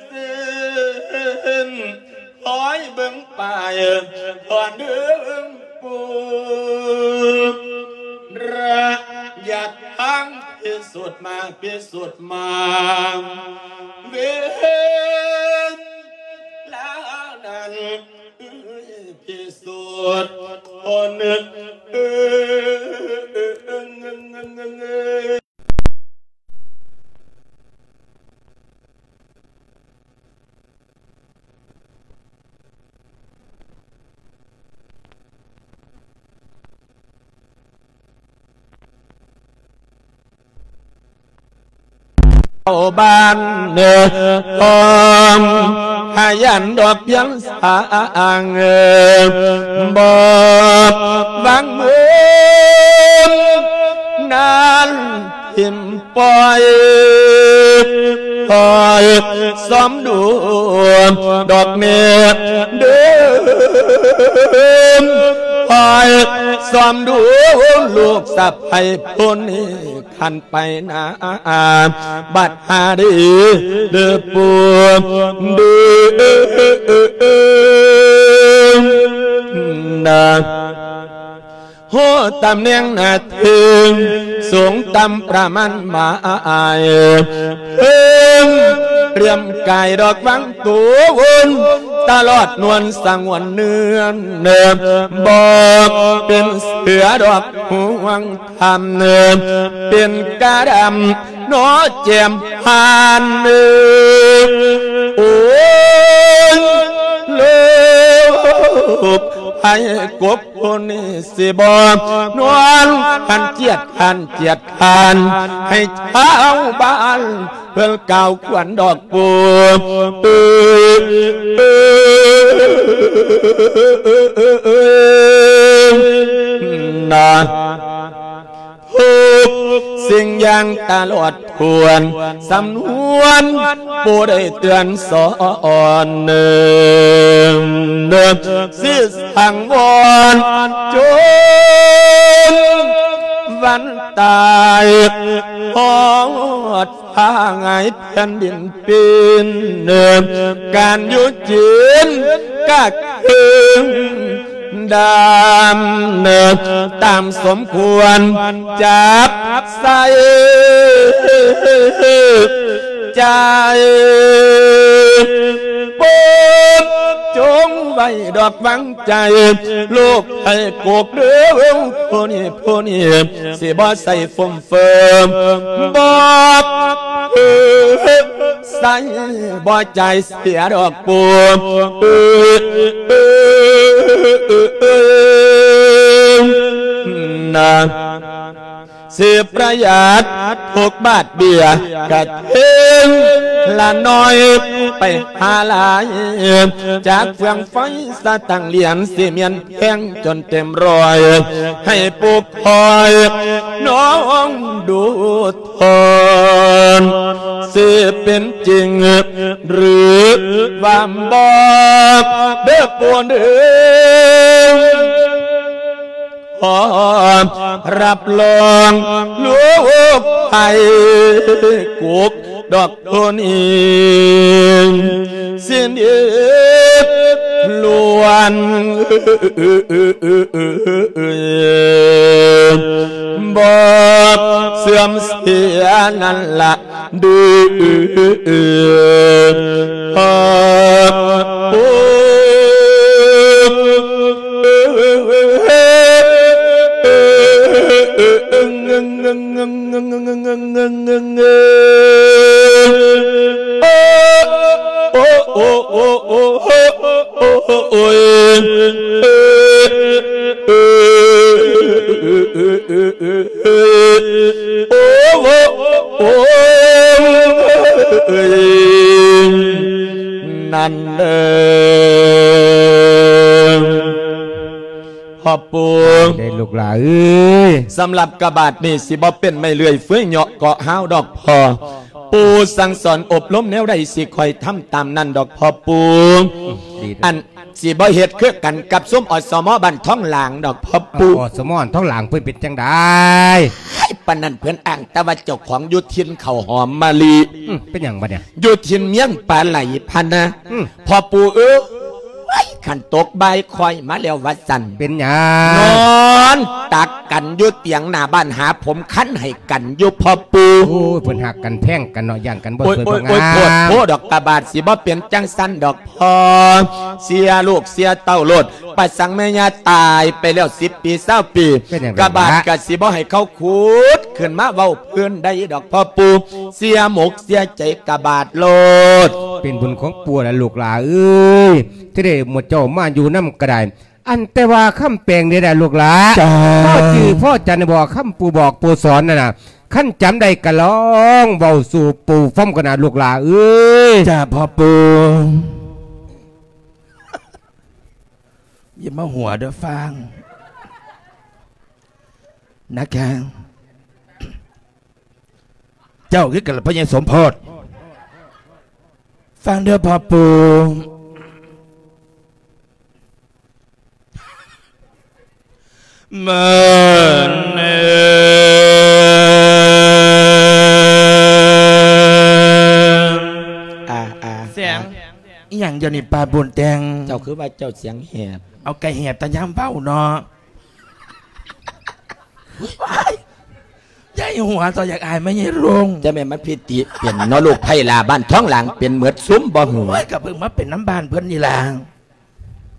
ເສັ້ນ ຄອຍເບິ່ງປ້າຍ ທອນເດີງປູ ລະຍະທາງພິສູດມາ ພິສູດມາ ເວລານັ້ນ ພິສູດຄົນ ເຂົ້າບ້ານເດີ ຂອງພະຍານດອກພຽງສາງ ບອກຫວັງເມີນນານ ຖິ້ມປ່ອຍ ຄອຍຊອມດູດອກແມ່ເດີ ຄອຍຊອມດູລູກສະໃພ້ຜູ້ນີ້ ຄັນໄປນາ ບັດຫາດີເດີປູເດີ ນາ ຮູ້ຕຳແໜ່ງໜ້າທີ່ ສູງຕ່ຳປະມານໝາຍ ເພິ່ງຕຽມກາຍດອກວັງຕູນ ຕະຫຼອດນວນສະຫງວນເນື້ອ ບອກເປັນເສືອດອກຫ່ວງທຳ ເປັນກາດຳ ໜໍແຈ່ມຜ່ານ ໂອ້ຍ ລູກໃຜກົບຄົນນີ້ຊິບໍ່ນອນ ຄັນຈຽດຄັນຈຽດຄັນ ໃຫ້ຊາວບ້ານເພິ່ນກ່າວຂວັນດອກປູ ນາ ທຸກສິ່ງຢ່າງຕະຫຼອດຖ້ວນ ສຳນວນຜູ້ໄດ້ເຕືອນສອນ ເນີ່ງເນີ່ງຊິສັງວອນ ຈົນວັນຕາຍ ຮອດ ພາຫງາຍແຜ່ນດິນປີນ ການຢູ່ຈີນກະເຄິ່ງດຳ ຕາມສົມຄວນຈັບໃສ່ໃຈ ໂປດຈົ່ງໄວ້ດອກວັງໃຈ ລູກໃຜກົກເດີ ຜູ້ນີ້ ຜູ້ນີ້ ຊິບໍ່ໃສ່ຟຸມ ເຟີມ ບອກໃສ່ບໍ່ຈ່າຍເສຍດອກປູ ນາ ຊິປະຢັດທຸກບາດເບຍ ກະເທິງລະໜ້ອຍໄປຫາຫຼາຍ ຈາກເຟືອງໄຟສະຕັງຫຼຽນ ຊິແມ່ນ ແພງຈົນເຕັມຮ້ອຍ ໃຫ້ປູກຄອຍນ້ອງດູທອນ ຊິເປັນຈິງຫຼືວ່າບໍ່ ເດີປູເດີ ຂໍຮັບຮອງລູກໃຜກົກ ດອກໂທນີ້ ສິ້ນເອດລ້ວນ ບໍ່ເສື່ອມເສຍນັ້ນລະ ດື້ຮອບປູ ໂອ້ ໂອ້ ໂອ້ ໂອ້ ໂອ້ ໂອ້ຍ ໂອ້ ໂອ້ ໂອ້ ໂອ້ຍ ນັ້ນເດີ ພໍ່ປູ່ ໄດ້ລູກຫຼາເອີຍ ສຳລັບກະບາດນີ້ ຊິບໍ່ເປັນໄມ້ເລື່ອຍເຟືອຍເຍາະເກາະຮ້າວດອກພໍ່ ປູ່ສັ່ງສອນອົບຮົມແນວໃດ ຊິຄ່ອຍທຳຕາມນັ້ນດອກພໍ່ປູ່ ດີເດີ ອັນ ຊິບໍ່ເຮັດຄືກັນກັບຊຸມ ອສມ ບ້ານທ້ອງຫຼາງດອກພໍ່ປູ່ ອສມ ທ້ອງຫຼາງເພິ່ນເປັນຈັ່ງໃດ ໃຫ້ປ ານນັ້ນ ເພິ່ນອ້າງແຕ່ວ່າເຈົ້າຂອງຢູ່ຖິ່ນເຂົ້າຫອມມະລິ. ອືມ ເປັນຫຍັງບັດນີ້? ຢູ່ຖິ່ນມຽງປາໄຫຼພະນະ. ອືມ ພໍ່ປູ່ເອີຍ ຄັນຕົກບ່າຍຄ່ອຍມາແລ້ວວ່າຊັ້ນ. ເປັນຫຍັງ? ນອນຕັກກັນຢູ່ຕຽງໜ້າບ້ານ ຫາຜົມຄັນໃຫ້ກັນຢູ່ພໍ່ປູ່. ໂອ້ຍ ເພິ່ນຮັກກັນແພງກັນເນາະ ຢ້ານກັນບໍ່ ໂອ້ຍ ສວຍ ໂອ້ຍ ບໍ່ງາມ. ໂອ້ຍ ໂພດໂພດດອກ ກະບາດ ຊິບໍ່ເປັນຈັ່ງຊັ້ນດອກພໍ່. ເສຍລູກເສຍເຕົ້າໂລດ ປະສັງແມ່ຍ່າຕາຍໄປແລ້ວສິບປີຊາວປີ ເປັນຫຍັງ ກະບາດ ເປັນຫຍັງ ກະຊິບໍ່ໃຫ້ເຂົາຂຸດຂຶ້ນມາເວົ້າພື້ນໃດດອກພໍ່ປູ່. ເສຍໝົກເສຍໃຈກະບາດໂລດ. ເປັນບຸນຂອງປູ່ລະລູກຫຼາເອີຍ ທີ່ໄດ້ໝູ່ເຈົ້າມາຢູ່ນຳກະໄດ້. ອັນແຕ່ວ່າຄຳແປງນີ້ລະລູກຫຼາ ເຈົ້າ ພໍຈື່ພໍຈຳບໍ່ ຄຳປູ່ບອກປູ່ສອນນັ້ນນະ ຄັນຈຳໄດ້ກະລອງເວົ້າສູ່ປູ່ຟັງກັນນະລູກຫຼາເອີຍ. ຈ້າພໍ່ປູ່ ຢ່າມາຫົວເດີຟັງນະຄະ. ເຈົ້າຄືກັນລະພໍ່ໃຫຍ່ສົມໂພດ ຟັງເດີພໍ່ປູ່. ເມີນເອີ ອ່າ ອ່າ ສຽງ ອ່າ ອີ່ຫຍັງດຽວນີ້ ປ້າບຸນແຕ່ງ? ເຈົ້າຄືວ່າເຈົ້າສຽງແຫບ? ເອົາ ກະແຫບແຕ່ຍາມເວົ້າເນາະ. ວ້າຍ ຢ່າໃຫ້ຫົວ ເຈົ້າຢາກອາຍແມ່ໃຫຍ່ໂລງ. ຈະແມ່ນມັນພິຕິເປັນເນາະລູກ ໄພລາບ້ານທ້ອງຫຼາງເປັນເໝິດຊຸມບໍ່ຫື? ໂອ້ຍ ກະເພິ່ງມາເປັນນຳບ້ານເພິ່ນນີ້ລະ.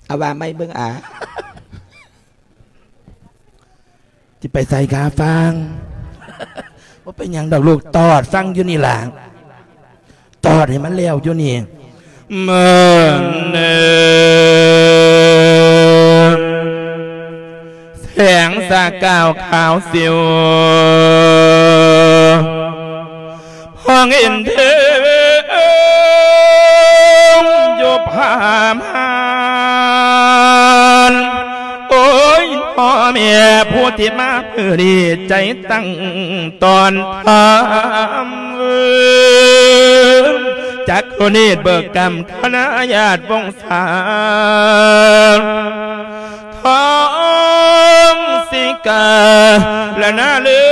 ເອົາ ວ່າໃໝ່ເບິ່ງອາ. ຊິໄປໃສຄະຟັງ? ບໍ່ເປັນຫຍັງດອກລູກ ຕອດຟັງຢູ່ນີ້ລະ ຕອດໃຫ້ມັນແລ້ວຢູ່ນີ້. ເມີນເອີ ແສງສະກາວຂາວສິວ ພອງເຫັນເທິງຢູ່ຜາມ່ານ. ໂອ້ຍ ພໍ່ແມ່ຜູ້ທີ່ມາມື້ນີ້ ໃຈຕັ້ງຕ້ອນທຳ ຈັກຄຸເນດເບີກກຳ ຄະນະຍາດວົງສາ ທອງສິກາລະນາເລີ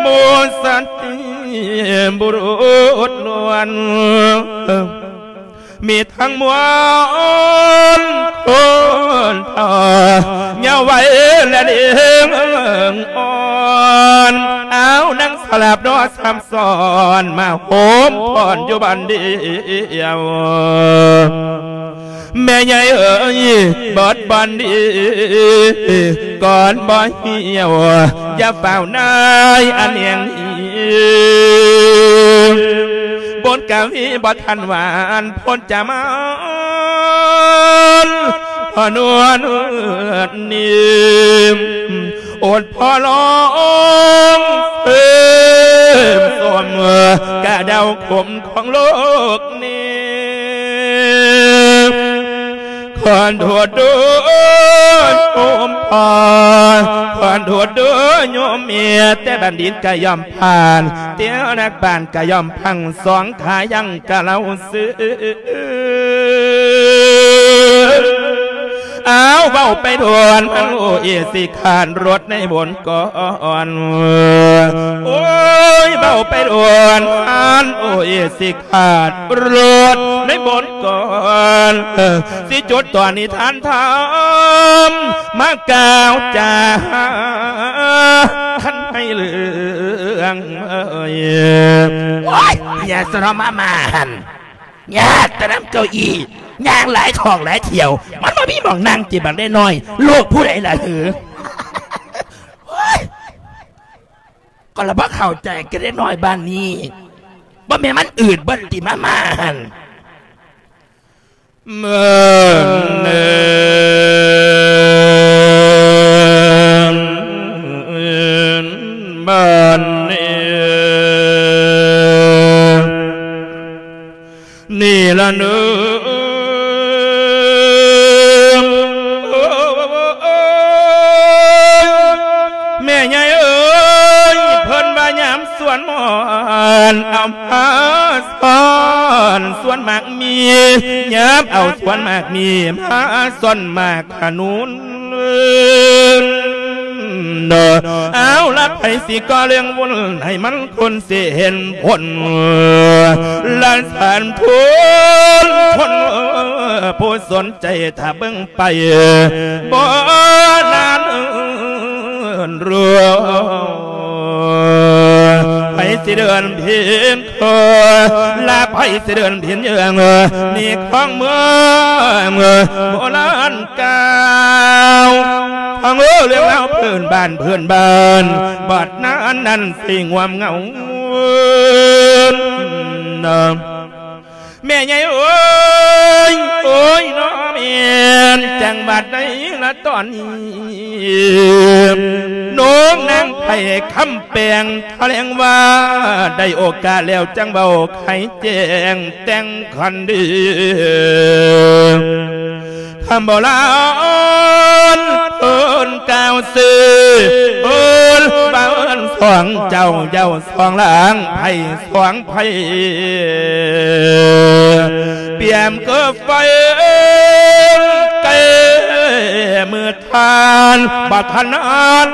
ໝູ່ສັດຕິບຸລຸດລ້ວນ ມີທັງມວນຄົນເຖົ້າ ເຍົາວໄວ ແລະ ເດັກອ່ອນ. ເອົາ ນາງສະຫຼາບນໍ ສາມຊ້ອນ ມາໂຮມຟ້ອນຢູ່ບ່ອນດຽວ. ແມ່ໃຫຍ່ເອີຍ ເບິດບ່ອນດີ ກ່ອນບໍ່ຫ່ຽວ ຢ່າຟ້າວນາຍອັນແຫ່ງນີ້ ບົດກະວີບໍ່ທັນຫວານ ພົນຈະມານ ພະນວນນີ້ ອົດພໍລອງເສີມສົມ ກະເດົາຂົມຂອງໂລກນີ້ ຂໍໂທດໂດຍໂຍມພໍ່ ຂໍໂທດໂດຍໂຍມແມ່ ແຕ່ບັນດິດກະຍ່ອມຜ່ານ ແຕ່ນັກປານກະຍ່ອມພັງ ສອງຂາຍັງກະເລົ່າຊື່. ອ້າວ ເວົ້າໄປດວນ ມັນໂອເອຊິຂາດລົດໃນບົນກ່ອນ ໂອ້ຍ ເວົ້າໄປດວນ ມັນໂອເອຊິຂາດລົດໃນບົນກ່ອນ ຊິຈົດຕອນນິທານທຳ ມາກ່າວຈາທັນໃຫ້ເລື່ອງເອີຍ. ໂອ້ຍ ຢ່າສະເນາະ ມາມ່າຫັ້ນ ຍາດແຕ່ນຳເກົ້າอี้ ຍ່າງຫຼາຍທ້ອງຫຼາຍທ່ຽວ ມັນບໍ່ມີໝ່ອງນັ່ງຕິ ບັກເດັກນ້ອຍ ລູກຜູ້ໃດລະຫື? ໂອ້ຍ ກໍລະບໍ່ເຂົ້າໃຈກັບເດັກນ້ອຍບ້ານນີ້ ບໍ່ແມ່ນມັນອືດບໍ່ຕິ ມາມ່າຫັ້ນ. ເມີນເອີ ບ້ານນີ້ ນີ້ລະເນີ ແມ່ໃຫຍ່ເອີຍ ເພິ່ນວ່າຍາມສວນໝອນ ເອົາຜ້າຊ້ອນສວນໝາກມີ ຍາມເອົາສວນໝາກມີ ມາຊ້ອນໝາກຂະໜູນ. ເອົາລະ ໃຜຊິກໍ່ເລື່ອງວຸ້ນໃຫ້ມັນຄົນຊິເຫັນຜົນ ລະສານທຸນຄົນຜູ້ສົນໃຈຖ້າເບິ່ງໄປບໍ່ນານເອີ້ນ ໃຜຊິເດີນຜິດ ເອີ ລະໃຜຊິເດີນຜິດເຍື່ອງ ນີ້ຂອງເມືອງໂບລານກ່າວ ຟັງເອີ ເລື່ອງລາວພື້ນບ້ານ ພື້ນບ້ານ ບາດນານນັ້ນຊິງວມເງົາ ແມ່ໃຫຍ່ເອີຍ ໂອ້ຍ ນ້ອງແມ່ນ ຈັງຫວັດໃດລະຕອນນີ້ ນ້ອງນາງໄພຄຳແປງ ຖະແຫຼງວ່າໄດ້ໂອກາດແລ້ວ ຈັ່ງເວົ້າໃຫ້ແຈ້ງແຕ່ງຄັນດີ ຄຳໂບລານເພິ່ນກ່າວຊື່ ເພິ່ນວ່າເອີ້ນສອງເຈົ້າ ເຈົ້າສອງລາງ ໄພສອງໄພ ປຽມຄືໄຟແກ່ມື ທ່ານບໍ່ທັນນານ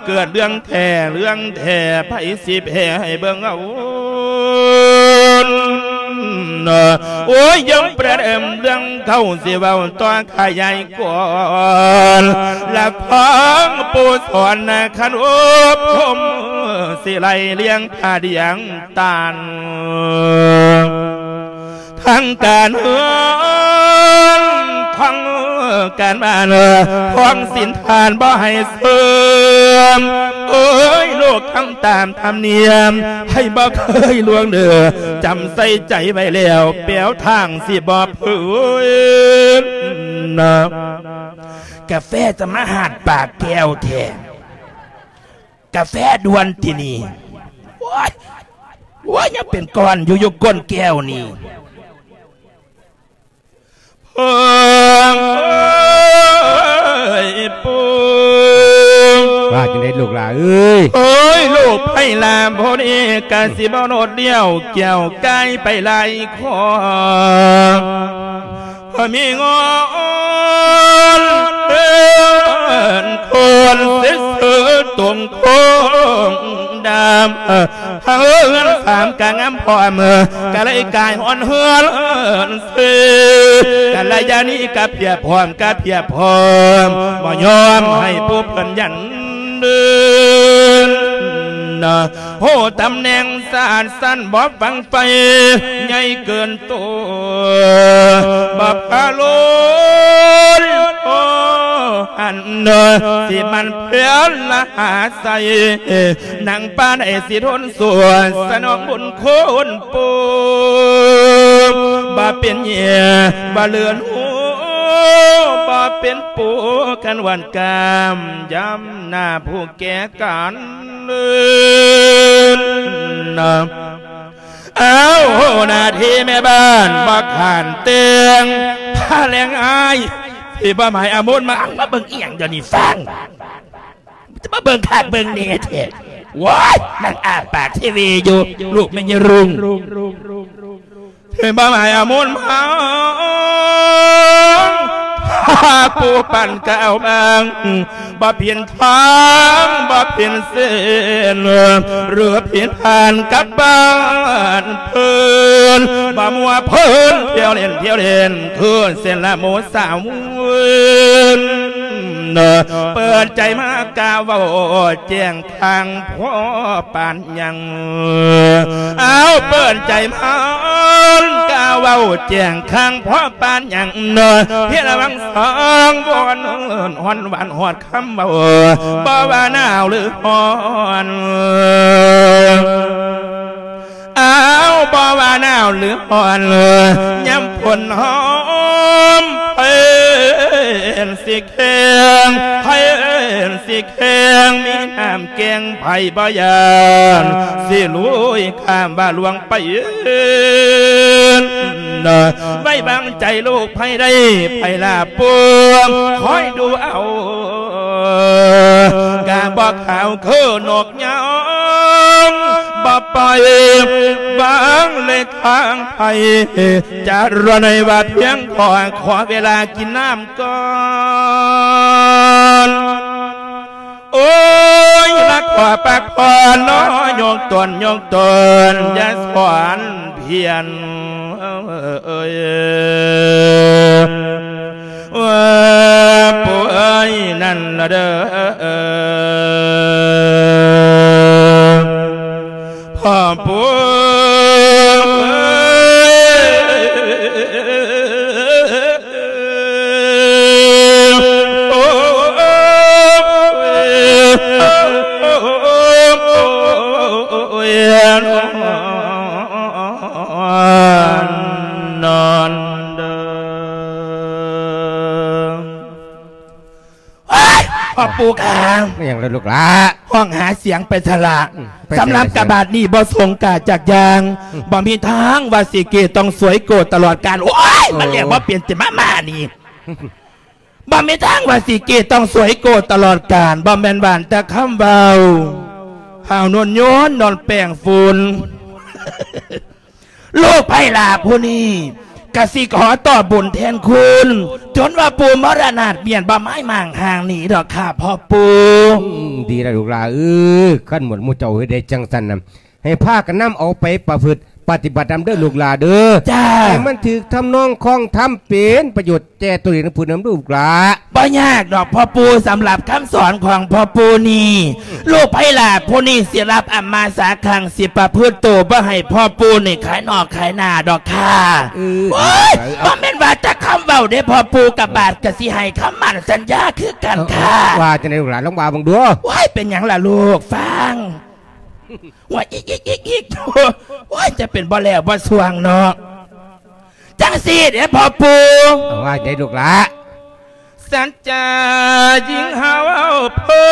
ເກີດເລື່ອງແທ້ເລື່ອງແທ້ ໃຜຊິແພ້ໃຫ້ເບິ່ງເອົາ ໂອ້ຍ ຍັງປະເດີມເລື່ອງເກົ່າ ຊິເວົ້າຕໍ່ຂະຫຍາຍກວ້າງ ລະຟັງປູ່ສອນນະ ຄັນອົບຮົມ ຊິໄລ່ລຽງຜ້າດຽງຕານ ທາງການເຮືອນ ທາງການບ້ານ ທາງສິນທານບໍ່ໃຫ້ເສື່ອມ ເອີຍ ລູກທຳຕາມທຳນຽມ ໃຜບໍ່ເຄີຍລ່ວງເດີ ຈຳໃສ່ໃຈໄວ້ແລ້ວ ແປວທາງຊິບໍ່ເພີນນະ ກາແຟຈະມາຫາດປາກແກ້ວແທ້ ກາແຟດ່ວນຕິນີ້ ໂອ້ຍ ໂອ້ຍ ຍັງເປັນກ້ອນຢູ່ ຢູ່ກົ້ນແກ້ວນີ້ ເອີຍ ປູ່ ວ່າຈັ່ງໃດລູກຫຼ້າເອີຍ ໂອ້ຍ ລູກໄພລາ ຜູ້ນີ້ກະຊິບໍ່ໂນດລ້ຽວ ແກ້ວກາຍໄປຫຼາຍ ຂໍ ມີງອນເປັນຄົນເສຍເສືອຕົງຄົງດຳ ເຮືອນສາມກະງາມພ້ອມ ກະເລີຍກາຍຮອນເຮືອນເສ ກະລະຍານີກະພຽບພ້ອມ ກະພຽບພ້ອມ ບໍ່ຍອມໃຫ້ຜູ້ເພິ່ນຢັນເດີນ ໂຫ ຕຳແໜ່ງສານສັ້ນບໍ່ຟັງໄຟ ໃຫຍ່ເກີນໂຕ ບໍ່ພາໂລນ ໂອ ອັນເດີ ຊິມັນເພື່ອນລະຫາໃສ ນາງປານໃດຊິທົນສູ້ ສະໜອງບຸນຄຸນປູ່ ບໍ່ເປັນເຫຍື່ອ ບໍ່ເລື່ອນຫູ ບໍ່ເປັນປູ່ ຄັນຫວັນກາມ ຍາມໜ້າຜູ້ແກ່ກັນ ອ້າວ ຫົວໜ້າທີ່ແມ່ບ້ານບໍ່ຂານແຕ່ງ ພາແລງອ້າຍ ທີ່ບໍ່ໝາຍອາມຸນມາ ມາເບິ່ງອີ່ຫຍັງດຽວນີ້ຟັງ ຈະມາເບິ່ງຄັກເບິ່ງແນ່ແທ້ ໂອ້ຍ ນັ່ງອ້າປາກເຊເວຢູ່ ລູກແມ່ຍາລຸງ ເຫັນບໍ່ໝາຍອາມຸນມາ ຜູ້ປັນກະເອົາບາງ ບໍ່ເປັນທາງ ບໍ່ເປັນເສັ້ນ ຫຼືຜິດຜ່ານກັບບ້ານເພິ່ນ ບໍ່ມົວເພີນ ທ່ຽວຫຼິ້ນ ທ່ຽວຫຼິ້ນ ຄືເສັ້ນລະໝູ່ສາວ ເປີດໃຈມາກ່າວເວົ້າແຈ້ງ ຂ້າງພໍປານຫຍັງ ອ້າວ ເປີດໃຈມາກ່າວເວົ້າແຈ້ງ ຂ້າງພໍປານຫຍັງ ເນາະ ເພລະວັງສອງວອນ ຮ້ອນຫວານຮອດຄຳເວົ້າ ບໍ່ວ່າໜາວຫຼືຮ້ອນ ອ້າວ ບໍ່ວ່າໜາວຫຼືຮ້ອນ ຍາມຝົນຫອມ ເພິ່ນຊິແຂງ ເພິ່ນຊິແຂງ ມີນ້ຳແກງ ໃຜບໍ່ຢ້ານ ຊິລຸຍຂ້າມວ່າຫຼວງໄປ ໄວ້ວາງໃຈລູກໃຜໄດ້ ໃຜລາບປວງ ຄອຍດູເອົາ ກະບໍ່ຂາວຄືນົກ ຍາມບໍ່ປ່ອຍວາງເລີຍທາງໄພ ຈະລໍໃນວ່າພຽງພໍ ຂໍເວລາກິນນ້ຳກ່ອນ ໂອ້ຍ ນັກຂໍພັກຜ່ອນເນາະ ຍົກຕົນ ຍົກຕົນ ຢ່າສອນພຽນ ເອີຍ ວ່າ ປູເອີຍ ນັ້ນລະເດີ ພໍ່ປູ ນອນເດີ ໂອ້ຍ ພໍ່ປູ່ຂ້າ ແມ່ນຫຍັງລະລູກຫຼ້າ? ຮ້ອງຫາສຽງໄປຊະລະ ອືມ ໄປໃສ ສຳລັບກະບາດນີ້ບໍ່ສົງກາຈັກຢ່າງ ອືມ ບໍ່ມີທາງວ່າຊິເກຕ້ອງສວຍໂກຕະຫຼອດການ ໂອ້ຍ ໂອ້ ມັນແລ້ວບໍ່ເປັນ ຊິມາມານີ້ ບໍ່ມີທາງວ່າຊິເກຕ້ອງສວຍໂກຕະຫຼອດການ ບໍ່ແມ່ນຫວ່ານແຕ່ຄຳເວົ້າ ຫາວນວນໂຍນນອນແປ້ງຝຸ່ນ ລູກໃພ້ຫຼ້າຜູ້ນີ້ກະຊິຂໍຕອບບຸນແທນຄຸນ ຈົນວ່າປູ່ມໍລະນາດເມຍນບໍ່ມາຍມ້າງຫ່າງໜີດອກຄ່າພໍ່ປູ່. ອືມ ດີລະລູກຫຼ້າເອີຍ ຄັນໝົດໝູ່ເຈົ້າເຮັດໄດ້ຈັ່ງຊັ້ນນະ ໃຫ້ພາກັນນຳເອົາໄປປະພຶດປະຕິບັດນຳເດີລູກຫຼ້າເດີ. ຈ້າ ໃຫ້ມັນຖືກທຳນອງຄອງທຳ ເປັນປະໂຫຍດແກ່ຕົວເອງນຳຜູ້ນຳລູກຫຼ້າ. ບໍ່ຍາກດອກພໍ່ປູ່ ສຳລັບຄຳສອນຂອງພໍ່ປູ່ນີ້ ອືມ ລູກໃພ້ຫຼ້າຜູ້ນີ້ຊິຮັບອຳມາສາຄັງ ຊິປະພຶດໂຕບໍ່ໃຫ້ພໍ່ປູ່ນີ້ຂາຍນອກຂາຍໜ້າດອກຄ່າ. ເອີ ໂອ້ຍ ດີ ບໍ່ແມ່ນວ່າແຕ່ຄຳເວົ້າເດ້ພໍ່ປູ່ ກະບາດກະຊິໃຫ້ຄຳໝັ້ນສັນຍາຄືກັນຄ່າ. ເອີ ວ່າຈັ່ງໃດລູກຫຼ້າ ລອງວ່າເບິ່ງດູ. ໂອ້ຍ ເປັນຫຍັງລະລູກ ຟັງ ວ່າອີກໆໆ ໂອ້ຍ ຈະເປັນບໍ່ແລ້ວບໍ່ຊ່ວງເນາະ. ຈັ່ງຊີ້ເດ້ພໍ່ປູ່ ເອົາ ວ່າໃດລູກຫຼ້າ? ສັດຈາຍິງຫາເວົ້າເພີ້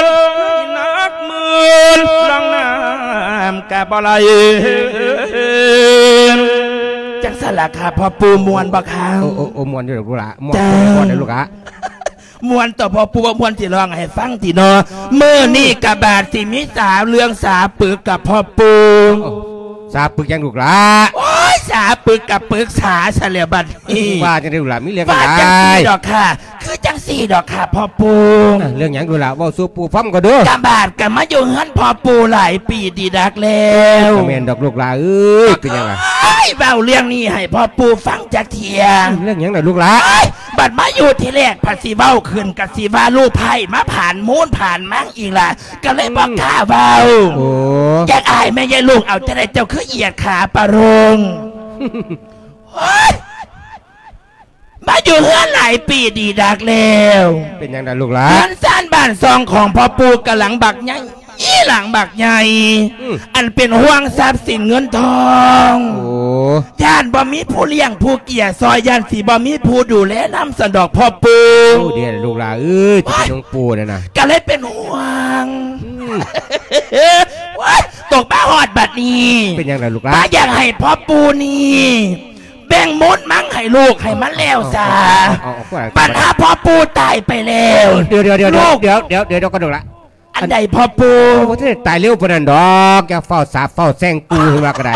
ນ ນັກໝື່ນລ່ອງນ້ຳກະບໍ່ໄຫຼ. ຈັ່ງຊັ້ນລະຄ່າພໍ່ປູ່ ມ່ວນບໍ່ຄ່າ? ໂອ້ ໂອ້ ໂອ້ ມ່ວນຢູ່ດອກລູກຫຼ້າ ມ່ວນ ຈ້າ ມ່ວນເດີລູກຫຼ້າ. ມ່ວນຕົວະພໍ່ປູ່ ບໍ່ມ່ວນຊິຮ້ອງໃຫ້ຟັງຕິເນາະ. ມື້ນີ້ກະບາດຊິມີສາເລື່ອງສາປຶກກັບພໍ່ປູ່. ໂອ້ ສາປຶກຫຍັງລູກຫຼ້າ? ໂອ້ຍ ສາປຶກກະປຶກສາຊະແລ້ວບັດນີ້. ວ່າຈັ່ງໃດລູກຫຼ້າ ມີເລື່ອງ ວ່າຈັ່ງຊີ້ດອກຄ່າ ຄືຈັ່ງຊີ້ດອກຄ່າພໍ່ປູ່. ອ່າ ເລື່ອງຫຍັງລູກຫຼ້າ ເວົ້າສູ່ປູ່ຟັງກ່ອນເດີ. ກະບາດກະມາຢູ່ເຮືອນພໍ່ປູ່ຫຼາຍປີດີດາກແລ້ວ. ກະແມ່ນດອກລູກຫຼ້າເອີຍ ເປັນຫຍັງລະ? ໂອ້ຍ ເວົ້າເລື່ອງນີ້ໃຫ້ພໍ່ປູ່ຟັງຈັກເທື່ອ. ເລື່ອງຫຍັງລະລູກຫຼ້າ? ໂອ້ຍ ບັດມາຢູ່ທີແລກ ພັດຊິເວົ້າຂຶ້ນກະຊິວ່າລູກໃພ້ມາຜານມູນຜານມັງອີກລະ ກະເລີຍບໍ່ກ້າເວົ້າ. ໂອ້ ຢາກອາຍແມ່ຍາຍລູກ ເອົາຈັ່ງໃດເຈົ້າຄືຢຽດຂາປະໂລງ? ໂອ້ຍ ມາຢູ່ເຮືອນຫຼາຍປີດີດາກແລ້ວ. ເປັນຫຍັງລະລູກຫຼ້າ? ເຮືອນຊານບ້ານຊ່ອງຂອງພໍ່ປູ່ກະຫຼັງບັກໃຫຍ່ ອີ່ ຫຼັງບັກໃຫຍ່ ອືມ ອັນເປັນຫ່ວງຊັບສິນເງິນທອງ. ໂອ້ ຢ້ານບໍ່ມີຜູ້ລ້ຽງຜູ້ເກຍຊ່ອຍ ຢ້ານຊິບໍ່ມີຜູ້ດູແລນຳຊັ້ນດອກພໍ່ປູ່. ໂອ້ ເດລະລູກຫຼ້າເອີຍ ໂອ້ຍ ທີ່ເປັນຂອງປູ່ນັ້ນນະ ກະເລີຍເປັນຫ່ວງ. ອືມ ໂອ້ຍ ຕົກມາຮອດບັດນີ້ ເປັນຫຍັງລະລູກຫຼ້າ? ວ່າຢາກໃຫ້ພໍ່ປູ່ນີ້ ແບ່ງມູນມັງໃຫ້ລູກໃຫ້ມັນແລ້ວຊະ. ເອົາ ເອົາ ເອົາ ເອົາ ບັດຫາພໍ່ປູ່ຕາຍໄປແລ້ວ. ດຽວ ດຽວ ດຽວ ລູກ ດຽວ ດຽວ ດຽວ ດຽວກ່ອນລູກຫຼ້າ. ອັນໃດພໍ່ປູ່? ໂອ້ ບໍ່ທັນໄດ້ຕາຍເລັວປານນັ້ນດອກ ຢ່າຟ້າວສາບຟ້າວແຊ່ງປູ່ ເພິ່ນວ່າກະໄດ້.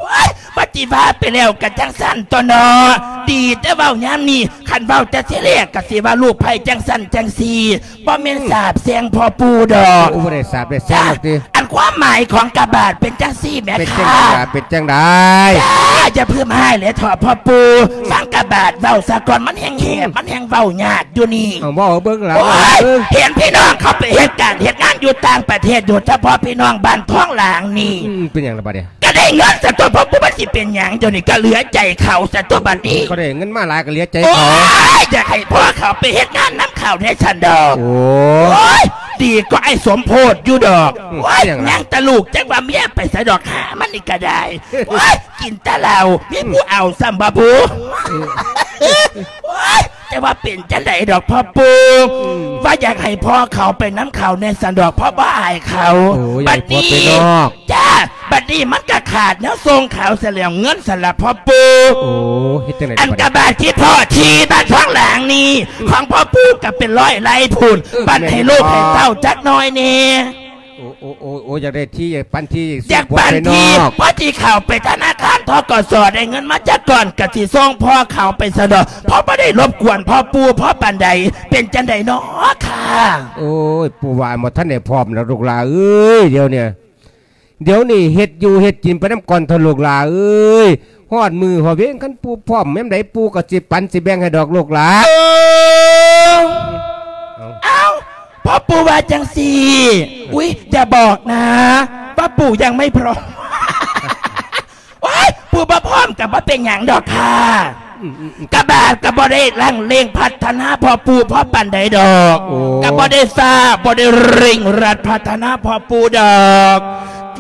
ໂອ້ຍ ປະຕິວ່າໄປແລ້ວກະຈັ່ງຊັ້ນຕົວະເນາະ. ດີແຕ່ເວົ້າຍາມນີ້ ຄັນເວົ້າແຕ່ທີແລກກະຊິວ່າລູກໃພ້ຈັ່ງຊັ້ນຈັ່ງຊີ້. ບໍ່ແມ່ນສາບແຊ່ງພໍ່ປູ່ດອກ. ໂອ້ ບໍ່ໄດ້ສາບໄດ້ແຊ່ງດອກຕິ. ອັນຄວາມໝາຍຂອງກະບາດເປັນຈັ່ງຊີ້ແໝ່ ເປັນຈັ່ງໃດ ເປັນຈັ່ງໃດ? ຢ່າ ຢ່າເພິ່ມຮ້າຍເລີຍເຖາະພໍ່ປູ່. ອືມ ຟັງກະບາດເວົ້າສາກ່ອນ ມັນແຮ່ງແຫບ ມັນແຮ່ງເວົ້າຍາກຢູ່ນີ້. ເອົາ ເວົ້າເບິ່ງລະ ໂອ້ຍ ເວົ້າເບິ່ງ. ເຫັນພີ່ນ້ອງເຂົາໄປເຮັດການເຮັດງານຢູ່ຕ່າງປະເທດ ໂດຍສະເພາະພີ່ນ້ອງບ້ານທອງຫຼາງນີ້. ອືມ ເປັນຫຍັງລະບາດນີ້? ກະໄດ້ເງິນຊະຕົວະພໍ່ປູ່ ມັນຊິເປັນຫຍັງ ດຽວນີ້ກະເຫຼືອໃຈເຂົາຊະຕົວະບາດນີ້. ເຂົາໄດ້ເງິນມາຫຼາຍກະເຫຼືອໃຈເຂົາ. ໂອ້ຍ ຢາກໃຫ້ພໍ່ເຂົາໄປເຮັດງານນຳເຂົາແດ່ຊັ້ນດອກ. ໂອ້ຍ ໂອ້ຍ ດີກວ່າອ້າຍສົມໂພດຢູ່ດອກ. ອືມ ໂອ້ຍ ເປັນຫຍັງລະ? ຍັງແຕ່ລູກ ຈັກວ່າເມຍໄປໃສດອກ ຫາມັນນີ້ກະໄດ້. ໂອ້ຍ ກິນແຕ່ເຫຼົ້າ ມີຜູ້ເອົາຊ້ຳບໍ່ບຸ? ອືມ ໂອ້ຍ ແຕ່ວ່າເປັນຈັ່ງໃດດອກພໍ່ປູ່? ອືມ ວ່າຢາກໃຫ້ພໍ່ເຂົາໄປນຳເຂົາແດ່ຊັ້ນດອກ ເພາະບໍ່ອາຍເຂົາ. ໂອ້ຍ ບາດນີ້ ໃຫ້ຜົວໄປນອກ. ຈ້າ ບາດນີ້ມັນກະຂາດແນວສົ່ງເຂົາຊະແລ້ວ ເງິນສະລະພໍ່ປູ່. ໂອ້ ເຮັດຈັ່ງໃດ ອັນກະບາດທີ່ພໍ່ທີ່ບ້ານທອງຫຼາງນີ້ ອືມ ຂອງພໍ່ປູ່ກະເປັນຮ້ອຍໄລ່ພຸ້ນ. ເອີ ບັດໃຫ້ລູກໃຫ້ເຕົ້າຈັກໜ້ອຍແດ່. ໂອ້ ໂອ້ ໂອ້ ໂອ້ ຢາກໄດ້ທີ່ ຢາກປັນທີ່ ຢາກປັນທີ່ ຊິອອກໄປນອກ ພໍຊິເຂົ້າໄປທະນາຄານ ທກສ ໄດ້ເງິນມາຈັກກ້ອນ ກະຊິສົ່ງພໍ່ເຂົ້າໄປຊະດອກ ພໍບໍ່ໄດ້ລົບກວນພໍ່ປູ່ພໍປານໃດ. ເປັນຈັ່ງໃດນໍຄະ? ໂອ້ຍ ປູ່ວ່າບໍ່ທັນໄດ້ພ້ອມແລ້ວລູກຫຼ້າເອີຍ ດຽວນີ້ ດຽວນີ້ເຮັດຢູ່ເຮັດກິນໄປນຳກ່ອນເຖາະລູກຫຼ້າເອີຍ ຮອດມື້ຮອດເວນ ຄັນປູ່ພ້ອມຍາມໃດ ປູ່ກໍຊິປັນຊິແບ່ງໃຫ້ດອກລູກຫຼ້າ. ເອີ ເອົ້າ ເອົ້າ ພໍ່ປູ່ວ່າຈັ່ງຊີ້ ອຸ້ຍ ຢ່າບອກນະວ່າປູ່ຍັງໄມ່ພ້ອມ. ໂອ້ຍ ປູ່ບໍ່ພ້ອມກໍບໍ່ເປັນຫຍັງດອກຄ່ະ. ອືມໆໆ ກະບາດກະບໍ່ໄດ້ລັງເລັ່ງພັດທະນາພໍ່ປູ່ພໍປານໃດດອກ. ໂອ້ ກະບໍ່ໄດ້ຟ້າວ ບໍ່ໄດ້ເລັ່ງລັດພັດທະນາພໍ່ປູ່ດອກ.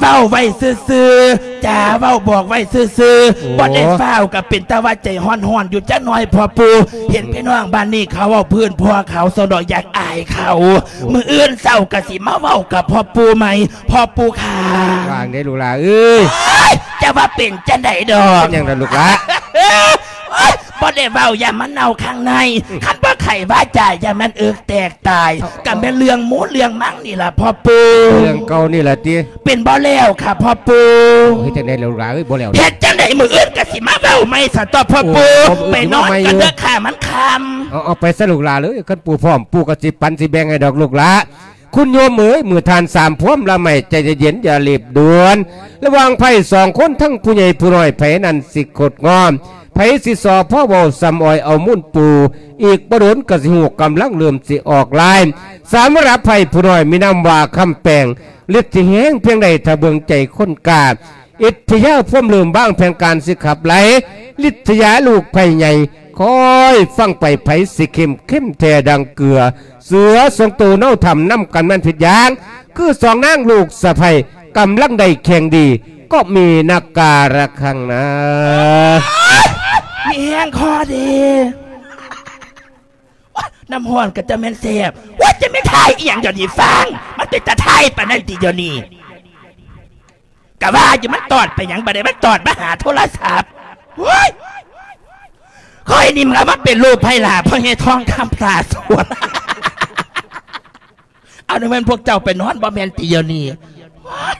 ເວົ້າໄວ້ຊື່ໆ ຈາເວົ້າບອກໄວ້ຊື່ໆ. ໂອ້ ບໍ່ໄດ້ຟ້າວ ກະເປັນຕາວ່າໃຈຮ້ອນໆຢູ່ຈັກໜ້ອຍພໍ່ປູ່. ເຫັນພີ່ນ້ອງບ້ານນີ້ເຂົາເວົ້າພື້ນພໍ່ເຂົາຊັ້ນດອກ ຢາກອາຍເຂົາ. ໂອ້ ມື້ອື່ນເຊົ້າກະຊິມາເວົ້າກັບພໍ່ປູ່ໃໝ່. ພໍ່ປູ່ຄ່ະ ວ່າຈັ່ງໃດລູກຫຼ້າເອີຍ? ໂອ້ຍ ຈະວ່າເປັນຈັ່ງໃດດອກ. ເປັນຫຍັງລະລູກຫຼ້າ? ໂອ້ຍ ບໍ່ໄດ້ເວົ້າ ຢ່າມາເນົາຂ້າງໃນ. ອືມ ຄັນບໍ່ໄຂວາຈາ ຢ່າແມ່ນເອິກແຕກຕາຍ. ເອົາ ກະແມ່ນເລື່ອງໝູເລື່ອງມັງນີ້ລະພໍ່ປູ່. ເລື່ອງເກົ່ານີ້ລະຕິ? ເປັນບໍ່ແລ້ວຄ່ະພໍ່ປູ່. ເຮັດຈັ່ງໃດລະລູກຫຼ້າເອີຍ ບໍ່ແລ້ວ? ເຮັດຈັ່ງໃດ ມື້ອື່ນກະຊິມາເວົ້າໃໝ່ຊະຕົວະພໍ່ປູ່. ໂອ້ ໄປນອນກັນເດີຄ່ະ ມັນຄ່ຳ. ເອົາ ເອົາໄປຊະລູກຫຼ້າເອີຍ ຄັນປູ່ພ້ອມ ປູ່ກໍຊິປັນຊິແບ່ງໃຫ້ດອກລູກຫຼ້າ. ຄຸນໂຍມເອີຍ ເມື່ອທ່ານສາມພວມລະໄມ້ໃຈເຢັນໆ ຢ່າລີບດ່ວນ. ລະຫວ່າງໃຜສອງຄົນ ທັງຜູ້ໃຫຍ່ຜູ້ນ້ອຍ ໃຜນັ້ນຊິຄົດງອມ ໃຜຊິສໍ່ພໍເວົ້າສ່ຳອ້ອຍເອົາມູນປູ່. ອີກບໍ່ດົນກໍຊິຮູ້ກຳລັງເລີ່ມຊິອອກລາຍ. ສຳລັບໃຜຜູ້ນ້ອຍມີນາມວ່າຄຳແປງ ລິດທີ່ແຮງພຽງໃດ ຖ້າເບິ່ງໃຈຄົນກ້າ ອິດທິຍາພວມເລີ່ມວາງແຜນການຊິຂັບໄລ່ ລິດທະຍາລູກໃຜໃຫຍ່ ຄອຍຟັງໄປ ໃຜຊິເຂັ້ມ ເຂັ້ມແທ້ດັ່ງເກືອ ເສືອສອງໂຕເນົາຖ້ຳນຳກັນແມ່ນຜິດຢ່າງ ຄືສອງນາງລູກສະໃພ້ກຳລັງໄດ້ແຂ່ງດີ ກໍມີນັກກາລະຄັງນາ ມີແຮງຄໍດີ. ໂອ້ຍ ນ້ຳຮ້ອນກໍຈະແມ່ນແຊບ ໂອ້ຍ ຈະແມ່ນຖ່າຍອີ່ຫຍັງດຽວນີ້ຟັງ ມັນເປັນຕາຖ່າຍປານນັ້ນຕິດຽວນີ້. ກະວ່າຢູ່ ມັນຕອດໄປຫຍັງບາດນີ້ ມັນຕອດມາຫາໂທລະສັບ. ໂອ້ຍ ຂ້ອຍນີ້ມັນເອົາມາເປັນລູກໃຜຫຼ້າ ພໍ່ໃຫຍ່ທອງຄຳຕາສວນ. ເອົາ ນັ້ນແມ່ນພວກເຈົ້າໄປນອນບໍ່ແມ່ນຕິດຽວນີ້. ໂອ້ຍ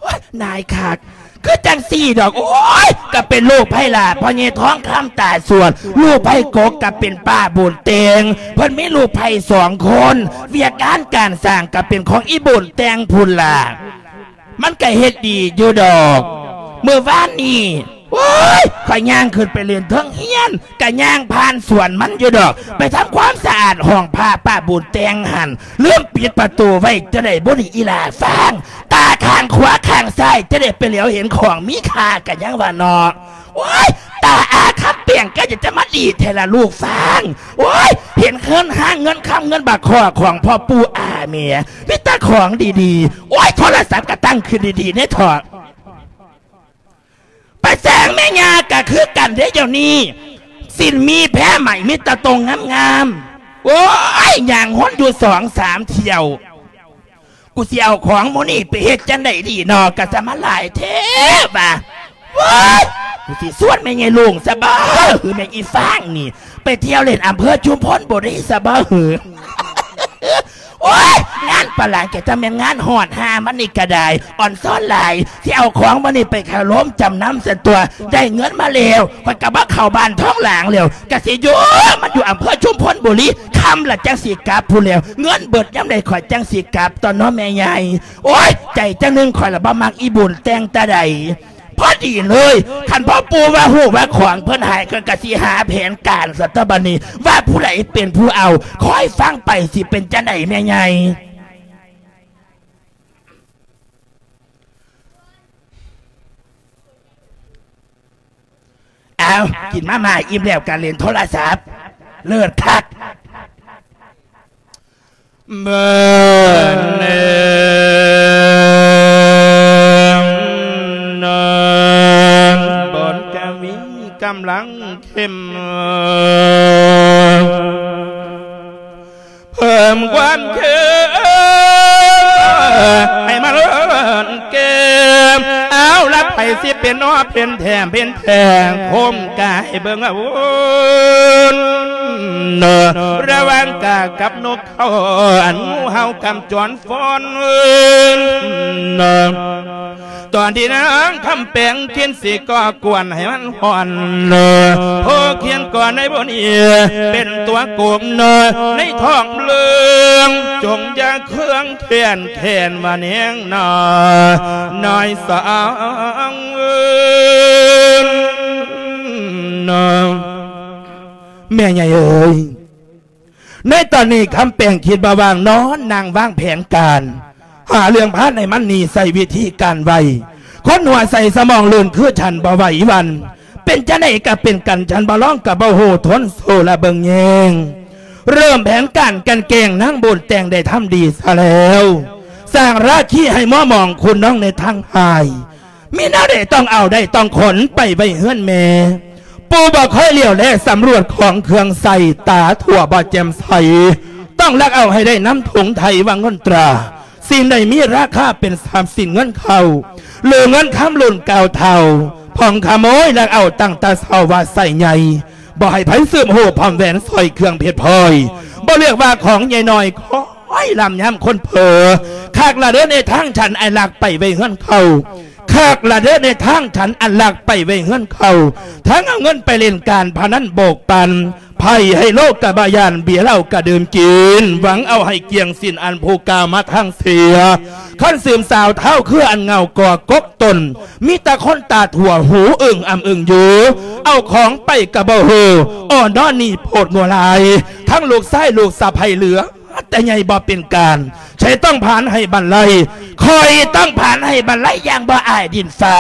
ໂອ້ຍ ນາຍຄັກ ຄືຈັ່ງຊີ້ດອກ. ໂອ້ຍ ກະເປັນລູກໃຜຫຼ້າ ພໍ່ໃຫຍ່ທອງຄຳຕາສວນ ລູກໃຜກົກກະເປັນປ້າບຸນແຕ່ງ ເພິ່ນມີລູກໃຜສອງຄົນ ວຽກງານການສ້າງກະເປັນຂອງອີ່ບຸນແຕ່ງພຸ້ນລະ ມັນກະເຮັດດີຢູ່ດອກ. ມື້ວານນີ້ ໂອ້ຍ ຂ້ອຍຍ່າງຂຶ້ນໄປຫຼິ້ນເທິງເຮືອນ ກະຍ່າງຜ່ານສວນມັນຢູ່ດອກ ໄປທຳຄວາມສະອາດຫ້ອງພະປ້າບຸນແຕ່ງຫັ້ນ ລືມປິດປະຕູໄວ້ ຈະໄດ້ບໍ່ນີ້ອີ່ຫຼ້າຟາງ ຕາຂ້າງຂວາຂ້າງຊ້າຍ ຈະໄດ້ໄປຫຼຽວເຫັນຂອງມີຄ່າ ກະຍັງວ່າເນາະ. ໂອ້ຍ ຕາອາຄຳແປງ ກະຈະ ຈະມາດີແທ້ລະລູກຟາງ. ໂອ້ຍ ເຫັນເງິນຫ້າງເງິນຄຳເງິນບາກຄໍ້ຂອງພໍ່ປູ່ອາແມ່ ມີແຕ່ຂອງດີໆ. ໂອ້ຍ ໂທລະສັບກະຕັ້ງຂຶ້ນດີໆແນ່ເຖາະ. ປະແສງແມ່ຍ່າກະຄືກັນເດ້ ດຽວນີ້ສິ້ນມີແພໄໝ ມີແຕ່ໂຕງາມໆ. ໂອ້ຍ ຍ່າງຫົນຢູ່ສອງສາມຖ້ຽວ ກູຊິເອົາຂອງໝູ່ນີ້ໄປເຮັດຈັ່ງໃດດີນໍ ກະສະມາຫຼາຍແທ້ວ່າ. ໂອ້ຍ ກູຊິຊວນແມ່ໃຫຍ່ລຸງຊະບໍ່ ຫຼືແມ່ນອີ່ຟາງນີ້ ໄປທ່ຽວຫຼິ້ນອຳເພີຊຸມພົນບໍ່ດີຊະບໍ່ຫື. ໂອ້ຍ ງານປານຫຼາຍກະຈະແມ່ນງານຮອດ ຫາມັນນີ້ກະໄດ້ ອອນຊອນຫຼາຍ ຊິເອົາຂອງມື້ນີ້ໄປເຂົ້າໂຮງຈຳນຳຊັ້ນຕົວະ ໄດ້ເງິນມາແລ້ວ ຂ້ອຍກະບໍ່ເຂົ້າບ້ານທອງຫຼາງແລ້ວ ກະຊິຢູ່ ມັນຢູ່ອຳເພີຊຸມພົນບຸລີ ຄ່ຳລະຈັ່ງຊິກັບພຸ້ນແລ້ວ ເງິນເບິດຍາມໃດຂ້ອຍຈັ່ງຊິກັບ ຕອນເນາະແມ່ໃຫຍ່. ໂອ້ຍ ໃຈຈັ່ງໜຶ່ງ ຂ້ອຍລະບໍ່ມັກອີ່ບຸນແຕ່ງຕາໃດ. ພໍດີເລີຍ ຄັນພໍ່ປູ່ວ່າຮູ້ວ່າຂອງເພິ່ນຫາຍ ຂ້ອຍກະຊິຫາແຜນການຊະຕົວະບາດນີ້ ວ່າຜູ້ໃດເປັນຜູ້ເອົາ ຄອຍຟັງໄປ ຊິເປັນຈັ່ງໃດແມ່ໃຫຍ່. ເອົາ ກິນມາມ່າອີ່ມແລ້ວກະຫຼິ້ນໂທລະສັບ ເລີດຄັກ. ເບິ່ງແນມນອນ ບົດກະວີກຳລັງເຂັ້ມ ເພີ່ມຄວາມເຂັ້ມໃຫ້ມາລ້ອນແກ້ມ ເອົາລະ ຊິເປັນໜໍເປັນແຖມເປັນແທ່ງ ໂຄມກາຍເບິ່ງອາວຸນ ລະຫວ່າງກາກັບນົກເຂົາ ອັນງູເຫົ່າກຳຈອນຟອນ ຕອນທີ່ນາງຄຳແປງຄິດຊິກໍ່ກວນໃຫ້ມັນຮ້ອນ ໂພຄຽນກ່ອນໃນບ່ອນນີ້ ເປັນຕົວໂກງໃນທ້ອງເລື່ອງ ຈົ່ງຢ່າເຄືອງແຄ້ນແຄ້ນວ່າແນງນາ ນ້ອຍສາງເອີຍ ແມ່ໃຫຍ່ເອີຍ. ໃນຕອນນີ້ຄຳແປງຄິດບໍ່ວ່າງນອນນັ່ງວາງແຜນການ ຫາເລື່ອງພາໃນມັນໜີໃສ່ວິທີການໄວ ຄົນຫົວໃສສະໝອງລື່ນຄືສັນບໍ່ໄຫວຫວັ່ນ ເປັນຈັ່ງໃດກະເປັນກັນ ສັນບໍ່ລອງກະບໍ່ຮູ້ທົນສູ້ລະເບິ່ງແຍງ ເລີ່ມແຜນການກັ່ນແກ້ງນາງບຸນແຕ່ງໄດ້ທຳດີຊະແລ້ວ ສ້າງລາຄີໃຫ້ມົວໝອງຄຸນນ້ອງໃນທາງຮ້າຍ ມີແນວໃດຕ້ອງເອົາໄດ້ຕ້ອງຂົນໄປໄວ້ເຮືອນແມ່ ປູ່ບໍ່ຄ່ອຍຫຼຽວແລສຳຫຼວດຂອງເຄື່ອງໃຊ້ ຕາທົ່ວບໍ່ແຈ່ມໃສ ຕ້ອງລັກເອົາໃຫ້ໄດ້ນຳຖົງໄຖວ່າເງິນຕາ ສິ່ງໃດມີລາຄາເປັນຊັບສິນເງິນເຂົ້າ ຫຼືເງິນຄຳລຸ້ນເກົ່າເຖົ້າ ພອງຂະໂມຍລັກເອົາຕັ້ງແຕ່ເຊົ້າວ່າໃຊ້ໃຫຍ່ ບໍ່ໃຫ້ໃຜສືບຮູ້ພ້ອມແຫວນສ້ອຍເຄື່ອງເພັດພອຍ ບໍ່ເລືອກວ່າຂອງໃຫຍ່ນ້ອຍ ໂອ້ຍ ລຳຍາມຄົນເຜີ ຄັກລະເດີໃນທາງສັນອັນລັກໄປໄວ້ເຮືອນເຂົາ ຄັກລະເດີໃນທາງສັນອັນລັກໄປໄວ້ເຮືອນເຂົາ ທັງເອົາເງິນໄປຫຼິ້ນການພະນັນໂບກປັນ ໄພ້ໄຮໂລກະບໍ່ຢ້ານ ເບຍເຫຼົ້າກະດື່ມກິນ ຫວັງເອົາໃຫ້ກ້ຽງສິ້ນອັນຜູ້ກ່າວມາທາງເສຍ ຄັນສືມສາວທ້າວເຄືອອັນເຫງົາກໍ່ກົກຕົນ ມີແຕ່ຄົນຕາຖົ່ວຫູອຶ່ງອຳອຶ່ງຢູ່ ເອົາຂອງໄປກະບໍ່ຮູ້ ໂອ້ ນອນນີ້ໂພດງົວຫຼາຍ ທັງລູກຊາຍລູກສະໃພ້ເຫຼືອ ແຕ່ໃຫຍ່ບໍ່ເປັນການ ໃຜຕ້ອງຜານໃຫ້ບັນໄລ ຂ້ອຍຕ້ອງຜານໃຫ້ບັນໄລຢ່າງບໍ່ອາຍດິນຟ້າ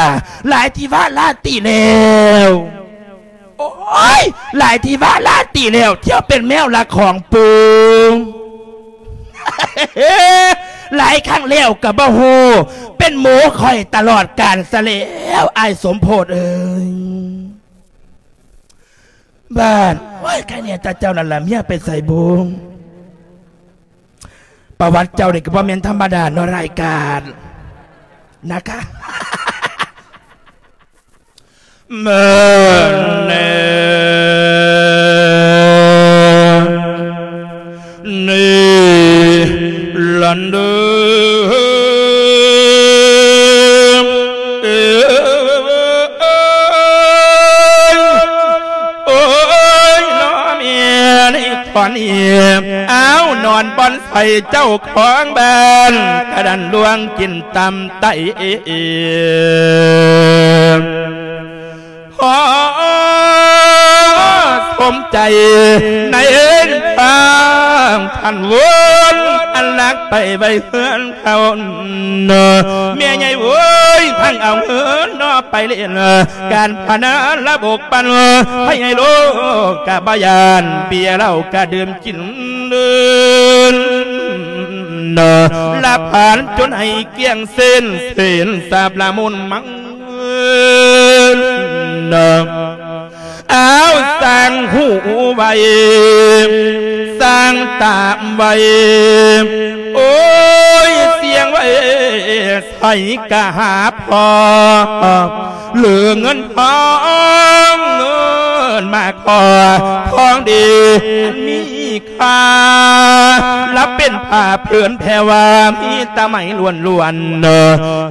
ຫຼາຍທີ່ວ່າລາຕີແລ້ວ ໂອ້ຍ ຫຼາຍທີ່ວ່າລາຕີແລ້ວ ທ່ຽວເປັນແມວລັກຂອງປູ່ ຫຼາຍຄັ້ງແລ້ວກະບໍ່ຮູ້ ເປັນໝູຂ້ອຍຕະຫຼອດການຊະແລ້ວ ອ້າຍສົມໂພດເອີຍ. ບ້ານ ໂອ້ຍ ໃຄແນ່ແຕ່ເຈົ້ານັ້ນລະ ເມຍໄປໃສບຸ? ປະຫວັດເຈົ້ານີ້ກະບໍ່ແມ່ນທຳມະດາເນາະ ຮ້າຍກາດນະຄະ. ເມີແນ ນີ້ລັນເດີ ເອີຍ ໂອ້ຍ ນ້ອງເມຍໃນຕອນນີ້ ອ້າວ ນອນບ່ອນໃສເຈົ້າຂອງບ້ານ ກະດັນລ່ວງກິນຕຳໄຕ ພໍສົມໃຈໃນທາງທ່ານວົນ ອັນລັກໄປໄວ້ເຮືອນເຂົາ ແມ່ໃຫຍ່ເວີຍ ທັງເອົາເງິນນອໄປຫຼິ້ນ ການພະນັນລະບົກປັນ ໃຫ້ໂລກະບໍ່ຢ້ານ ເບຍເຫຼົ້າກະດື່ມກິນ ລະຜານຈົນໃຫ້ກ້ຽງເສັ້ນ ເສັ້ນສາບລະມຸນມັງ ອ້າວ ສ້າງຫູໄວ້ ສ້າງຕາໄວ້ ໂອ້ຍ ສ່ຽງໄວ້ໃສກະຫາພໍ ຫຼືເງິນທອງ ເງິນມາຂໍ ຂອງດີມີ ຂ້າລະເປັນຜ້າຜືນແພວ່າ ມີແຕ່ໄມ້ລ້ວນ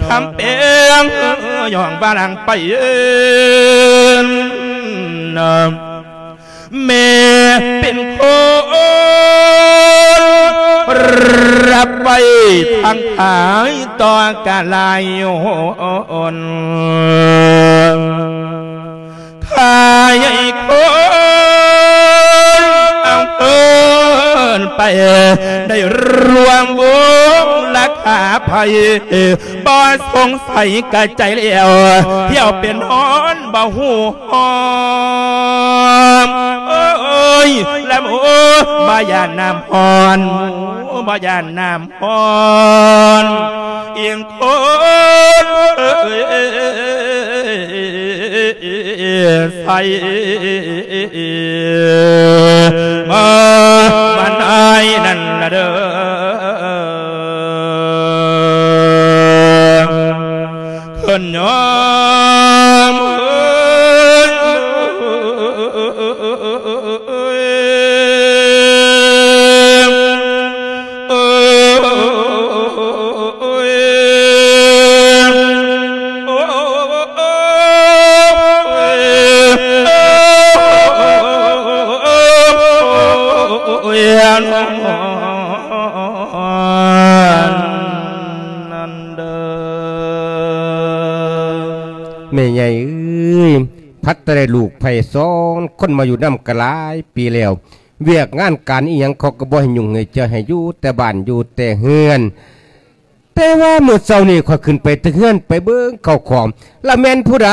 ໆ ຄຳແປງຍ້ອງວ່ານາງໄປ ແມ່ເປັນຄົນຮັບໄວ້ທັງຂາຍຕໍ່ກະຫຼາຍຫົນ ຂາຍໃຫ້ຄົນເອົາເພິ່ນໄປ ໄດ້ລວມວົງລາຄາໄພ ບໍ່ສົງໄສກະໃຈແລ້ວ ທ່ຽວເປັນນອນບໍ່ຮູ້ຫອມ ໂອ້ຍ ລະໝູບໍ່ຢ້ານນ້ຳຮ້ອນ ໝູບໍ່ຢ້ານນ້ຳ ອ່ອນ ອີງຄົນໃສມາ ມານາຍນັ້ນລະເດີ ຄ ຍາມເອີຍ ແມ່ໃຫຍ່ເອີຍ ພັດແຕ່ໄດ້ລູກໃພ້ສອງຄົນມາຢູ່ນຳກໍຫຼາຍປີແລ້ວ ວຽກງານການອີ່ຫຍັງເຂົາກໍບໍ່ໃຫ້ຫຍຸ້ງໃຫ້ເຈື່ອ ໃຫ້ຢູ່ແຕ່ບ້ານຢູ່ແຕ່ເຮືອນ. ແຕ່ວ່າມື້ເຊົ້ານີ້ຂ້ອຍຂຶ້ນໄປແຕ່ເຮືອນໄປເບິ່ງເຂົ້າຂອງ ລະແມ່ນຜູ້ໃດ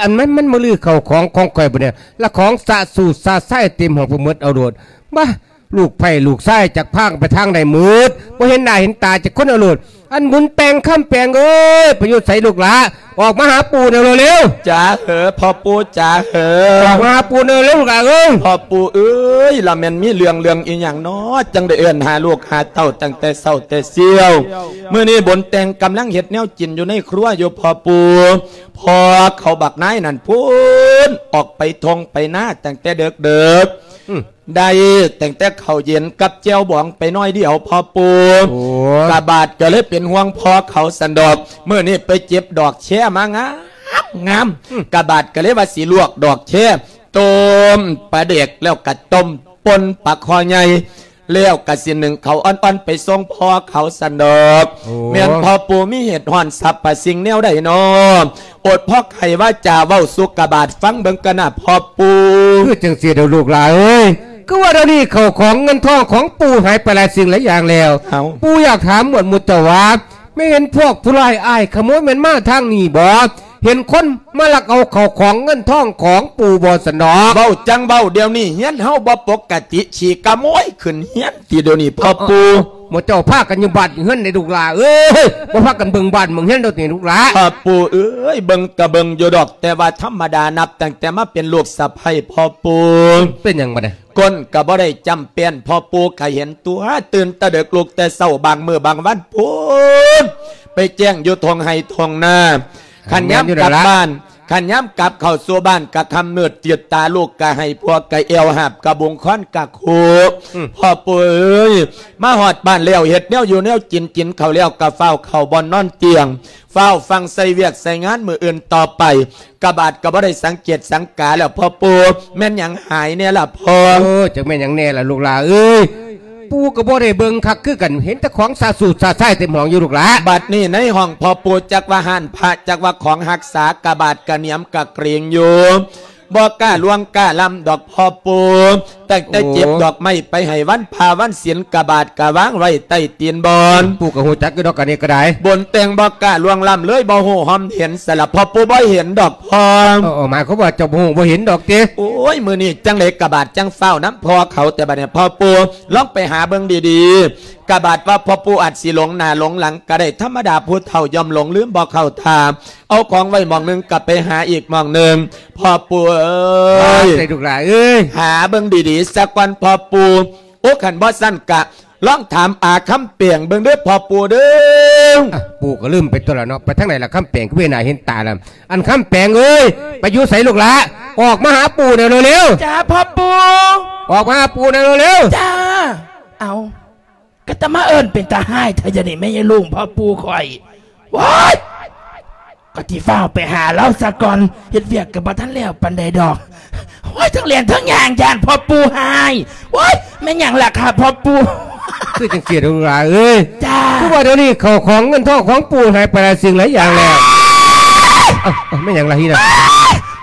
ອັນມັນ ມັນມາຮື້ເຂົ້າຂອງຂອງຂ້ອຍບໍນີ້ ລະຂອງສະສູດສະຊາຍເຕັມຫ້ອງໄປໝົດ ເອົາໂລດ ບາ ລູກໃພ້ລູກຊາຍຈັກພາກັນໄປທາງໃດໝົດ ບໍ່ເຫັນໜ້າເຫັນຕາຈັກຄົນ ເອົາໂລດ. ອັນບຸນແປງ ຄຳແປງເອີຍ ໄປຢູ່ໃສລູກຫຼາ? ອອກມາຫາປູ່ແດ່ເລັວໆ. ຈ໋າເຫີ ພໍ່ປູ່ຈ໋າເຫີ ອອກມາຫາປູ່ແດ່ເລັວລູກຫຼາເອີຍ. ພໍ່ປູ່ເອີຍ ລະແມ່ນມີເລື່ອງ ເລື່ອງອີ່ຫຍັງນໍ ຈັ່ງໄດ້ເອີ້ນຫາລູກຫາເຕົ້າຕັ້ງແຕ່ເຊົ້າແຕ່ຊຽວ? ມື້ນີ້ບຸນແຕງກຳລັງເຮັດແນວກິນຢູ່ໃນຄົວຢູ່ພໍ່ປູ່. ພໍ່ເຂົາບັກນາຍນັ້ນພຸ້ນ ອອກໄປທົ່ງໄປນາຕັ້ງແຕ່ເດິກໆ ອືມ ໄດ້ຕັ້ງແຕ່ເຂົ້າເຢັນກັບແຈ່ວບອງໄປໜ້ອຍດຽວພໍ່ປູ່. ໂອ້ ກະບາດກໍເລີຍເປັນຫ່ວງພໍ່ເຂົາຊັ້ນດອກ ມື້ນີ້ໄປເກັບດອກແຄມາງາມໆ ອືມ ກະບາດກໍເລີຍວ່າຊິລວກດອກແຄ ຕົ້ມປາແດກ ແລ້ວກະຕົ້ມປົ່ນປາຄໍ່ໃຫຍ່ ແລ້ວກະຊິໜຶ້ງເຂົ້າອ່ອນໆໄປສົ່ງພໍ່ເຂົາຊັ້ນດອກ. ໂອ້ ແມ່ນພໍ່ປູ່ມີເຫດຮ້ອນສັບພະສິ່ງແນວໃດນໍ? ອົດພໍໄຂວາຈາເວົ້າສູ່ກະບາດຟັງເບິ່ງກະນະພໍ່ປູ່. ຄືຈັ່ງຊີ້ດອກລູກຫຼາເອີຍ ຄືວ່າດຽວນີ້ເຂົ້າຂອງເງິນທອງຂອງປູ່ຫາຍໄປຫຼາຍສິ່ງຫຼາຍຢ່າງແລ້ວ. ເອົ້າ ປູ່ຢາກຖາມໝວດໝູ່ເຈົ້າວ່າ ແມ່ນເຫັນພວກຜູ້ຮ້າຍອ້າຍຂະໂມຍແມ່ນມາທາງນີ້ບໍ? ເຫັນຄົນມາລັກເອົາເຂົ້າຂອງເງິນທອງຂອງປູ່ບໍຊັ້ນດອກ? ເວົ້າຈັ່ງເວົ້າ ດຽວນີ້ເຮືອນເຮົາບໍ່ປົກກະຕິ ຂີ້ຂະໂມຍຂຶ້ນເຮືອນຕິດຽວນີ້ພໍ່ປູ່. ໝູ່ເຈົ້າພາກັນຢູ່ບ້ານຢູ່ເຮືອນໃດລູກຫຼາເອີຍ ບໍ່ພາກັນເບິ່ງບ້ານເບິ່ງເຮືອນດອກຕິລູກຫຼາ? ພໍ່ປູ່ເອີຍ ເບິ່ງກະເບິ່ງຢູ່ດອກ ແຕ່ວ່າທຳມະດານັບຕັ້ງແຕ່ມາເປັນລູກສະໃພ້ພໍ່ປູ່. ເປັນຫຍັງບັດນີ້? ກົ້ນກະບໍ່ໄດ້ຈ້ຳແປ້ນ ພໍ່ປູ່ກະເຫັນຕົວະ ຕື່ນແຕ່ເດິກລຸກແຕ່ເຊົ້າ ບາງມື້ບາງວັນພຸ້ນ ໄປແຈ້ງຢູ່ທົ່ງໄຮ່ທົ່ງນາ. ຄັນຍາມ ແມ່ນຢູ່ແລ້ວລະ ກັບບ້ານ ຄັນຍາມກັບເຂົ້າສູ່ບ້ານກະຄ່ຳມືດ ຈືດຕາລູກກະໄຫ້ ຜົວກະແອວ ຫາບກະບຸງ ຄ້ອນກະຄູ. ອືມ ພໍ່ປູ່ເອີຍ ມາຮອດບ້ານແລ້ວ ເຮັດແນວຢູ່ແນວກິນ ກິນເຂົ້າແລ້ວກະຟ້າວເຂົ້າບ່ອນນອນຕຽງ ຟ້າວຟັ່ງໃສ່ວຽກໃສ່ງານມື້ອື່ນຕໍ່ໄປ. ກະບາດກະບໍ່ໄດ້ສັງເກດສັງກາແລ້ວພໍ່ປູ່ ແມ່ນຫຍັງຫາຍແດ່ລະພໍ່? ເອີ ຈັກແມ່ນຫຍັງແດ່ລະລູກຫຼາເອີຍ ປູ່ກະບໍ່ໄດ້ເບິ່ງຄັກຄືກັນ ເຫັນແຕ່ຂອງສະສູດສະຊາຍເຕັມຫ້ອງຢູ່ລູກຫຼາ. ບັດນີ້ໃນຫ້ອງພໍ່ປູ່ ຈັກວ່າຮ້ານພະ ຈັກວ່າຂອງຮັກສາ ກະບາດກະໜຽມກະເກຣັງຢູ່ ບໍ່ກ້າລ່ວງກ້າລ້ຳດອກພໍ່ປູ່. ຕັ້ງແຕ່ ໂອ້ ເກັບດອກໄມ້ໄປໃຫ້ວັນພະວັນສິນ ກະບາດກະວາງໄວ້ໃຕ້ຕີນບ່ອນ. ປູ່ກະຮູ້ຈັກຢູ່ດອກ ອັນນີ້ກະໄດ້ ບົນແຕ່ງບໍ່ກ້າລ່ວງລ້ຳເລີຍ ບໍ່ຮູ້ຮ່ອມເຫັນ ສະລະພໍ່ປູ່ບໍ່ເຫັນດອກພໍ່. ເອີ ເອີ ໝາຍຄວາມວ່າເຈົ້າບໍ່ຮູ້ບໍ່ເຫັນດອກຕິ? ໂອ້ຍ ມື້ນີ້ຈັ່ງໃດກະບາດຈັ່ງຟ້າວນຳພໍ່ເຂົາ ແຕ່ບັດນີ້ພໍ່ປູ່ລອງໄປຫາເບິ່ງດີໆ ກະບາດວ່າພໍ່ປູ່ອາດຊິຫຼົງໜ້າຫຼົງຫຼັງກະໄດ້ ທຳມະດາຜູ້ເຖົ້າຍ່ອມຫຼົງລືມບໍ່ເຂົ້າທ່າ. ເອົາຂອງໄວ້ໝ່ອງໜຶ່ງກະໄປຫາອີກໝ່ອງໜຶ່ງ ພໍ່ປູ່ເອີຍ. ໄດ້ລູກຫຼາເອີຍ ຫາເບິ່ງດີໆສາກ່ອນພໍ່ປູ່. ໂອ້ ຄັນບໍ່ຊັ້ນກະລອງຖາມອາຄຳແປງເບິ່ງເດີພໍ່ປູ່ເດີ. ອະ ປູ່ກະລືມໄປຕົວະລະເນາະ ໄປທາງໃດລະຄຳແປງ ຄືບໍ່ເຫັນໜ້າເຫັນຕາລະ. ອັນຄຳແປງເອີຍ ໄປຢູ່ໃສລູກຫຼາ? ອອກມາຫາປູ່ແດ່ເລັວໆ. ຈ້າພໍ່ປູ່. ອອກມາຫາປູ່ແດ່ເລັວໆ. ຈ້າ. ເອົ້າ ກະຕະມາເອີ້ນເປັນຕາຮ້າຍແທ້ດຽວນີ້ ແມ່ຍາຍລຸງພໍ່ປູ່ຂ້ອຍ. ໂອ້ຍ ກະຊິຟ້າວໄປຫາລາວສາກ່ອນ ເຮັດວຽກກະບໍ່ທັນແລ້ວປານໃດດອກ. ໂອ້ຍ ທັງແລ່ນທັງຍ່າງ ຢ້ານພໍ່ປູ່ຮ້າຍ. ໂອ້ຍ ແມ່ນຫຍັງລະຄະພໍ່ປູ່? ຄືຈັ່ງຊີ້ລູກຫຼາເອີຍ. ຈ້າ. ຄືວ່າດຽວນີ້ເຂົ້າຂອງເງິນທອງຂອງປູ່ຫາຍໄປຫຼາຍສິ່ງຫຼາຍຢ່າງແລ້ວ. ເອົ້າ ເອົ້າ ແມ່ນຫຍັງລະຮີນະ?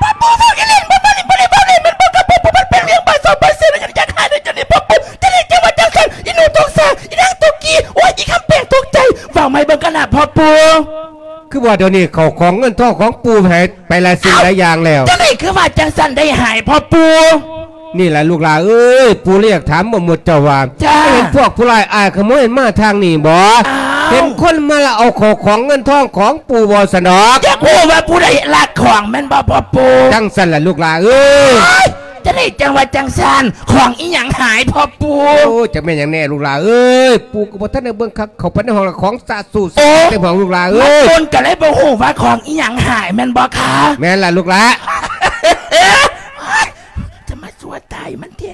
ພໍ່ປູ່ເວົ້າອີ່ຫຼີ ມັນບໍ່ໄດ້ເວົ້າຫຼິ້ນ ມັນບໍ່ກະປູ່ ມັນເປັນເລື່ອງບາດຊອບບາດເສຍ ມັນຍັງຢາກຫາຍໃນຈຸດນີ້ພໍ່ປູ່. ຈັ່ງໃດຈັ່ງວ່າຈັ່ງຊັ້ນ ອີ່ໜູຕົກສາ ອີນາງຕົກກີ ໂອ້ຍ ອີຄຳແປງຕົກໃຈ ເວົ້າໃໝ່ເບິ່ງກະນະພໍ່ປູ່. ຄືວ່າດຽວນີ້ເຂົ້າຂອງເງິນທອງຂອງປູ່ຫາຍໄປຫຼາຍສິ່ງຫຼາຍຢ່າງແລ້ວ. ຈັ່ງໃດຄືວ່າຈັ່ງຊັ້ນໄດ້ຫາຍພໍ່ປູ່? ນີ້ລະລູກຫຼາເອີຍ ປູ່ລະຢາກຖາມໝົດໝູ່ເຈົ້າວ່າ ຈ້າ ເຫັນພວກຜູ້ຮ້າຍອ້າຍຂະໂມຍມາທາງນີ້ບໍ່? ອ້າວ ເຫັນຄົນມາລັກເອົາເຂົ້າຂອງເງິນທອງຂອງປູ່ບໍ່ຊັ້ນດອກ? ຢາກຮູ້ວ່າຜູ້ໃດລັກຂອງແມ່ນບໍ່ພໍ່ປູ່? ຈັ່ງຊັ້ນລະລູກຫຼາເອີຍ. ຈະໄດ້ຈັ່ງວ່າຈັ່ງຊັ້ນ ຂອງອີ່ຫຍັງຫາຍພໍ່ປູ່? ໂອ້ຍ ຈັກແມ່ນຫຍັງແນ່ລູກຫຼ້າເອີຍ ປູ່ກໍບໍ່ທັນໄດ້ເບິ່ງຄັກ ເຂົ້າໄປໃນຫ້ອງລະຂອງສະສູດ ໂອ້ ເຕັມຫ້ອງລູກຫຼ້າເອີຍ ມາປູ່ກໍເລີຍບໍ່ຮູ້ວ່າຂອງອີ່ຫຍັງຫາຍແມ່ນບໍ່ຄະ? ແມ່ນລະລູກຫຼ້າ ຈະມາຊົ່ວຕາຍມັນແທ້.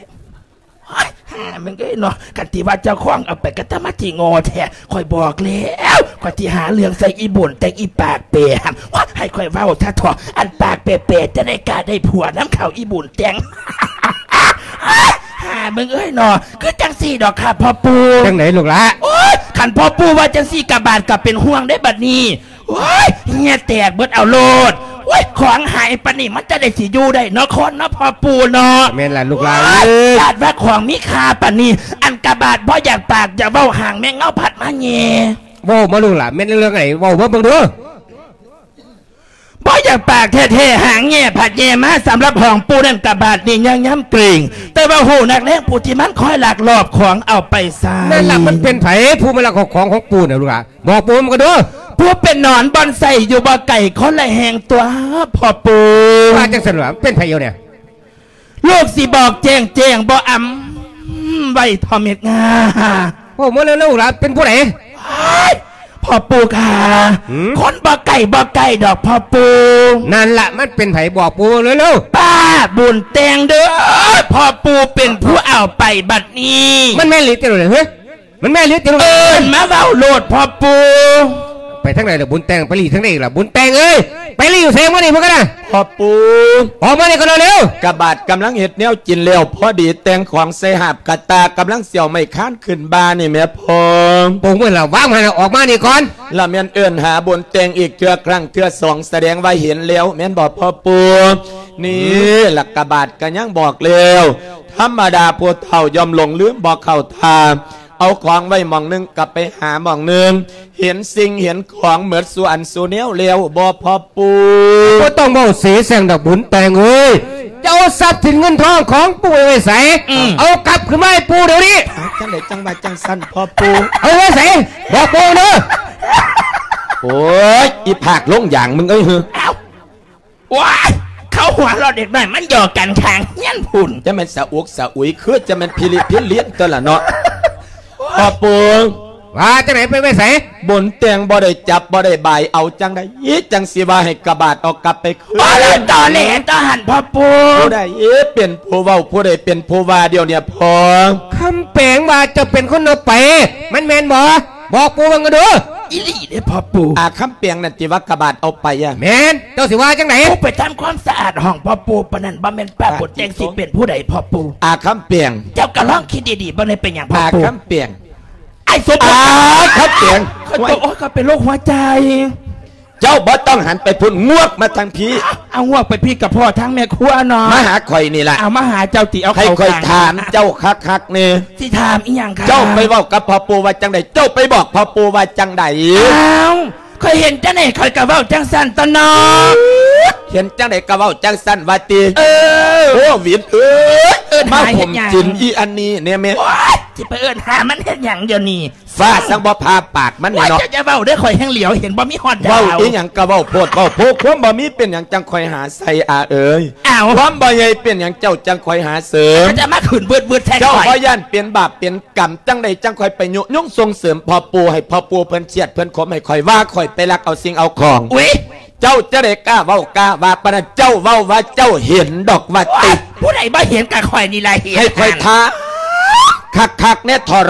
ໂອ້ຍ ຫາມຶງເອີຍເນາະ ຄັນທີ່ວ່າເຈົ້າຂອງເອົາໄປກໍຕະມາທີ່ໂງ່ແທ້ ຂ້ອຍບອກແລ້ວ ຂ້ອຍຊິຫາເລື່ອງໃສ່ອີ່ບຸນແຕ່ງ ອີປາກເປຫັ້ນ ໂອ້ຍ ໃຫ້ຂ້ອຍເວົ້າຊະເຖາະ ອັນປາກເປໆ ຈະໄດ້ກະໄດ້ຜົວນຳເຂົາ ອີບຸນແຕ່ງ ຫາມຶງເອີຍເນາະ ຄືຈັ່ງຊີ້ດອກຄ່ະພໍ່ປູ່. ຈັ່ງໃດລູກຫຼ້າ? ໂອ້ຍ ຄັນພໍ່ປູ່ວ່າຈັ່ງຊີ້ ກະບາດກໍເປັນຫ່ວງເດ້ບັດນີ້. ໂອ້ຍ ເຫື່ອແຕກເບິດເອົາໂລດ ໂອ້ຍ ຂອງຫາຍປານນີ້ ມັນຈະໄດ້ຊິຢູ່ໄດ້ເນາະ ຄົນເນາະ ພໍ່ປູ່ເນາະ. ແມ່ນລະລູກຫຼ້າເອີຍ ໂອ້ຍ ຢ້ານວ່າຂອງມີຄ່າປານນີ້ ອັນກະບາດບໍ່ຢາກປາກຢາກເວົ້າ ຫາງແມງເງົາພັດມາແຍ່. ເວົ້າມາລູກຫຼ້າ ແມ່ນເລື່ອງໃດ ເວົ້າມາເບິ່ງດູ. ບໍ່ຢາກປາກແທ້ໆ ຫາງແຍ່ພັດແຍ່ມາ ສຳລັບຂອງປູ່ນັ້ນ ກະບາດນີ້ຍັງຍຳເກງ ແຕ່ວ່າຮູ້ນັກແລງຜູ້ທີ່ມັນຄອຍລັກລອບຂອງເອົາໄປໃຊ້. ນັ້ນລະ ມັນເປັນໃຜຜູ້ມາລັກເອົາຂອງຂອງປູ່ນະລູກຫຼ້າ? ບອກປູ່ມັນກໍດູ. ຜູ້ເປັນໜອນບ່ອນໃສ່ຢູ່ບໍ່ໄກຄົນລະແຫ່ງຕົວະພໍ່ປູ່. ວ່າຈັ່ງຊັ້ນຫວາ? ເປັນໃຜຢູ່ນີ້? ລູກຊິບອກແຈ້ງໆ ບໍ່ອຳໄວ້ທໍ່ເມັດງາ. ເວົ້າມາເລີຍລູກຫຼ້າ ເປັນຜູ້ໃດ? ໂອ້ຍ ພໍ່ປູ່ຂ້າ ຫືມ? ຄົນບໍ່ໃກ້ບໍ່ໃກ້ດອກພໍ່ປູ່. ນັ້ນລະ ມັນເປັນໃຜ? ບອກປູ່ເລີຍເລີຍ. ປ້າບຸນແຕ່ງເດີ ພໍ່ປູ່ເປັນຜູ້ເອົາໄປບັດນີ້. ມັນແມ່ນອີ່ຫຼີຕິລູກເອີຍ? ມັນແມ່ນອີ່ຫຼີຕິລູກ? ເອີ້ນມາເວົ້າໂລດພໍ່ປູ່. ໄປທາງໃດລະບຸນແຕ່ງ? ໄປຫຼີ້ທາງໃດລະບຸນແຕ່ງເອີຍ? ໄປຫຼີ້ຢູ່ໃສມື້ນີ້ມຶງກະນະ? ພໍ່ປູ່ ອອກມານີ້ກ່ອນເລັວ. ກະບາດກຳລັງເຮັດແນວກິນແລ້ວ ພໍດີແຕ່ງຂອງໃສ່ຫາບກະຕ່າ ກຳລັງຊິເອົາໄມ້ຄານຂຶ້ນບ່ານີ້ແມ່ພໍ່. ປົງເມື່ອລະວາງຫັ້ນ ອອກມານີ້ກ່ອນ. ລະແມ່ນເອີ້ນຫາບຸນແຕ່ງອີກເທື່ອ ຄັ້ງເທື່ອສອງ ສະແດງວ່າເຫັນແລ້ວແມ່ນບໍ່ພໍ່ປູ່? ນີ້ ອືມ ລະກະບາດກະຍັງບອກແລ້ວ ທຳມະດາຜູ້ເຖົ້າຍ່ອມຫຼົງລືມບໍ່ເຂົ້າທ່າ ເອົາຂອງໄວ້ໝ່ອງໜຶ່ງກໍໄປຫາໝ່ອງໜຶ່ງ ເຫັນສິ່ງເຫັນຂອງເໝິດສູ່ອັນສູ່ແນວແລ້ວບໍ່ພໍ່ປູ່? ບໍ່ຕ້ອງເວົ້າເສແສ້ງດອກບຸນແຕ່ງເອີຍ ເຈົ້າເອົາຊັບສິນເງິນທອງຂອງປູ່ໄວ້ໃສ? ອືມ ເອົາກັບຄືນມາໃຫ້ປູ່ດຽວນີ້. ຈັ່ງໃດຈັ່ງວ່າຈັ່ງຊັ້ນພໍ່ປູ່? ເອົາໄວ້ໃສ? ບອກປູ່ເດີ. ໂອ້ຍ ອີພາກລົງຢາງມຶງເອີຍ. ໂອ້ຍ ເຂົາຫົວເລາະເດັກນ້ອຍ ມັນຫຍອກກັນຂ້າງເຮືອນພຸ້ນ. ຈະແມ່ນສະອຸກສະອຸຍ ຄືຈະແມ່ນພິລິພິລຽນຕົວລະເນາະ. ພໍ່ປູ່ ວ່າຈັ່ງໃດ? ໄປໄວ້ໃສ? ບຸນແຕ່ງບໍ່ໄດ້ຈັບບໍ່ໄດ້ບາຍ ເອົາຈັ່ງໃດຈັ່ງຊິວ່າໃຫ້ກະບາດເອົາກັບໄປຄືນ? ບໍ່ໄດ້ຕອແຫຼຕໍ່ຫັ້ນພໍ່ປູ່. ຜູ້ໃດເປັນຜູ້ເວົ້າ ຜູ້ໃດເປັນຜູ້ວ່າດຽວນີ້ພໍ່? ຄຳແປງວ່າເຈົ້າເປັນຄົນເອົາໄປ ມັນແມ່ນບໍ່? ບອກປູ່ເບິ່ງກັນດູ. ອີ່ຫຼີເດ້ພໍ່ປູ່. ອາຄຳແປງນັ້ນຕິວ່າກະບາດເອົາໄປອະ? ແມ່ນ. ເຈົ້າຊິວ່າຈັ່ງໃດ? ປູ່ໄປທຳຄວາມສະອາດຫ້ອງພໍ່ປູ່ປານນັ້ນ ບໍ່ແມ່ນປ້າບຸນແຕ່ງຊິເປັນຜູ້ໃດພໍ່ປູ່? ອາຄຳແປງ ເຈົ້າກໍລອງຄິດດີໆເບິ່ງແດ່ ເປັນຫຍັງພໍ່ປູ່? ອາຄຳແປງ ອ້າຍສົມ ອາຄຳແປງ ຂ້ອຍຕົກ ໂອ້ຍ ຂ້ອຍເປັນໂລກຫົວໃຈ. ເຈົ້າບໍ່ຕ້ອງຫັນໄປພຸ້ນ ງວກມາທາງພີ້. ເອົາ ງວກໄປພີ້ກະພໍ້ທາງແມ່ຄົວເນາະ. ມາຫາຂ້ອຍນີ້ລະ. ເອົາ ມາຫາເຈົ້າຕິ ເອົາ ໃຫ້ຂ້ອຍຖາມເຈົ້າຄັກໆແນ່. ຊິຖາມອີ່ຫຍັງຄະ? ເຈົ້າໄປເວົ້າກັບພໍ່ປູ່ວ່າຈັ່ງໃດ? ເຈົ້າໄປບອກພໍ່ປູ່ວ່າຈັ່ງໃດ? ອ້າວ ຂ້ອຍເຫັນຈັ່ງໃດຂ້ອຍກະເວົ້າຈັ່ງຊັ້ນຕົວເນາະ. ເຫັນຈັ່ງໃດກະເວົ້າຈັ່ງຊັ້ນວ່າຕິ? ເອີ ໂຄວິດເອີຍ ເອີ້ນມາຫົ່ມກິນອີ່ອັນນີ້ແນ່ແມ່. ໂອ້ຍ ຊິໄປເອີ້ນຫາມັນເຮັດຫຍັງດຽວນີ້? ຟ້າສັງບໍ່ຜ່າປາກມັນແນ່ເນາະ. ໂອ້ຍ ເຈົ້າຢ່າເວົ້າເດີ ຂ້ອຍແຮ່ງຫຼຽວເຫັນບໍ່ມີຮອດດາວ. ເວົ້າອີ່ຫຍັງກະເວົ້າໂພດເວົ້າໂພ ຄວາມບໍ່ມີເປັນຫຍັງຈັ່ງຄ່ອຍຫາໃສ່ ອາເອີຍ. ອ້າວ ຄວາມບໍ່ໃຫຍ່ເປັນຫຍັງເຈົ້າຈັ່ງຄ່ອຍຫາເສີມ. ເຈົ້າຈະມາຂຶ້ນວືດໆໃສ່ຂ້ອຍ. ເຈົ້າບໍ່ຢ້ານເປັນບາບເປັນກຳຈັ່ງໃດຈັ່ງຄ່ອຍໄປຍຸຍົງສົ່ງເສີມພໍ່ປູ່ ໃຫ້ພໍ່ປູ່ເພິ່ນຄຽດເພິ່ນຂົມ ໃຫ້ຂ້ອຍວ່າຂ້ອຍໄປລັກເອົາສິ່ງເອົາຂອງ. ອຸ້ຍ ເຈົ້າຈະໄດ້ກ້າເວົ້າກ້າວ່າປານນັ້ນ? ເຈົ້າເວົ້າວ່າເຈົ້າເຫັນດອກວ່າຕິ. ໂອ້ຍ ຜູ້ໃດບໍ່ເຫັນກະຂ້ອຍນີ້ລະເຫັນ. ໃຫ້ຂ້ອຍຖາມຄັກໆແນ່ທໍ່າ.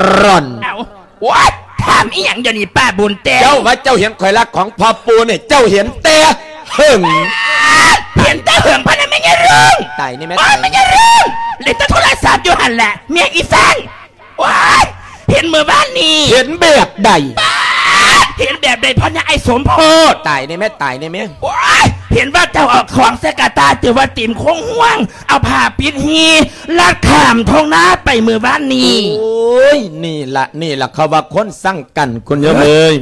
ເອົ້າ ໂອ້ຍ ຖາມອີ່ຫຍັງດຽວນີ້ປ້າບຸນແຕ່ງ? ເຈົ້າວ່າເຈົ້າເຫັນຂ້ອຍລັກຂອງພໍ່ປູ່ນີ້ ເຈົ້າເຫັນແຕ່ເຫິງ. ເຫັນແຕ່ເຫິງພະນະແມ່ຍາລຸງ. ຕາຍນີ້ແມ່. ໂອ້ຍ ແມ່ຍາລຸງ ຫຼິ້ນແຕ່ໂທລະສັບຢູ່ຫັ້ນແຫຼະ ແມ່ອີສັງ. ໂອ້ຍ ເຫັນມື້ວານນີ້. ເຫັນແບບໃດ? ປາດ ເຫັນແບບໃດພໍ່ໃຫຍ່ອ້າຍສົມໂພດ? ຕາຍແນ່ແມ່ ຕາຍແນ່ແມ່. ໂອ້ຍ ເຫັນວ່າເຈົ້າເອົາຂອງໃສ່ກະຕ່າ ເຈົ້າວ່າຕີມຄົງຫ່ວງ ເອົາຜ້າປິດຮີ ລັດຂ້າມທົ່ງນາໄປມື້ວານນີ້. ໂອ້ຍ ນີ້ລະ ນີ້ລະ ເຂົາວ່າຄົນຊັງກັນ ຄຸນໂຍມເອີຍ.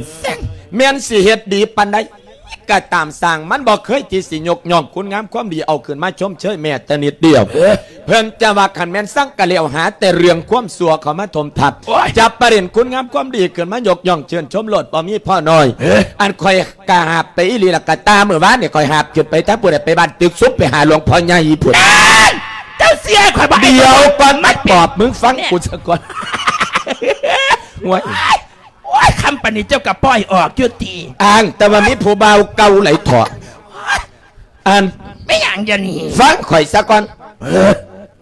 ແມ່ນຊິເຮັດດີປານໃດ ກະຕາມຊ່າງ ມັນບໍ່ເຄີຍທີ່ຊິຍົກຍ້ອງຄຸນງາມຄວາມດີ ເອົາຂຶ້ນມາຊົມເຊີຍແມ້ແຕ່ນິດດຽວ. ເອີ ເພິ່ນຈະວ່າຄັນແມ່ນສັງກະແລ້ວ ຫາແຕ່ເລື່ອງຄວາມຊົ່ວເຂົ້າມາຖົມທັບ. ໂອ້ຍ ຈະປະເດັນຄຸນງາມຄວາມດີຂຶ້ນມາຍົກຍ້ອງເຊີນຊົມໂລດ ບໍ່ມີພໍໜ້ອຍ. ເອີ ອັນຂ້ອຍກະຫາບໄປອີ່ຫຼີລະ ກະຕ່າມື້ວານນີ້ ຂ້ອຍຫາບຂຶ້ນໄປທາງພຸ້ນ ໄປບ້ານຕຶກຊຸມ ໄປຫາຫຼວງພໍ່ໃຫຍ່ພຸ້ນ. ເຈົ້າ ເສຍ ຂ້ອຍບໍ່ໃຫ້ ດຽວກ່ອນ ມາປອບ ມຶງຟັງ ແມ່ນ ກູຊະກ່ອນ. ໂອ້ຍ ໂອ້ຍ ຄຳປານນີ້ເຈົ້າກໍປ່ອຍອອກຢູ່ຕິ? ອ້າງແຕ່ວ່າມີຜູ້ບ່າວເກົ່າຫຼາຍເຖາະ. ອັນ ແມ່ນຫຍັງດຽວນີ້? ຟັງຂ້ອຍຊະກ່ອນ. ເອີ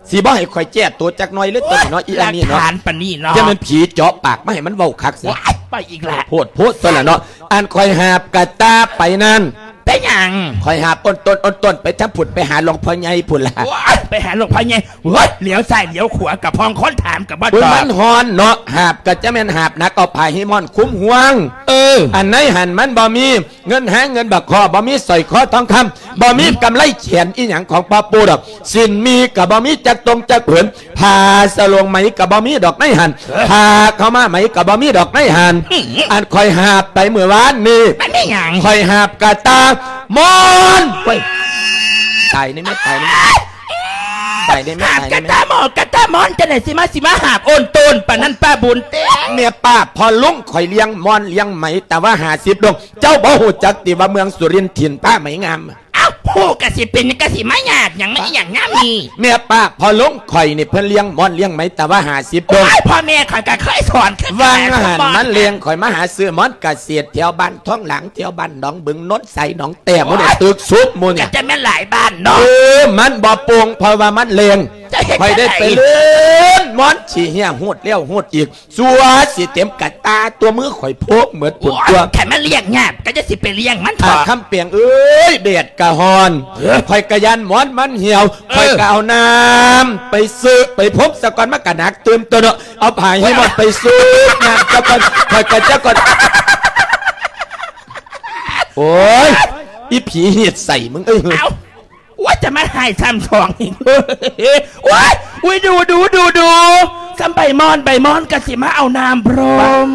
ຊິບໍ່ໃຫ້ຂ້ອຍແກ້ຕົວຈັກໜ່ອຍເລີຍຕົວນີ້ເນາະ ອີອັນນີ້ເນາະ. ຫຼັກຖານປານນີ້ເນາະ ຈະແມ່ນຜີເຈາະປາກມາໃຫ້ມັນເວົ້າຄັກຊະ. ໂອ້ຍ ໄປອີກລະ ໂພດໂພດຕົວລະເນາະ. ອັນຂ້ອຍຫາບກະຕ່າໄປນັ້ນ ເປັນຫຍັງ? ຂ້ອຍຫາບໂອນໂຕນໂອນໂຕນໄປທາງພຸ້ນ ໄປຫາຫຼວງພໍ່ໃຫຍ່ພຸ້ນລະ. ໂອ້ຍ ໄປຫາຫຼວງພໍ່ໃຫຍ່ ໂອ້ຍ ຫຼຽວຊ້າຍຫຼຽວຂວາກະພອງ ຄົນຖາມກະບໍ່ຕອບ. ໂອ້ຍ ມັນຮ້ອນເນາະ ຫາບກະຈະແມ່ນຫາບໜັກ ເອົາຜ້າຮີມຮ້ອນຄຸມຮ່ວງ. ເອີ ອັນໃນຫັ້ນມັນບໍ່ມີ ເງິນຫາເງິນບາກຄໍ້ ບໍ່ມີສ້ອຍຄໍທອງຄຳ ບໍ່ມີກຳໄລແຂນອີ່ຫຍັງຂອງພໍ່ປູ່ດອກ. ສິ້ນໝີ້ກໍບໍ່ມີຈັກຕົງຈັກຜືນ ຜ້າສະໂຫຼງໄໝກໍບໍ່ມີດອກໃນຫັ້ນ. ເອີ ຜ້າຂາວມ້າໄໝກໍບໍ່ມີດອກໃນຫັ້ນ. ອືມ ອັນຂ້ອຍຫາບໄປມື້ວານນີ້ ມັນມີຫຍັງ? ຂ້ອຍຫາບກະຕ່າມອນ. ໂອ້ຍ ຕາຍໃນແມ່ ຕາຍໃນແມ່ ຕາຍໃນແມ່ ຫາບກະຕ່າມອນ ກະຕ່າມອນ ຈັ່ງໃດຊິມາ ຊິມາຫາບໂອນໂຕນປານນັ້ນ ປ້າບຸນເຕັງ? ແມ່ປ້າ ພໍ່ລຸງຂ້ອຍລ້ຽງມອນລ້ຽງໄໝ ແຕ່ວ່າຫ້າສິບດົງ ເຈົ້າບໍ່ຮູ້ຈັກຕິວ່າເມືອງສຸລິນຖິ່ນຜ້າໄໝງາມ? ເອົ້າ ຮູ້ກະຊິເປັນຫຍັງ ກະຊິມາຍາກຫຍັງ ມາອີ່ຫຍັງຍາມນີ້? ແມ່ປ້າ ພໍ່ລຸງຂ້ອຍນີ້ເພິ່ນລ້ຽງມອນລ້ຽງໄໝ ແຕ່ວ່າຫ້າສິບດົງ. ໂອ້ຍ ພໍ່ແມ່ຂ້ອຍກະເຄີຍສອນຄືກັນ ວ່າງຫັ້ນມັນແລງ ຂ້ອຍມາຫາຊື້ມອນກະເສດແຖວບ້ານທອງຫຼາງ ແຖວບ້ານໜອງບຶງ ໂນນໄຊ ໜອງແຕ້ ໝູ່ນີ້ ຕຶກສຸບໝູ່ນີ້ ກະຈະແມ່ນຫຼາຍບ້ານເນາະ. ເອີ ມັນບໍ່ໂປ່ງ ເພາະວ່າມັນແລງ. ເຈົ້າເຮັດ ຂ້ອຍໄດ້ ຈັ່ງໃດ ໄປເລີ້ນມອນຂີ້ເຫື່ອ ຮູດແລ້ວຮູດອີກ ຊົ່ວຊິເຕັມກະຕ່າຕົວ ມືຂ້ອຍໂພກໝົດພຸ້ນຕົວະ. ໂອ້ຍ ຄັນມັນລ້ຽງຍາກກໍຢ່າຊິໄປລ້ຽງມັນເຖາະ ອາຄຳແປງເອີຍ. ແດດກະຮ້ອນ ເອີ ຂ້ອຍກະຢ້ານໝອນມັນຫ່ຽວ ເອີ ຂ້ອຍກະເອົານ້ຳໄປຊຶບໄປພົມສາກ່ອນ ມັນກະໜັກຕື່ມຕົວເນາະ. ເອົາຜ້າຮີມອນໄປຊຶບນ້ຳສາກ່ອນ ຂ້ອຍກະຈະກ່ອນ. ໂອ້ຍ ອີຜີຮີດໄສ້ມຶງເອີຍ. ເອົ້າ ໂອ້ຍ ຈະມາຮ້າຍຊ້ຳສອງອີກ. ໂອ້ຍ ອຸ້ຍ ດູ ດູ ດູ ດູ ສ່ຳໃບມອນ ໃບມອນກະຊິມາເອົານ້ຳພົມ.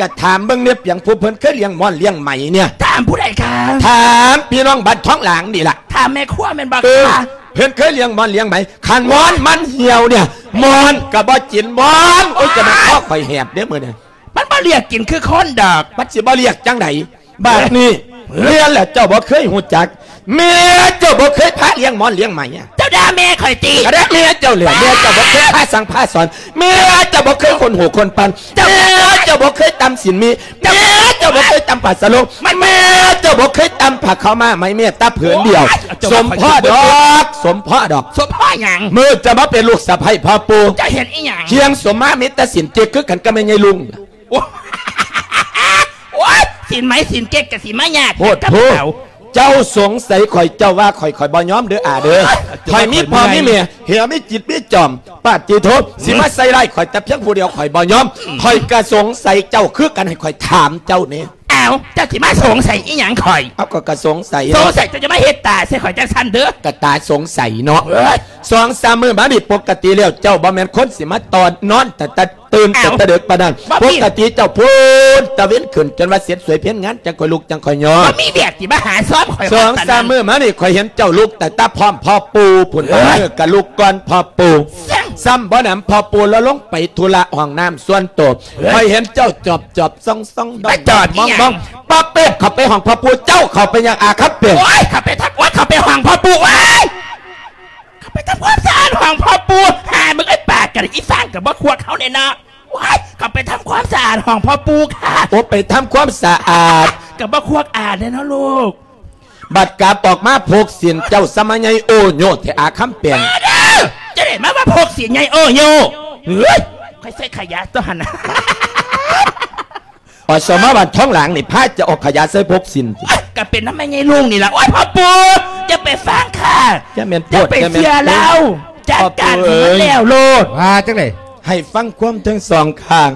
ກະຖາມເບິ່ງແດ່ ປຽງຜູ້ເພິ່ນເຄີຍລ້ຽງມອນລ້ຽງໄໝເນ່ຍ. ຖາມຜູ້ໃດຄະ? ຖາມພີ່ນ້ອງບ້ານທອງຫຼາງນີ້ລະ. ຖາມແມ່ຄົວແມ່ນບໍ່ຄະ? ເອີ ເພິ່ນເຄີຍລ້ຽງມອນລ້ຽງໄໝ. ຄັນມອນມັນຫ່ຽວເນ່ຍ ມອນກະບໍ່ກິນມອນ. ໂອ້ຍ ຈະແມ່ນຄໍຂ້ອຍແຫບເດ້ມື້ນີ້. ມັນບໍ່ລຽກກິນຄືຄົນດອກ. ມັນຊິບໍ່ລຽກຈັ່ງໃດ? ບາດນີ້ ເອີ ເມຍລະເຈົ້າບໍ່ເຄີຍຮູ້ຈັກ ເມຍເຈົ້າບໍ່ເຄີຍພາລ້ຽງມອນລ້ຽງໄໝ. ເຈົ້າດ່າແມ່ຂ້ອຍຕິ? ກະດ່າເມຍເຈົ້າແຫຼະ. ແມ່ເຈົ້າບໍ່ເຄີຍພາສັ່ງພາສອນ ເມຍເຈົ້າບໍ່ເຄີຍຂົນຫູຂົນປັນ ເຈົ້າ ເມຍເຈົ້າບໍ່ເຄີຍຕ່ຳສິ້ນໝີ້ ເຈົ້າ ເມຍເຈົ້າບໍ່ເຄີຍຕ່ຳຜ້າສະໂຫຼງ ມັນ ເມຍເຈົ້າບໍ່ເຄີຍຕ່ຳຜ້າຂາວມ້າໄໝ ແມ້ແຕ່ຜືນດຽວ. ໂອ້ຍ ສົມພໍດອກ ສົມພໍດອກ. ສົມພໍຫຍັງ? ມື້ເຈົ້າມາເປັນລູກສະໃພ້ພໍ່ປູ່ ເຈົ້າເຮັດອີ່ຫຍັງ? ຄຽງສົມມາມີແຕ່ສິ້ນເຈັກ ຄືກັນກັບແມ່ໃຫຍ່ລຸງ. ໂອ້ຍ ໂອ້ຍ ສິ້ນໄໝສິ້ນເກັກກະຊິມາຍາກ ໂພດ ກັບ ໂພດ ເຂົາ. ເຈົ້າສົງໄສຂ້ອຍ ເຈົ້າວ່າຂ້ອຍ ຂ້ອຍບໍ່ຍອມເດີອາເດີ. ໂອ້ຍ ຂ້ອຍມີພໍ່ມີແມ່ ເຫື່ອມີຈິດມີຈອມ ປາດຕິໂທ ຊິມາໃສ່ຮ້າຍຂ້ອຍແຕ່ພຽງຜູ້ດຽວ ຂ້ອຍບໍ່ຍອມ. ອືມ ຂ້ອຍກະສົງໄສເຈົ້າຄືກັນ ໃຫ້ຂ້ອຍຖາມເຈົ້າແດ່. ອ້າວ ເຈົ້າຊິມາສົງໄສອີ່ຫຍັງຂ້ອຍ? ເອົາ ກໍ ກະສົງໄສ ສົງໄສ ເຈົ້າຈະມາເຮັດຕາໃສ່ຂ້ອຍຈັ່ງຊັ້ນເດີ. ກະຕາສົງໄສເນາະ. ເອີຍ ສອງສາມມື້ມານີ້ ປົກກະຕິແລ້ວ ເຈົ້າບໍ່ແມ່ນຄົນຊິມາຕອນນອນແຕ່ ແຕ່ ຕື່ນ ເອົ້າ ແຕ່ເດີກປານນັ້ນ. ປົກກະຕິເຈົ້າພຸ້ນ ຕາເວັນຂຶ້ນຈົນວ່າເສັດສວຍເພັນງານ ຈັ່ງຄ່ອຍລຸກຈັ່ງຄ່ອຍຍ່ອງ. ບໍ່ມີວຽກຊິມາຫາຊອມຂ້ອຍ. ສອງສາມມື້ມານີ້ ຂ້ອຍເຫັນເຈົ້າລຸກຕັ້ງແຕ່ພ້ອມພໍ່ປູ່ພຸ້ນ. ເອີຍ ເອີ ກະລຸກກ່ອນພໍ່ປູ່. ຊ້ຳບໍ່ໜຳ ພໍ່ປູ່ລາວລົງໄປທຸລະຫ້ອງນ້ຳສ່ວນໂຕ. ເອີຍ ຂ້ອຍເຫັນເຈົ້າຈອບໆ ສ່ອງໆ ດອມໆ ມອງໆ. ປະເປັດ ເຂົ້າໄປຫ້ອງພໍ່ປູ່. ເຈົ້າເຂົ້າໄປຫຍັງ ອາຄຳແປງ? ໂອ້ຍ ເຂົ້າໄປທຳ ໂອ້ຍ ເຂົ້າໄປຫ້ອງພໍ່ປູ່. ໂອ້ຍ ເຂົ້າໄປທຳຄວາມສະອາດຫ້ອງພໍ່ປູ່. ຫາ ມຶງເອີຍ ປາກກັນ ອີ່ຟາງກະບໍ່ຄວກເຮົາແນ່ເນາະ. ວ້າຍ ເຂົ້າໄປທຳຄວາມສະອາດຫ້ອງພໍ່ປູ່ຄ່ະ. ໂອ ໄປທຳຄວາມສະອາດ ກະບໍ່ຄວກອາດແນ່ເນາະລູກ. ບັດກັບອອກມາ ພົກສິນເຈົ້າສະມາໃຫຍ່ໂອໂຍແທ້ ອາຄຳແປງ. ເອີເດີ ຈະໄດ້ມາວ່າພົກສິນໃຫຍ່ໂອໂຍ. ເຮີ້ຍ ຂ້ອຍໃສ່ຂະຫຍາຕົວຫັ້ນນະ. ອສມ ບ້ານທອງຫຼາງນີ້ ພາເຈົ້າເອົາຂະຫຍາໃສ່ພົກສິນ. ກະເປັນນຳແມ່ໃຫຍ່ລຸງນີ້ລະ. ໂອ້ຍ ພໍ່ປູ່ ຢ່າໄປຟັງຄ່ະ ຢ່າແມ່ນໂພດ ຢ່າໄປເຊື່ອລາວ. ຈັດການໃຫ້ມັນແລ້ວໂລດ. ວ່າຈັ່ງໃດ? ໃຫ້ຟັງຄວາມທັງສອງຂ້າງ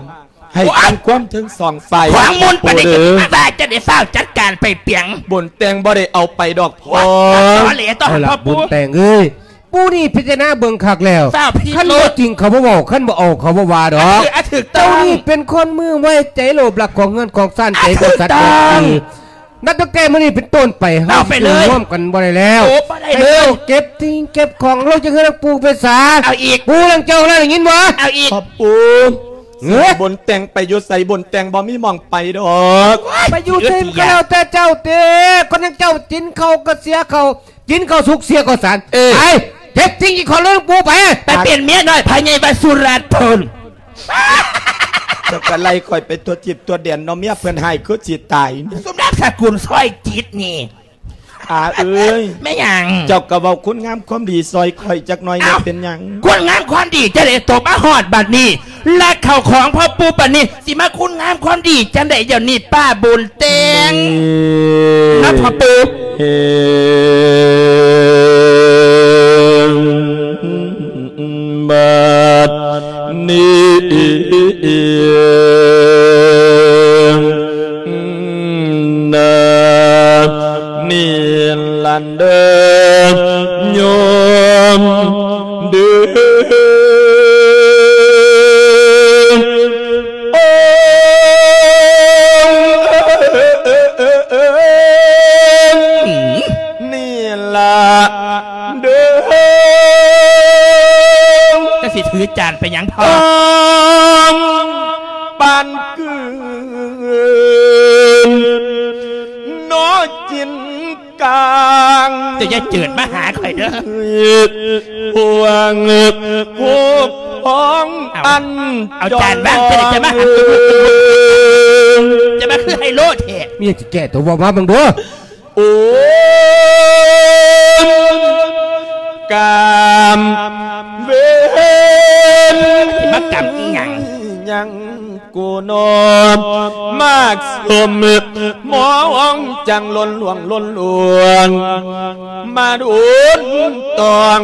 ໃຫ້ຟັງຄວາມທັງສອງຝ່າຍ. ຂວາງມຸນປານໃດ ເອີ ກະວ່າຈະໄດ້ຟ້າວຈັດການໄປປຽງ. ບຸນແຕ່ງບໍ່ໄດ້ເອົາໄປດອກພໍ່. ຕອແຫຼຕໍ່ຫັ້ນ ພໍ່ປູ່. ບຸນແຕ່ງເອີຍ ປູ່ນີ້ພິຈາລະນາເບິ່ງຄັກແລ້ວ. ຄັນບໍ່ຈິງເຂົາບໍ່ເວົ້າ ຄັນບໍ່ເອົາເຂົາບໍ່ວ່າດອກ. ເຈົ້ານີ້ເປັນຄົນມືໄວ ໃຈໂລບລັກຂອງເຮືອນຂອງຊານ ໃຈບໍ່ສັດບໍ່ຊື່. ນັບຕັ້ງແຕ່ມື້ນີ້ເປັນຕົ້ນໄປ ເຮົາຊິຢູ່ຮ່ວມກັນບໍ່ໄດ້ແລ້ວ. ເອົາເກັບສິ່ງເກັບຂອງລົງຈາກເຮືອນຂອງປູ່ໄປສາ. ເອົາອີກ ປູ່ ເລື່ອງເຈົ້ານັ້ນໄດ້ຍິນບໍ່? ເອົາອີກ ພໍ່ປູ່. ເອີ ບຸນແຕ່ງໄປຢູ່ໃສ ບຸນແຕ່ງບໍ່ມີໝ່ອງໄປດອກ. ໄປຢູ່ໃສມັນກະແລ້ວແຕ່ເຈົ້າເຕະ. ຄົນຢ່າງເຈົ້າກິນເຂົ້າກະເສຍເຂົ້າ ກິນເຂົ້າສຸກເສຍເຂົ້າສານ. ເອີ ໄປ ເຮັດສິ່ງທີ່ຂໍເລີຍ ປູໄປ ໄປເປັນເມຍນ້ອຍພະໃຫຍ່ວະສຸລັດພຸ້ນ. ເຈົ້າກໍໄລ່ຂ້ອຍໄປທົ່ວທິດທົ່ວແດນເນາະ ເມຍເພິ່ນຮ້າຍຄືຊິຕາຍ. ສຸມນາມສະກຸນຊອຍຈິດນີ້. ອາເອີຍ ແມ່ນຫຍັງ? ເຈົ້າກໍເວົ້າຄຸນງາມຄວາມດີຊ່ອຍຂ້ອຍຈັກໜ່ອຍແດ່. ເອົ້າ ເປັນຫຍັງ? ຄຸນງາມຄວາມດີຈັ່ງໃດ ຕົກມາຮອດບັດນີ້ ລັກເຂົ້າຂອງພໍ່ປູ່ປານນີ້ ຊິມາຄຸນງາມຄວາມດີຈັ່ງໃດ ດຽວນີ້ປ້າບຸນແຕ່ງ ເອີ ນະພໍ່ປູ່ ເອີ ບັດນີ້ນະ ນີ້ລະເດີ ໂຍມເດີ. ນີ້ລະເດີ ຈະຊິຖືຈານໄປຫຍັງພໍ່? ປານກືນເນາະຈິນ ກາງ ເຈົ້າຢ່າເຈີດມາຫາຂ້ອຍເດີ ພວງພວກຂອງ ເອົາ ອັນ ເອົາຈານວາງ ເຈົ້າຈະມາຫາ ຈະມາຄືໄຮໂລແທ້ ມີຫຍັງຊິແກ້ຕົວ ເວົ້າມາເບິ່ງດູ. ໂອ້ຍ ກຳເວນ ມາກຳອີ່ຫຍັງ ຫຍັງ ກູນອມມາກສົມ ມອງຈັງລົ້ນຫຼວງລົ້ນຫຼວງ ມາດຸນຕອງ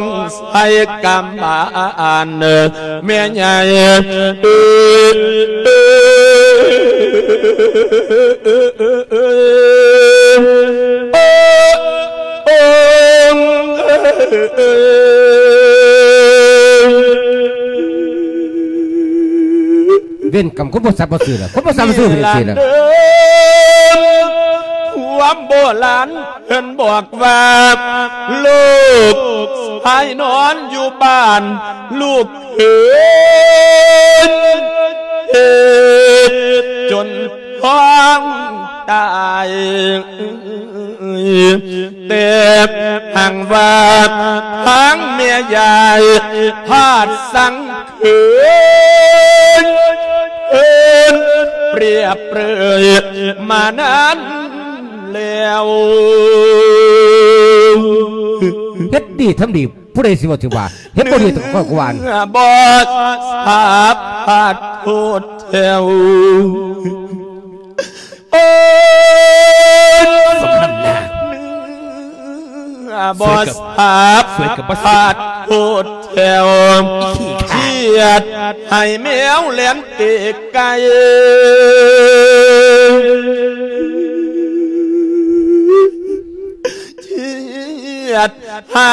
ໃສ່ກຳບານ ແມ່ໃຫຍ່ ເອີ ເອີ ເອີ ເອີ ເວນກຳຄົນບໍ່ສັບບໍ່ຊື່ລະ ຄົນບໍ່ສັບບໍ່ຊື່ເປັນຈັ່ງຊີ້ລະ. ຄວາມໂບລານເພິ່ນບອກວ່າ ລູກຊາຍນອນຢູ່ບ້ານ ລູກເຂືນເຮັດຈົນທ້ອງຕາຍ. ແຕ່ຫາກວ່າທາງແມ່ຍາຍພາດສັງເຂີນ ເຂີນປຽບເປີຍມານານແລ້ວ. ເຮັດດີທຳດີ ຜູ້ໃດຊິວ່າຖືວ່າ ເຮັດບໍ່ດີກໍຂ້ອຍກວ່າ ເມື່ອບໍ່ສາພາດໂທດແຖວ. ໂອ້ຍ ສົມນ້ຳໜ້າ ເມື່ອບໍ່ສາພາດ ສວຍກັບ ສວຍກັບບໍ່ສວຍ ໂທດແຖວ ອີຂີ້ຂ້າ ຄຽດໃຫ້ແມວແລ່ນເຕະໄກ່ ຄຽດ ໃຫ້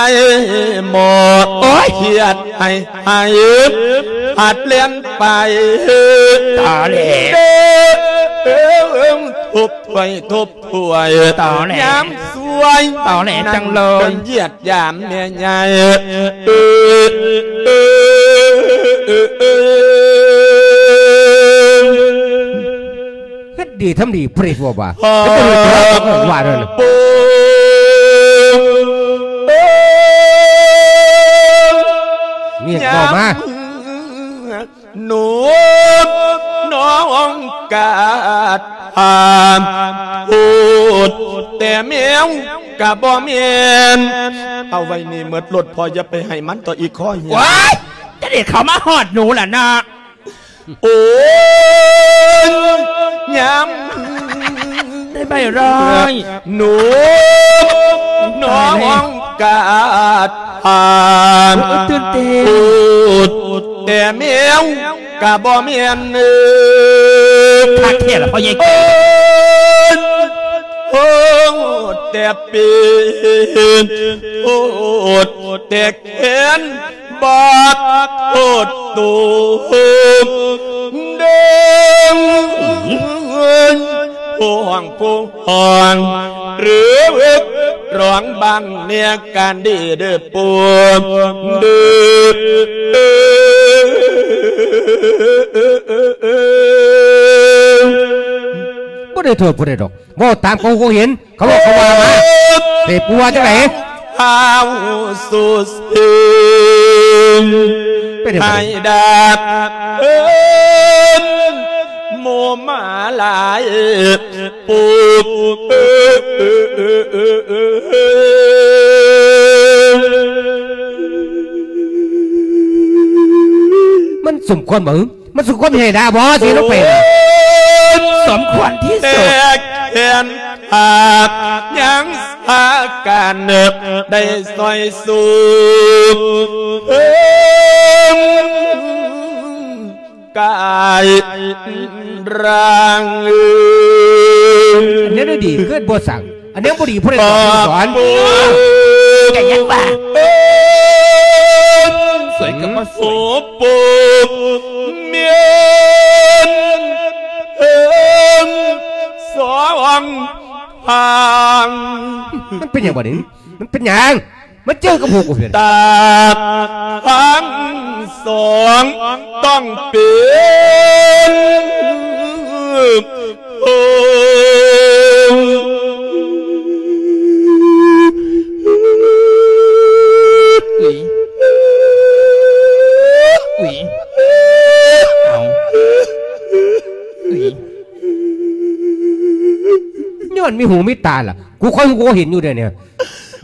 ໝໍ ໂອ້ຍ ຄຽດໃຫ້ ໃຫ້ ພັດແລ່ນໄປ ຕາແຫຼ ເດີ ເອີ ທົບຖ້ວຍ ທົບຖ້ວຍ ຕາແຫຼ ຍາມສວຍ ຕາແຫຼ ນັ້ນ ຈັງເລີຍ ເພິ່ນຢຽດຢາມແມ່ໃຫຍ່ ເອີ ເອີ ເອີ ເອີ ເຮັດດີທຳດີ ປະດິດບໍ່ວ່າ ເຮັດບໍ່ດີ ວ່ານັ້ນ ມີຫຍັງເວົ້າມາ ຍາມເມື່ອໜຸ່ມນ້ອງກາດຖາມ ໂພດແຕ່ແມວກະບໍ່ແມ່ນ ເອົາໄວ້ນີ້ໝົດໂລດ ພໍ່ຢ່າໄປໃຫ້ມັນຕໍ່ອີກ ຄໍເຫຍ ວ້າຍ ຈະໄດ້ເຂົ້າມາຮອດໜູລະເນາະ. ໂອ້ຍ ຍາມ ໄດ້ໃບຮ້ອຍ ໜຸ່ມນ້ອງກາດຖາມ ໂອ້ຍ ຕື່ນເຕັ້ນ ໂພດແຕ່ແມວກະບໍ່ແມ່ນ ຄັກແທ້ລະພໍ່ໃຫຍ່ ໂພດແຕ່ເປັນ ໂພດແຕ່ແຂນ ບາດໂພດໂຕ ເດີ ຜູ້ຮ້ອງ ຜູ້ຮ້ອງ ຫຼື ຮ້ອງບາງແນວການດີເດີ ປູ ເດີ ບໍ່ໄດ້ໂທດຜູ້ໃດດອກ. ເວົ້າຕາມເຂົາຮູ້ເຂົາເຫັນ ເຂົາເວົ້າເຂົາວ່າມາ ເດ້ ປູວ່າຈັ່ງໃດ? ອ້າວສຸດເສິງ ເປັນຫຍັງ ໃຫ້ດາດເອີ້ນໝູ່ໝາຫຼາຍປຸບ ມັນສົມຄວນບໍ່? ມັນສົມຄວນໃຫ້ດາບໍ່ ຊິລົງໄປນະ? ສົມຄວນທີ່ສຸດ ແຕກແຂນຂາດ ຍັງສາການໄດ້ຊ່ອຍຊູເພິ່ງກາຍຮ່າງ. ອັນນີ້ດີ ເກີດບໍ່ສັງ ອັນນີ້ບໍ່ດີ ຜູ້ໃດສອນ ສອນ ກໍຍັງວ່າ ສວຍກໍບໍ່ສວຍ ໂອ້ ໂອ້ ແມ່ນເອີງສອງທາງ ມັນເປັນຫຍັງບັດນີ້? ມັນເປັນຫຍັງ? ມາເຈີກັບຫົວກູເພິ່ນ ຕາທັງສອງຕ້ອງເປັນ ໂອ້ ອຸ້ຍ ອຸ້ຍ ເອົາ ອຸ້ຍ ຍ້ອນມີຫູມີຕາລະ ກູຄ່ອຍຮູ້ເຫັນຢູ່ເດນີ້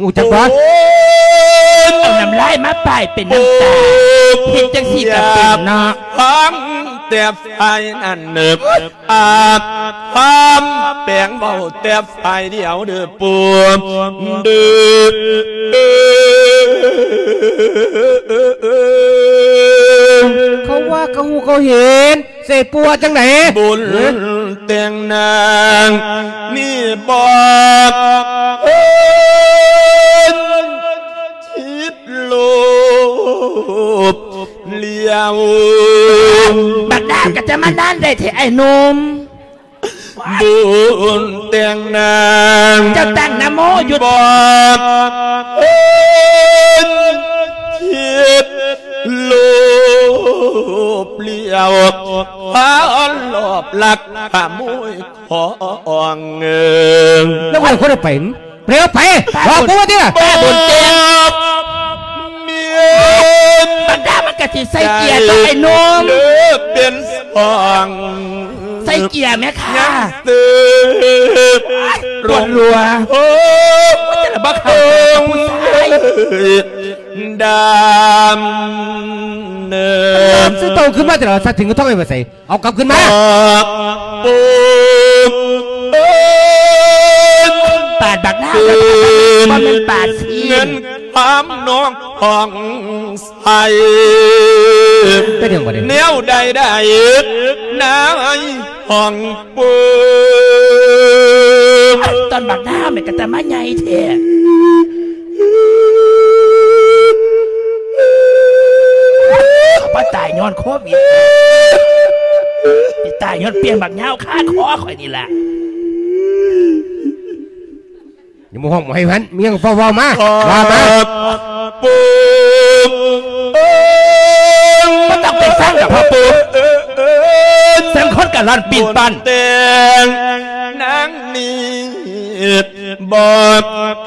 ຮູ້ຈັກບໍ່? ໂອ້ຍ ເອົານ້ຳລາຍມາປ້າຍເປັນນ້ຳຕາ ເຮັດຈັ່ງຊີ້ກໍເປັນເນາະ ຟັງແຕ່ຝ່າຍນັ້ນເນີບ ອາດຄວາມແປງເວົ້າແຕ່ຝ່າຍດຽວເດີປູເດີ. ເຂົາວ່າເຂົາຮູ້ເຂົາເຫັນ ເສຍປົວຈັ່ງໃດ? ບຸນແຕ່ງນາງນີ້ບອກເອີນ ຄິດໂລບຫຼຽວ ບັກດາວກໍຈະມານານໄດ້ແທ້ອ້າຍໜຸ່ມ. ບຸນແຕ່ງນາງ ເຈົ້າຕັ້ງນະໂມຢູ່ ບອກເອີນ ຄິດໂລບຫຼຽວ ພາລອບລັກຂະໂມຍຂອງເງິນ ແລ້ວຄົນໄປ ເລັວໄປ ບອກກູວ່າຕິລະ ປ້າບຸນເຕັມ ບັນດາມັນກະຊິໃສ່ເກຍຕໍ່ໄອ້ໜຸ່ມ ເປັນສອງ ໃສ່ເກຍແມ່ຄ່າ ປວດຫົວ ໂອ້ຍ ມັນຈະລະບໍ່ເຂົ້າໃຈກັບຜູ້ຊາຍ ດຳເນີນ ຊື້ໂຕຂຶ້ນມາແຕ່ລະສັດ ເຖິງກໍຕ້ອງໄປໃສ ເອົາກັບຄືນມາ ປາດບັກນາວ ບໍ່ແມ່ນປາດຊີ້ນ ເງິນຄຳນອງຂອງໃສ ເປັນຫຍັງບັດນີ້ ແນວໃດໄດ້ນາຍຫ້ອງປູ ຕອນບັກນາວແມ່ນກະຕາມາໃຫຍ່ແທ້. ບໍ່ຕາຍຍ້ອນໂຄວິດ ຊິຕາຍຍ້ອນປ່ຽງບັກຍາວຄາຄໍຂ້ອຍນີ້ລະ ຢ່າມາຮ້ອງໃຫ້ພັນ ມີຫຍັງເຝົ້າເວົ້າມາ ວ່າມາ ບໍ່ຕ້ອງໄປຟັງດອກພໍ່ປູ່ ສັງຄົນກະລ່ອນປີ້ນປ້ອນ ແຕ່ງນາງນີ້ ບໍ່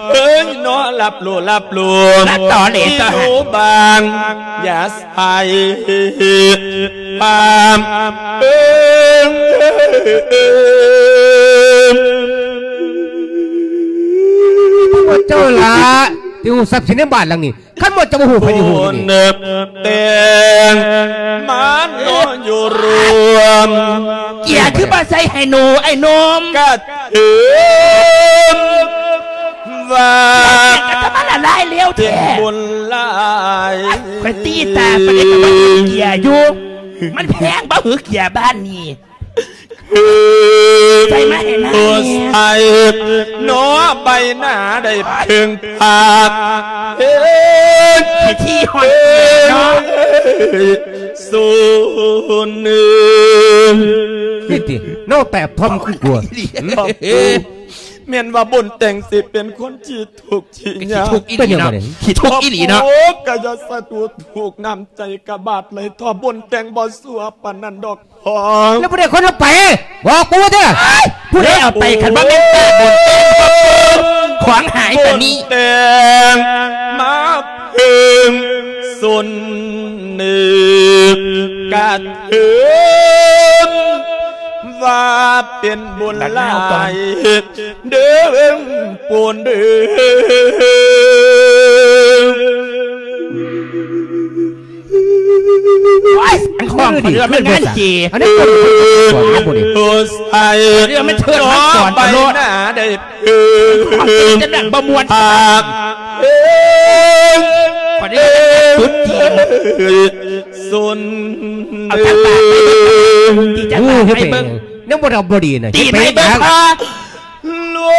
ເຄີຍນອນຫຼັບຫຼູ່ຫຼັບຫຼູ່ ມາຕໍ່ເລຕໍ່ຫາ ຢູ່ບ້ານຢ່າໃສ່ຄວາມເອີງ ພວກເຈົ້າລະທີ່ຮູ້ຊັບສິນໃນບ້ານຫຼັງນີ້ ຄັນບໍ່ຈະບໍ່ຮູ້ໃຜຊິຮູ້ຢູ່ນີ້ ແຕ່ງມານອນຢູ່ລວມ ເກຍຄືບໍ່ໃສ່ໃຫ້ໜູໄອ້ໜຸ່ມ ກະເຖິງວ່າ ກະຈະມາລະລາຍເລວແທ້ ບຸນຫຼາຍ ຂ້ອຍຕີຕາປານໃດກະບໍ່ເກຍຢູ່ ມັນແພງບໍ່ຫືອເກຍບ້ານນີ້ ໃສ່ມາໃຫ້ນາງແດ່ ໃສ່ໜໍໃບໜ້າໄດ້ເພິ່ງພາ ເຮັດພິທີຮອດເນາະ ສູນໜຶ່ງ ນີ້ຕິ ເນາະ ແປບທອມຄືກົວ ແມ່ນວ່າບຸນແຕ່ງຊິເປັນຄົນຂີ້ທຸກຂີ້ຍາກ ຂີ້ທຸກອີ່ຫຼີເນາະ ຂີ້ທຸກອີ່ຫຼີເນາະ ໂອ້ ກະຢ່າສະດຸດທຸກ ນ້ຳໃຈກະບາດໄຫຼທໍ່ ບຸນແຕ່ງບໍ່ຊົ່ວປານນັ້ນດອກ ແລ້ວຜູ້ໃດຄົນເອົາໄປ ບອກກູເດີ ຜູ້ໃດເອົາໄປ ຄັນບໍ່ແມ່ນຕາບຸນແຕ່ງ ຂອງຫາຍປານນີ້ ແຕ່ງມາເພິ່ງສົນເນີກະເທີນ ວ່າເປັນບຸນຫຼາຍເດີໂປນເດີ. ໂອ້ຍ ອັນຂອງເຂົາເອີ້ນວ່າແມ່ນງານເຈ ອັນນີ້ເອີ້ນວ່າເຊີດມັງກອນໂລດ ເອີ ຂອງເຈົ້າຈັ່ງນັ້ນບໍ່ມ່ວນ ເອີ ຂອງເຈົ້າຈຸດຈີນ ສົນ ເອົາຈັກບາດ ທີ່ຈະບາດໃຫ້ເບິ່ງ ຍັງບໍ່ໄດ້ ບໍ່ດີນະ ຕີນໃຫ້ເບິ່ງ ຫຼວ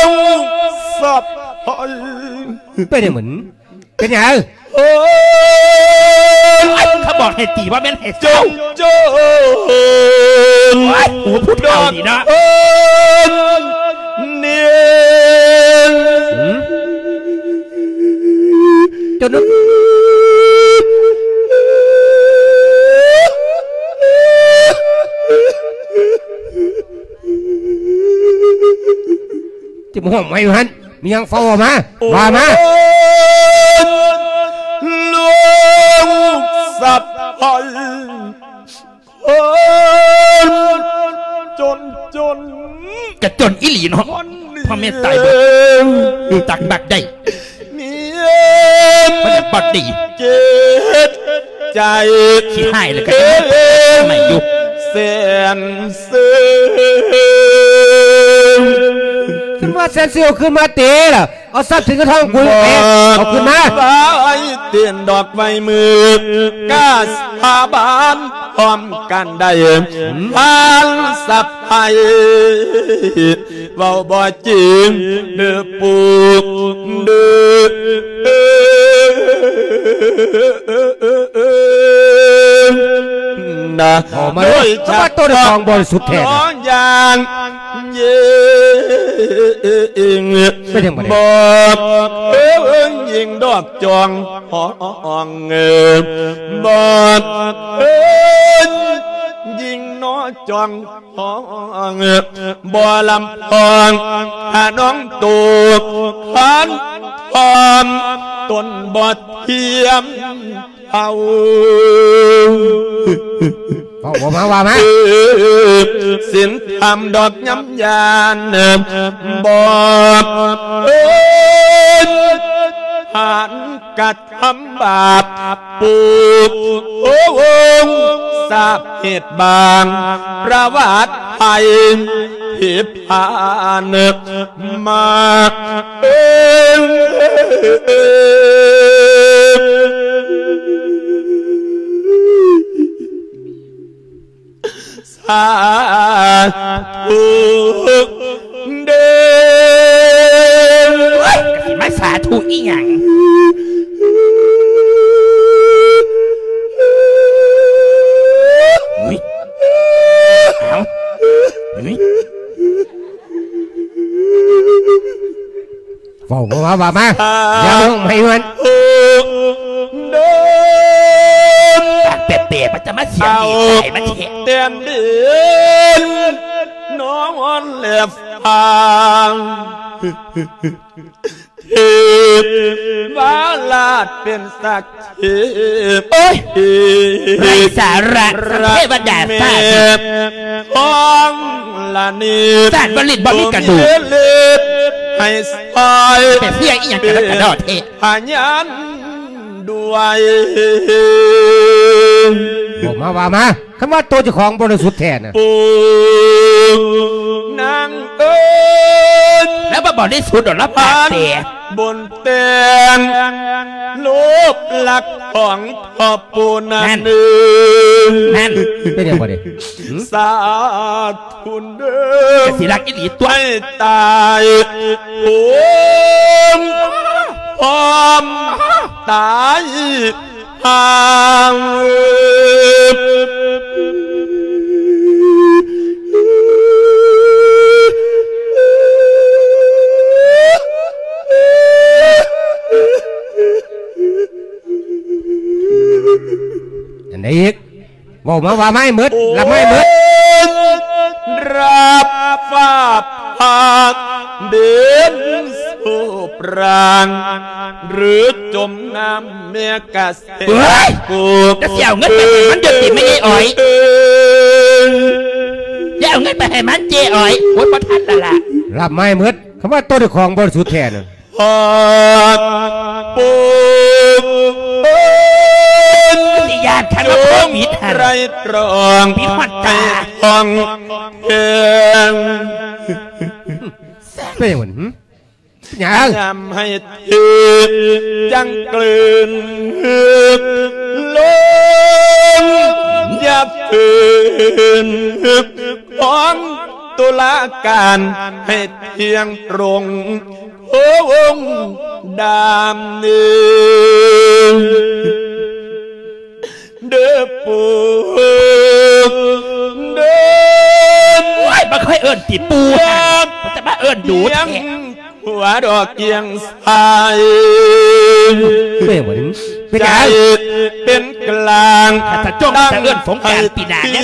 ງສັບ ເປັນຫຍັງມັນ ເປັນຫຍັງ? ໂອ້ຍ ເຂົາບອກໃຫ້ຕີ ບໍ່ແມ່ນໃຫ້ເຊົາ ໂຈນ ໂອ້ຍ ໂອ້ ຜູ້ເຖົ້ານີ້ເນາະ ເນນ ຫືມ ເຈົ້ານຶກ ຈະມາຮ້ອງໄໝຢູ່ຫັ້ນ ມີຫຍັງເຝົ້າເວົ້າມາ ວ່າມາ ຫຼວງສັບໄພ ຄົນຈົນຈົນ ກະຈົນອີ່ຫຼີເນາະ ພໍ່ແມ່ຕາຍເບິດ ຮູ້ຈັກບັກໄດ້ ເມຍ ບໍ່ໄດ້ບັກດີ ເຈັບໃຈ ຂີ້ຮ້າຍແລ້ວກະຍັງໃໝ່ຢູ່ ແສນ ເຊີງ ຄັນວ່າແສນເຊີງ ເອົາຄືນມາເຕລະ ເອົາຊັບສິນເງິນທອງກູໄປ ເອົາຄືນມາ ໄວ້ເຕັ້ນດອກໄວ້ມື ກ້າສາບານພ້ອມກັນໄດ້ ອືມ ທ່ານສະໄພ ເວົ້າບໍ່ຈິງເດີປູກເດີ ນະ ໂດຍສະເພາະ ເປັນຫຍັງບັດນີ້? ບໍ່ເອີງຍິງດອກຈອງ ຫ້ອງ ບໍ່ເອີງຍິງນອຈອງ ຫ້ອງ ບໍ່ລຳພອງ ຫານ້ອງໂຕ ຄັນພ້ອມ ຕົນບໍ່ທຽມເທົ່າ ເວົ້າມາ ເວົ້າມາ ສິນທຳດອກຍຳຢານ ບໍ່ເອີງ ຫານກະ ທຳບາບປູກ ໂອ້ ສາບເຫດບາງ ປະຫວັດໄພ ເພພານ ມາເອີງ ສາທຸເດີ ໂອ້ຍ ກະຊິມາສາທຸອີ່ຫຍັງ? ອຸ້ຍ ເອົ້າ ອຸ້ຍ ເວົ້າ ເວົ້າ ເວົ້າມາ ຢ່າຮ້ອງໄຫ້ມັນ ເດີນ ປາກແປະໆ ມັນຈະມາສຽງດີໃສ່ມັນແທ້ ແຕ່ນເດີນ ນອນແລບຟາງ ເທບວາລາດເປັນສັກເທບ ໂອ້ຍ ໄຮ້ສາລະ ເທວະດາຟ້າດິນ ຂອງລະນີ ສາດບໍ່ຫຼິ້ນບໍ່ມີກະດູກ ໃຫ້ຊອຍ ໄປເພື່ອອີ່ຫຍັງກະດອກກະດໍ້ແທ້ ພະຍານດ້ວຍ ເວົ້າມາ ເວົ້າມາ ຄັນວ່າໂຕເຈົ້າຂອງບໍລິສຸດແທ້ນະ ປູນາງເອີຍ ແລ້ວບໍ່ບໍລິສຸດດອກ ລະປາກແປະ ບົນແຕ່ນ ໂລບລັກຂອງພໍ່ປູນາງ ນັ້ນ ເອີຍ ນັ້ນ ເປັນຫຍັງບັດນີ້? ຫືມ ສາທຸເດີ ກະຊິລັກອີ່ຫຼີຕົວະ ໃຫ້ຕາຍໂຫງ ພ້ອມຕາຍ ອັນໃດອີກ? ເວົ້າມາ ວ່າມາໃຫ້ໝົດ ລຳມາໃຫ້ໝົດ ໂອ້ຍ ຮັບຝາກພັກເດີນ ປານ ຫຼື ຈົມນ້ຳແມ່ກະແສ ເຮີ້ຍ ໂອ້ ຈະຊິເອົາເງິນໄປໃຫ້ມັນຢູ່ຕິ ແມ່ໃຫຍ່ອ້ອຍ ຢ່າເອົາເງິນໄປໃຫ້ມັນເຈ້ອ້ອຍ ໂອ້ຍ ບໍ່ທັນລະລະ ລາບໄມ້ໝົດ ຄຳວ່າໂຕເຈົ້າຂອງບໍລິສຸດແທ້ນັ້ນ ຮອດປຸກເອີ້ນ ຊິຢ້ານຄັນວ່າໂຄວິດຫັ້ນ ຈົງໄຕຣະຕຣອງ ປິດຮອດຕາ ໃຫ້ທ່ອງແທ້ ເປັນຫຍັງຫວະ? ຫຍັງ? ຍາມໃຫ້ຖືກຈັ່ງກືນ ລົງຢ່າຝືນ ຂອງຕຸລາການໃຫ້ທ່ຽງຕົງ ໂອ້ ດຳເນີນ ເດີປູເດີ ໂອ້ຍ ບໍ່ເຄີຍເອີ້ນຕິປູຫັ້ນ ມັນຈະມາເອີ້ນດູແທ້ ຫົວດອກກຽງໃສ ເປັນຫຍັງ? ເປັນກາງ ຖ້າຈະຈົ່ງຈະເອີ້ນສົງການປີໜ້າແນ່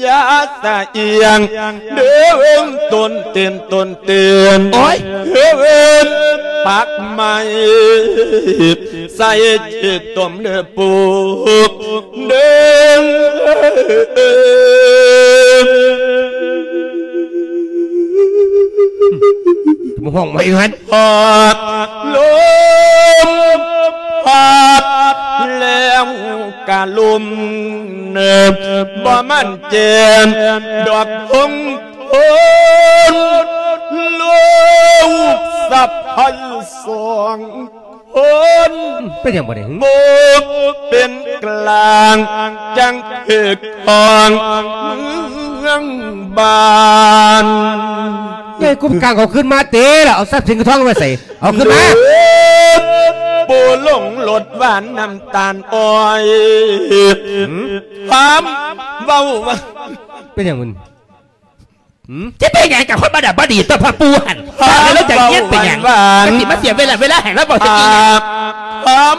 ຢ່າສະອຽງເດີ ຕົ້ນເຕີນ ຕົ້ນເຕີນ ໂອ້ຍ ເອີ້ນປັກໄມ້ ໃສ່ເຈຕົມເດີປູເດີ ມາຮ້ອງໃໝ່ຫັ້ນ ພັດລົມພັດແລ້ວກະລົມ ບໍ່ໝັ້ນແຈ່ມດອກຄົງ ຄົນ ລູກສະໃພ້ສອງຄົນ ເປັນຫຍັງບາດນີ້? ບໍ່ເປັນກາງ ຈັ່ງຖືກຕ້ອງເມືອງບ້ານ ໃຫຍ່ກຸມກາງເອົາຄືນມາເຕລະ ເອົາຊັບສິນເງິນທອງໄວ້ໃສ? ເອົາຂຶ້ນມາ ໂອ້ ລົງລົດຫວານນ້ຳຕານອ້ອຍ ຫືມ ຄວາມເວົ້າວ່າ ເປັນຫຍັງມັນ? ຫືມ ຈະເປັນຫຍັງກັບຄົນບໍ່ດຳບໍ່ດີຕົວພໍ່ປູຫັ້ນ? ຄວາມ ເວົ້າແລ້ວຈະເຢັນເປັນຫຍັງ? ຫວານ ກະຊິມາເສຍເວລາ ເວລາໃຫ້ລາວເວົ້າຊະອີ່ຫຼີ ຄວາມ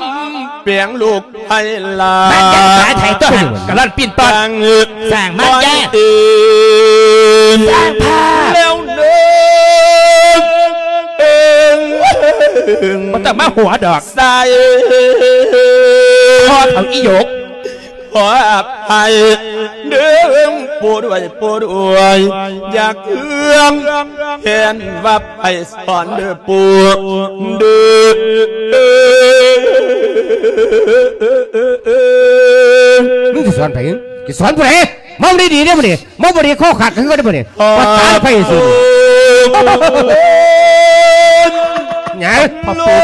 ແປງລູກ ໃຫ້ລາ ບ້ານໃຫຍ່ຕາໄທຕົວຫັ້ນ ກະລ່ອນປີ້ນປ້ອນ ສ້າງມາຍາ ສ້າງພາບ ແລ້ວເດີ ບໍ່ຕ້ອງມາຫົວດອກ ໃສ່ ພໍເຖົ້າອີ່ຫຍົກ ຂໍອະໄພເດີ ໂປດອວຍ ໂປດອວຍ ຢ່າເຄືອງແຄ້ນວ່າ ໄປສອນເດີປູເດີ ມຶງຊິສອນໃຜ? ຊິສອນຜູ້ໃດ? ເມົາດີໆເດ້ມື້ນີ້ ເມົາບໍ່ດີຄໍຂາດຄືເກົ່າເດ້ມື້ນີ້ ປະສານໄປຊື່ ຫຍັງ? ພໍ່ປູ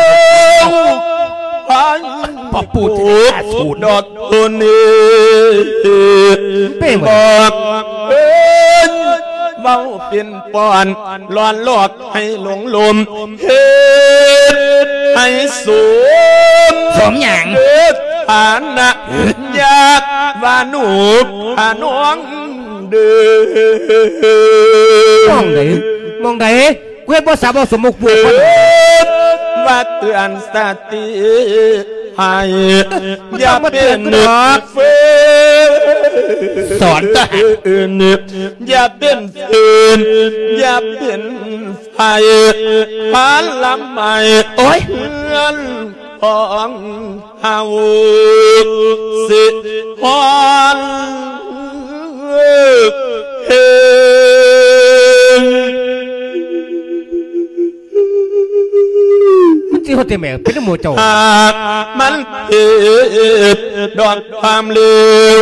ພໍ່ປູຈະໄດ້ກາສູນດອກ ໂຕນີ້ ເປັນຫຍັງ? ບອກເອີ້ນເວົ້າປິ່ນປ່ອນ ຫຼອນຫຼອກໃຫ້ຫຼົງລົມ ເຮັດໃຫ້ສົມ ສົມຫຍັງ? ເອີ ຖານະ ຫື ຢາກວ່າໜູຂະນ້ອງເດີ ມອງໃດ? ມອງໃດ? ກູເຮັດບໍ່ສາເວົ້າສົມມຸກປູກຄົນ ວ່າເຕືອນສະຕິໃຫ້ ຢ່າເປັນເຟີນ ສອນຕະ ຢ່າເປັນເຟີນ ຢ່າເປັນໄຟ ພາລະໄມ້ ໂອ້ຍ ເຮືອນຂອງເຮົາ ຊິຮ້ອນເຮງ ມັນຊິຮອດແຕ່ແມ່ເປັນນຳໝູ່ເຈົ້າ ຫາກມັນເຮັດດອກຄວາມເລວ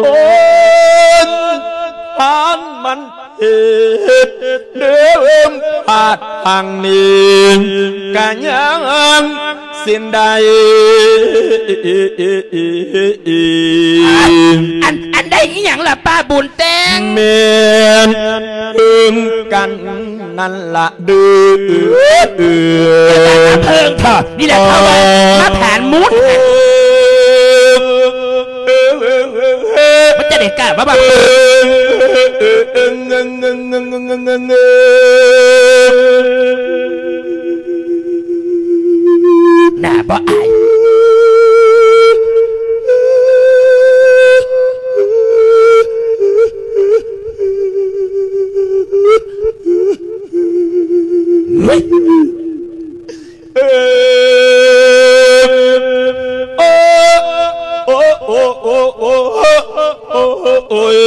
ໂອ້ຍ ຫາກມັນ ເຮັດເດີມພາດພັງນີ້ ກະຍັງສິ້ນໄດ້ ອັນ ອັນໃດອີ່ຫຍັງລະປ້າບຸນແຕ່ງ? ແມ່ນເພິ່ງກັນນັ້ນລະເດີ ເພິ່ງເຖາະ ນີ້ແຫຼະເຂົາວ່າມາຜານມູນ ມັນຈະໄດ້ກ້າມາວ່າ ໜ້າບໍ່ອາຍ. ເອີ ໂອ້ ໂອ້ ໂອ້ ໂອ້ ໂອ້ ໂອ້ຍ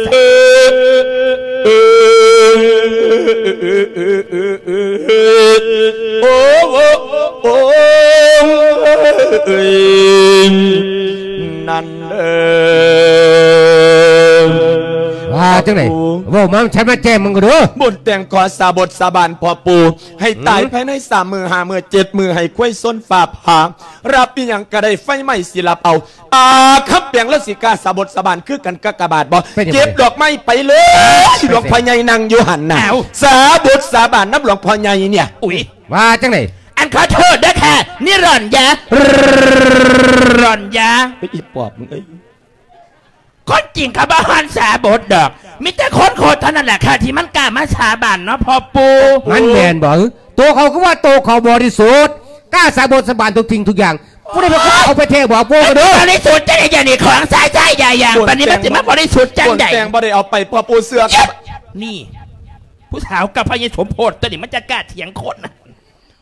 ເອີ ໂອ້ ໂອ້ ໂອ້ ເອີຍ ນັ້ນເດີ ວ່າຈັ່ງໃດ? ໂອ້ ເວົ້າມາ ມັນຊັດມາແຈ້ງມັນກໍເດີ. ບຸນແຕ່ງຂໍສາບົດສາບານພໍ່ປູ່ ໃຫ້ຕາຍ ອືມ ພາຍໃນສາມມື້ ຫ້າມື້ ເຈັດມື້ ໃຫ້ຄວາຍຊົນຟ້າຜ່າ ຮັບອີ່ຫຍັງກໍໄດ້ ໄຟໄໝ້ຊິລັບເອົາ. ອາ ຄຳແປງລາວຊິກ້າສາບົດສາບານຄືກັນກາກະບາດບໍ່? ເປັນຫຍັງ? ເກັບດອກໄມ້ໄປເລີຍ ເປັນຫຍັງ? ຫຼວງພໍ່ໃຫຍ່ນັ່ງຢູ່ຫັ້ນນະ ອ້າວ ສາບົດສາບານນຳຫຼວງພໍ່ໃຫຍ່ເນຍ. ອຸ້ຍ ວ່າຈັ່ງໃດ? ອັນຂໍໂທດເດີຄ່ະ ນີ້ຫຼອນຢາ ຫຼອນຢາ ເອີຍ ອີປອບມຶງເອີຍ. ຄົນຈິງເຂົາບໍ່ຮ້ອນສາບົດດອກ ມີແຕ່ຄົນໂຄດເທົ່ານັ້ນແຫຼະຄ່ະ ທີ່ມັນກ້າມາສາບານເນາະພໍ່ປູ່. ມັນແມ່ນບໍ່? ໂຕເຂົາຄືວ່າໂຕເຂົາບໍລິສຸດ ກ້າສາບົດສາບານທຸກສິ່ງທຸກຢ່າງ. ຜູ້ໃດເປັນຄົນເອົາໄປແທ້ບໍ່? ປູ່ກໍເດີ. ບໍລິສຸດຈັ່ງໃດ? ຢ່ານີ້ຂອງຊາຍຊາຍຢາຢາ ປານນີ້ມັນຊິມາບໍລິສຸດຈັ່ງໃດ? ຄົນແຕ່ງບໍ່ໄດ້ເອົາໄປ ພໍ່ປູ່ເຊື່ອ. ນີ້ ຜູ້ສາວກັບພະຍາສົມໂພດຕົວນີ້ ມັນຈະກ້າຖຽງຄົນນະ.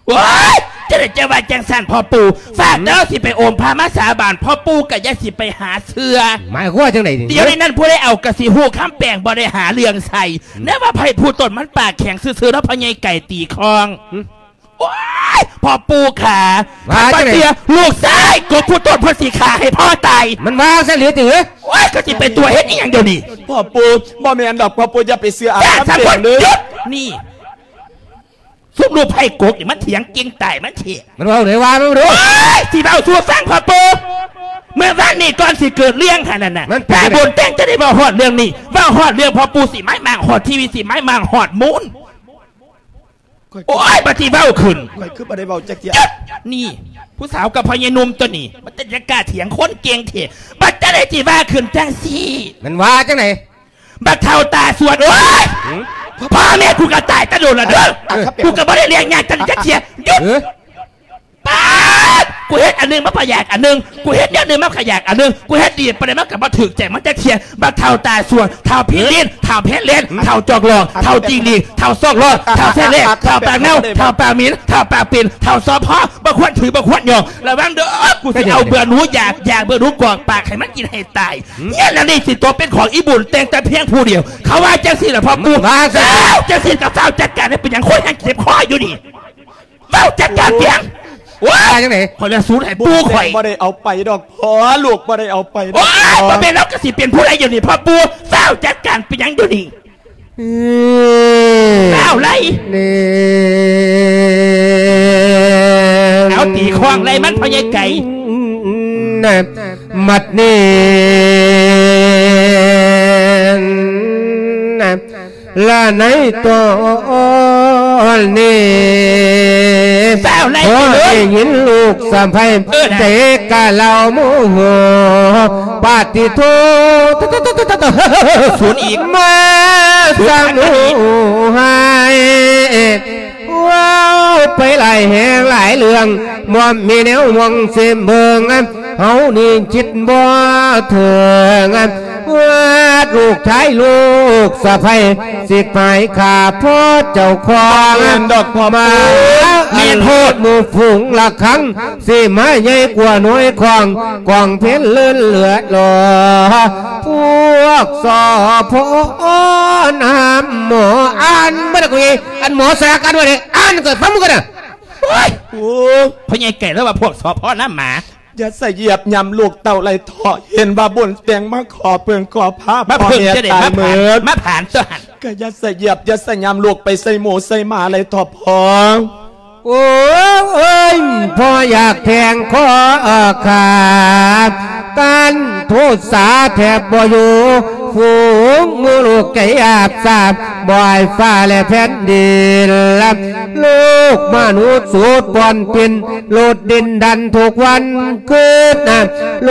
ໂອ້ຍ ຈັ່ງໃດຈະວ່າຈັ່ງຊັ້ນພໍ່ປູ່? ອືມ ຝາກເດີ ຊິໄປໂອມພະມາສາບານ ພໍ່ປູ່ກໍຢ່າຊິໄປຫາເຊື່ອ. ໝາຍຄວາມວ່າຈັ່ງໃດນີ້? ດຽວນີ້ນັ້ນຜູ້ໃດເອົາກໍຊິຮູ້ ຄຳແປງບໍ່ໄດ້ຫາເລື່ອງໃສ່. ອືມ ແນວວ່າໃຜຜູ້ຕົນມັນປາກແຂງຊື່ໆ ເນາະ ພໍ່ໃຫຍ່ໄກ່ຕີຄອງ. ອືມ ໂອ້ຍ ພໍ່ປູ່ຂາ ວ່າຈັ່ງໃດ? ຂ້າບໍ່ເຊື່ອ ລູກຊາຍກໍຜູ້ຕົນເພິ່ນຊິຂ້າໃຫ້ພໍ່ຕາຍ. ມັນວ່າຊັ້ນເລີຍຕິ? ໂອ້ຍ ກໍຊິໄປຕົວະເຮັດອີ່ຫຍັງດຽວນີ້? ພໍ່ປູ່ ບໍ່ແມ່ນດອກ ພໍ່ປູ່ຢ່າໄປເຊື່ອອາຄຳແປງເດີ. ຢຸດ ນີ້ ຊຸມລູກໄຜ່ກົກນີ້ມັນຖຽງເກັ່ງຕາຍມັນເຖະ. ມັນເວົ້າໄດ້ວ່າມັນບໍ່ຮູ້. ໂອ້ຍ ຊິເວົ້າສູ່ຟັງພໍ່ປູ່ ເມື່ອວານນີ້ກ່ອນຊິເກີດເລື່ອງຫັ້ນນະ ມັນເປັນ ຕາບຸນແຕ່ງຈະໄດ້ເວົ້າຮອດເລື່ອງນີ້ ເວົ້າຮອດເລື່ອງພໍ່ປູ່ຊິໄມ້ມາງຮອດທີວີ ຊິໄມ້ມາງຮອດມູນ. ໂອ້ຍ ບັດຊິເວົ້າຂຶ້ນ ຂ້ອຍຄືບໍ່ໄດ້ເວົ້າຈັກເທື່ອ. ຢຸດ ນີ້ ຜູ້ສາວກັບພໍ່ໃຫຍ່ໜຸ່ມຕົວນີ້ ມັນຈະກ້າຖຽງຄົນເກັ່ງເຖະ. ບັດຈັ່ງໃດຊິວ່າຂຶ້ນຈັ່ງຊີ້? ມັນວ່າຈັ່ງໃດ? ບັກເຖົ້າຕາສວນ ໂອ້ຍ ຫືມ ພໍ່ແມ່ກູກໍຕາຍແຕ່ດົນລະເດີ ອ່ະ ອ່ະ ກູກໍບໍ່ໄດ້ລ້ຽງຍາກຈັກເທື່ອ. ຢຸດ ເອີ ປາດ ກູເຮັດອັນໜຶ່ງມາກໍຢາກອັນໜຶ່ງ ກູເຮັດແນວໜຶ່ງມາກໍຢາກອັນໜຶ່ງ ກູເຮັດດີປານໃດມັນກໍບໍ່ຖືກໃຈມັນຈັກເທື່ອ. ບັກເຖົ້າຕາສວນ ເຖົ້າພີລິນ ເຖົ້າເພັດເລນ ເຖົ້າຈອກຫຼອກ ເຖົ້າຈິງຫຼີກ ເຖົ້າຊອກລອດ ເຖົ້າແຊເລ ເຖົ້າປາກເນົ່າ ເຖົ້າປາກໝິນ ເຖົ້າປາກປິ່ນ ເຖົ້າຊອບພໍ ບໍ່ຄວນຖື ບໍ່ຄວນຫຍອກ. ລະວັງເດີ ກູຊິເອົາເບື່ອໜູຢາກ ຢາກເບື່ອນໜູກອກປາກໃຫ້ມັນກິນໃຫ້ຕາຍ. ເຮືອນຫຼັງນີ້ຊິຕົກເປັນຂອງອີບຸນແຕ່ງແຕ່ພຽງຜູ້ດຽວ ເຂົາວ່າຈັ່ງຊີ້ລະພໍ່ປູ່. ວ່າຈັ່ງຊີ້ ເຈົ້າຈັ່ງຊີ້ກໍຟ້າວຈັດການໃຫ້. ເປັນຫຍັງຄົນຍັງເຈັບຄໍຢູ່ນີ້? ເວົ້າຈັດການພຽງ. ໂອ້ຍ ວ່າຈັ່ງໃດ? ຂ້ອຍລະສູນໃຫ້ປູ່ຂ້ອຍ. ບໍ່ໄດ້ເອົາໄປດອກພໍ່ ລູກບໍ່ໄດ້ເອົາໄປດອກ. ໂອ້ຍ ບໍ່ແມ່ນລາວກໍຊິເປັນຜູ້ໃດຢູ່ນີ້ພໍ່ປູ່ ຟ້າວຈັດການເປັນຫຍັງຢູ່ນີ້? ອືມ ເອົາໄລ ນີ້ ເອົາຕີຄອງໄລມັນພໍ່ໃຫຍ່ໄກ່. ບັດນີ້ລະໃນຕອນນີ້ ຟ້າວໄລ ພໍໄດ້ຍິນລູກສະໃພ້ ເອີ ໃຈກະລາວໂມໂຫ ປາຕິໂທ ສູນອີກ ມາສະໜູຫາຍ ເວົ້າໄປຫຼາຍແຫ່ງຫຼາຍເລື່ອງ ບໍ່ມີແນວມອງຊິເບິ່ງ ເຮົານີ້ຄິດບໍ່ເຖິງ ວ່າລູກຊາຍລູກສະໃພ້ ຊິໄປຂ້າພໍ່ເຈົ້າຂອງ ແມ່ນດອກພໍ່ ມາ ແມ່ນໂພດ ໝູ່ຝູງລະຄັງ ຊິມາໃຫຍ່ກວ່າໜ່ວຍຂອງ ກອງເພັນເລີນເລືອດຫຼໍ ພວກ ສພ ນຳໝໍ ອ່ານບໍ່ໄດ້ ອັນໝໍສາການວ່າໄດ້ ອ່ານກໍຟັງກັນນະ. ໂອ້ຍ ໂອ້ຍ ພໍ່ໃຫຍ່ໄກ່ລາວວ່າພວກ ສພ ນຳໝາ. ຢ່າສະຢຽບຫຍ້ຳລູກເຕົ້າໄຫຼເຖາະ ເຫັນວ່າບຸນແຕ່ງມາຂໍເພິ່ງຂໍພາ ມາເພິ່ງຈັ່ງໃດ ມາຜານ ມາຜານຕົວຫັ້ນ ກໍຢ່າສະຢຽບ ຢ່າສະຫຍ້ຳລູກໄປໃສ່ໝູໃສ່ໝາໄຫຼເຖາະພໍ່. ໂອ້ຍ ພໍ່ຢາກແທງຄໍຂ້າ ຕ້ານໂທສາແທບບໍ່ຢູ່ ຝູງໝູລູກໃຈອາບສາບ ບໍ່ໃຫ້ຟ້າແລະແຜ່ນດິນ ລູກມະນຸດສູດປ່ອນປິ່ນ ໂລດດິນດັນທຸກວັນຄືນ ໂລ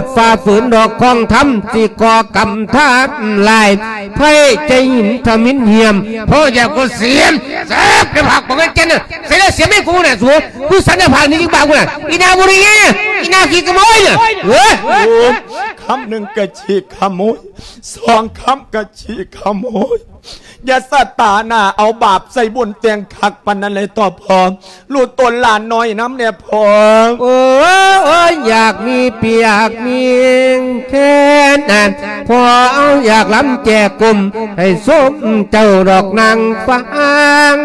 ດຝ່າຝືນດອກຂອງທຳ ຊິກໍ່ກຳທຳລາຍ ໃຜໃຈຫີນທຳມິນຫ້ຽມ ພໍ່ຢາກກໍສຽມ ແຊບໃນຜັກບໍ່ແມ່ນແກ່ນ ໃສ່ແລ້ວສຽມໃຫ້ກູນະສູ ກູສັນນະຜັກນີ້ຈິງບາກກູນະ ອີນາບໍ່ໄດ້ແຍ ອີນາຂີ້ຂະໂມຍນະ ເອີຍ ໂອ້ ຄຳໜຶ່ງກະຂີ້ຂະໂມຍ ສອງຄຳກະຂີ້ຂະໂມຍ. ຢ່າສະຕາໜ້າເອົາບາບໃສ່ບຸນແຕ່ງຄັກປານນັ້ນເລີຍຕໍ່ພໍ່. ລູກຕົນຫຼານນ້ອຍນຳແດ່ພໍ່. ໂອ້ຍ ຢາກມີປຽກມີແຄນ ພໍ່ເອົາຢາກລຳແຈກົມ ໃຫ້ສົມເຈົ້າດອກນາງຟາງ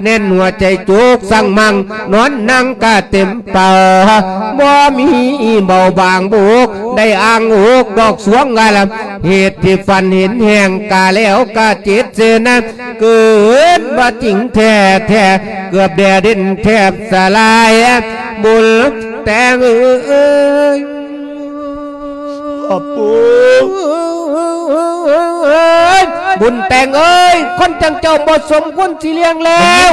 ແໜ້ນຫົວໃຈຈຸກສັງມັງ ນອນນັ່ງກະເຕັມເປົາ ບໍ່ມີເບົາບາງບຸກ ໄດ້ອ້າງອົກດອກສວງກະລຳ ເຫດທີ່ຝັນເຫັນແຮງກະແລ້ວກະເຈັດເຊັ່ນນັ້ນ ເກີດວ່າຈິງແທ້ໆ ເກືອບແດ່ເດັ່ນແທບສະລາຍ ບຸນແຕ່ງເອີຍ ພໍ່ປູ່ ບຸນແຕ່ງເອີຍ ຄົນຈັ່ງເຈົ້າບໍ່ສົມຄວນຊິລ້ຽງແລ້ວ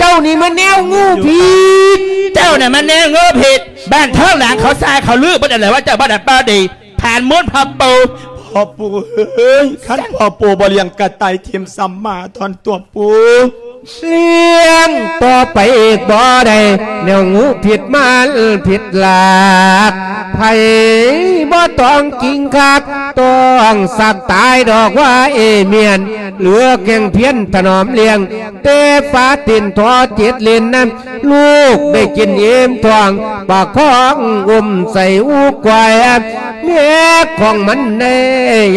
ເຈົ້ານີ້ມັນແນວງູຜິດ ເຈົ້ານະມັນແນວງູຜິດ ບ້ານທ້ອງຫຼາງເຂົາຊາເຂົາລືເບິດແລ້ວວ່າເຈົ້າບໍ່ດຳບໍ່ດີ ຜ່ານໝົດພໍ່ປູ່ ພໍ່ປູ່ເອີຍ ຄັນພໍ່ປູ່ບໍ່ລ້ຽງກະຕ່າຍຖິ້ມຊຳມາທ່ອນຕົວປູ່ ລ້ຽງຕໍ່ໄປອີກບໍ່ໄດ້ ແນວງູຜິດມານຜິດຫຼັກ ໃຜບໍ່ຕ້ອງກິງຄັກ ຕ້ອງສັກຕາຍດອກວ່າເອມຽນ ເຫຼືອແກ່ງພຽນຖະໜອມລ້ຽງ ແຕ່ຟ້າຕີນທໍເຈັດເຫຼັ້ນນະ ລູກໄດ້ກິນອີ່ມທ້ອງ ປະຄອງອຸ້ມໃສ່ອູກວາຍ ແມ່ຂອງມັນໄດ້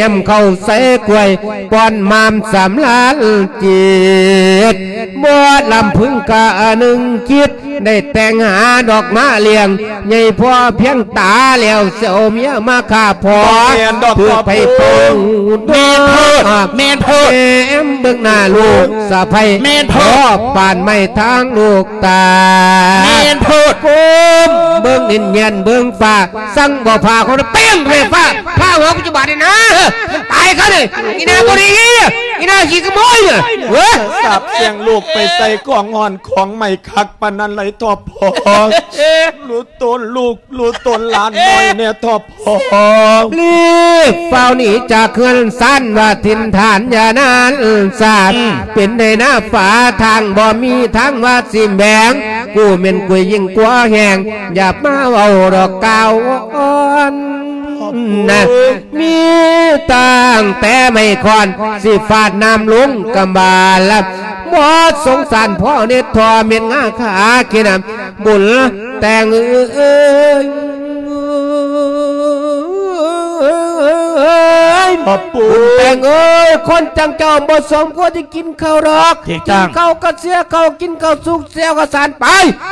ຢຳເຂົ້າໃສ່ກວຍ ປ້ອນມາມສຳລານຈິດ ບໍ່ລຳພຶງກະໜຶ່ງຄິດ ໄດ້ແຕ່ງຫາດອກມາລ້ຽງ ໃຫຍ່ພໍພຽງຕາແລ້ວ ເຊວເມຍມາຂ້າພໍ່ ບໍ່ແມ່ນດອກ ຖືກໄຟເຜົາ ແມ່ນໂພດ ແມ່ນໂພດ ແມ່ມເບິ່ງໜ້າລູກສະໃພ້ ແມ່ນໂພດ ພໍປານໄມ້ທາງລູກຕາ ແມ່ນໂພດ ກົ້ມເບິ່ງດິນແຍນເບິ່ງຟ້າ ສັ່ງບໍ່ພາເຂົາເປັນໄຟຟ້າ ພາຫົວກູຈະບາດນີ້ນະ ຕາຍຊະນີ້ ອີ່ໜ້າບໍ່ດີ ອີ່ໜ້າຂີ້ຂະໂມຍ ເອີ ສາບແຊ່ງລູກໄປໃສ່ກອງຮ້ອນຂອງໄໝ້ຄັກປານນັ້ນໄລຕໍ່ພໍ່ ລູກຕົນລູກ ລູກຕົນຫຼານນ້ອຍແດ່ຕໍ່ພໍ່ ລີບຟ້າວໜີຈາກເຮືອນຊານວ່າຖິ່ນຖານຢ່ານານສາດ ອືມ ເປັນໄດນາຟ້າທາງບໍ່ມີທາງວ່າຊິແບງ ກູແມ່ນກຸຍຍິ່ງກວ່າແຮງ ຢ່າມາເວົ້າດອກກ່າວອ່ອນນະ ມີຕັ້ງແຕ່ໄມ້ຄ້ອນ ຊິຟາດນ້ຳລົງກຳບາລ ບໍ່ສົງສານພໍ່ເນັດທໍ່ເມັດງາຂາກິນ ບຸນແຕ່ງເອີຍ ພໍ່ປູ່ ບຸນແຕ່ງເອີຍ ຄົນຈັ່ງເຈົ້າບໍ່ສົມຄວນທີ່ກິນເຂົ້າດອກ ຖືກຕ້ອງ ກິນເຂົ້າກະເສຍເຂົ້າ ກິນເຂົ້າສຸກເສຍເຂົ້າສານ ໄປ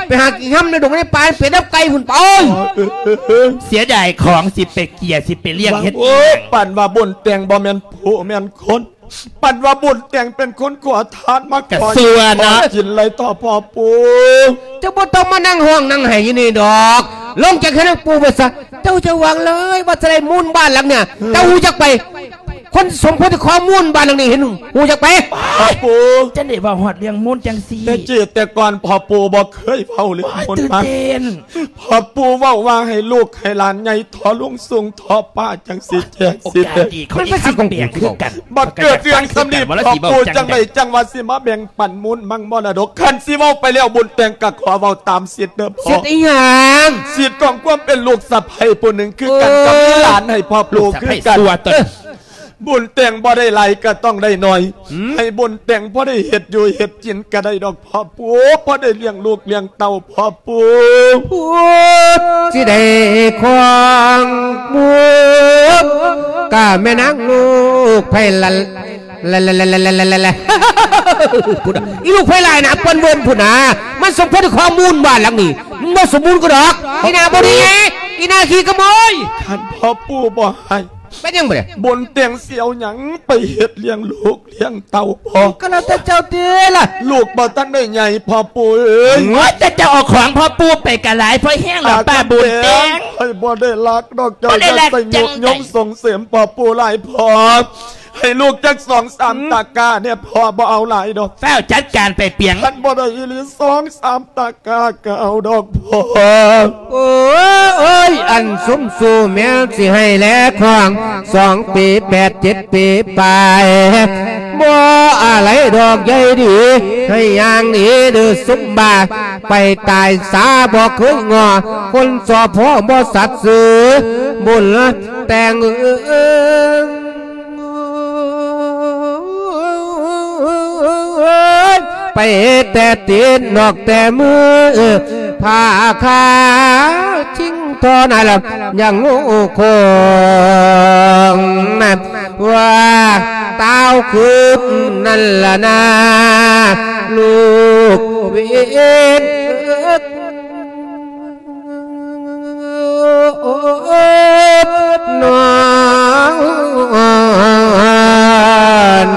ໄປຫາກິນຮຳໃນດົງໃນປ່າ ເປັນນຳໄກ່ພຸ້ນ ໄປ ເສຍດາຍຂອງ ຊິໄປເກຍ ຊິໄປລ້ຽງເຮັດ ໂອ້ຍ ປານວ່າບຸນແຕ່ງບໍ່ແມ່ນຜູ້ແມ່ນຄົນ ປານວ່າບຸນແຕ່ງເປັນຄົນຂໍທານມາ ກະຊົ່ວເນາະ ຂໍກິນໄລຕໍ່ພໍ່ປູ່ ເຈົ້າບໍ່ຕ້ອງມານັ່ງຮ້ອງນັ່ງໄຫ້ຢູ່ນີ້ດອກ ລົງຈາກເຮືອນນາງປູ່ໄປຊະ ເຈົ້າຈະຫວັງເລີຍວ່າຈະໄດ້ມູນບ້ານຫຼັງນີ້ ເຈົ້າຮູ້ຈັກໄປ ຄົນສົມຄວນທີ່ຂໍມູນບ້ານຫຼັງນີ້ ເຫັນຮູ້ຈັກໄປ ພໍ່ປູ່ ຈັ່ງໄດ້ເວົ້າຮອດເລື່ອງມູນຈັ່ງຊີ້ ແຕ່ກີ້ແຕ່ກ່ອນພໍ່ປູ່ບໍ່ເຄີຍເວົ້າເລື່ອງມູນ ໂອ້ຍ ຕື່ນເຕັ້ນ ພໍ່ປູ່ເວົ້າວ່າໃຫ້ລູກໃຫ້ຫຼານໃຫຍ່ ທໍລຸງສູງທໍປ້າ ຈັ່ງຊິແຈ້ງ ໂອກາດດີ ຊິແຈ້ງ ເຂົາ ມັນ ອີກ ເປັນສິດຂອງ ຄຳແປງ ຄືກັນ ບັດເກີດເລື່ອງສ່ຳນີ້ ພໍ່ປູ່ຈັ່ງໃດຈັ່ງວ່າຊິມາແບ່ງປັນມູນມັງມໍລະດົກ ຄັນຊິເວົ້າໄປແລ້ວບຸນແຕ່ງກະຂໍເວົ້າຕາມສິດເດີພໍ່ ສິດອີ່ຫຍັງ ສິດຂອງຄວາມເປັນລູກສະໃພ້ຜູ້ໜຶ່ງຄືກັນ ເອີ ກັບມີຫຼານໃຫ້ພໍ່ປູ່ຄືກັນ ລູກສະໃພ້ຊົ່ວຕົວ ເອີ ບຸນແຕ່ງບໍ່ໄດ້ຫຼາຍກະຕ້ອງໄດ້ໜ້ອຍ ອືມ ໃຫ້ບຸນແຕ່ງພໍໄດ້ເຮັດຢູ່ເຮັດກິນກະໄດ້ດອກພໍ່ປູ່ ພໍໄດ້ລ້ຽງລູກລ້ຽງເຕົ້າພໍ່ປູ່ ຜູ້ຊິໄດ້ຄອງບຸນ ກະແມ່ນາງລູກໃຜລະ ລະ ລະ ລະ ລະ ລະ ລະ ລະ ລະ ພຸ້ນນະ ອີລູກໃຜຫຼາຍນະ ປອນເວີນພຸ້ນນະ ມັນສົມຄວນຄອງມູນບ້ານຫຼັງນີ້ ມັນບໍ່ສົມບູນກະດອກ ອີ່ໜ້າບໍ່ດີ ອີ່ໜ້າຂີ້ຂະໂມຍ ຄັນພໍ່ປູ່ບໍ່ໃຫ້ ເປັນຫຍັງບາດນີ້ ບຸນແຕ່ງຊິເອົາຫຍັງໄປເຮັດລ້ຽງລູກລ້ຽງເຕົ້າພໍ່ ກະແລ້ວແຕ່ເຈົ້າຕິລະ ລູກບໍ່ທັນໄດ້ໃຫຍ່ພໍ່ປູ່ເອີຍ ໂອ້ຍ ແຕ່ເຈົ້າເອົາຂອງພໍ່ປູ່ໄປກະຫຼາຍພໍແຮງແລ້ວປ້າບຸນແຕ່ງ ຂ້ອຍບໍ່ໄດ້ລັກດອກ ເຈົ້າຢ່າໃສ່ຍຸຍົງສົ່ງເສີມພໍ່ປູ່ຫຼາຍພໍ່ ໃຫ້ລູກຈັກສອງສາມຕະກ້າແດ່ ພໍ່ບໍ່ເອົາຫຼາຍດອກ. ຟ້າວຈັດການໄປປຽງ. ຄັນບໍ່ໄດ້ອີ່ຫຼີສອງສາມຕະກ້າກໍເອົາດອກພໍ່. ໂອ້ຍ ອັນຊຸມຊູແມ່ນຊິໃຫ້ແລຂອງ ສອງປີແປດ ເຈັດປີປາຍ ບໍ່ອາໄລດອກໃຫຍ່ດີ ໃຫ້ຢ່າງນີ້ເດີຊຸມບ້າ ໄປຕາຍສາບໍ່ເຄີຍງໍ ຄົນສໍ້ພໍບໍ່ສັດຊື່ ບຸນແຕ່ງເອີຍ ໄປແຕ່ຕີນນອກແຕ່ມື ຜ້າຂາວຈິງທໍ່ນັ້ນລະ ຍັງງູຄົງ ວ່າຕາວຄືນນັ້ນລະນາ ລູກເວນເອີຍ ນ້ອງເອີຍ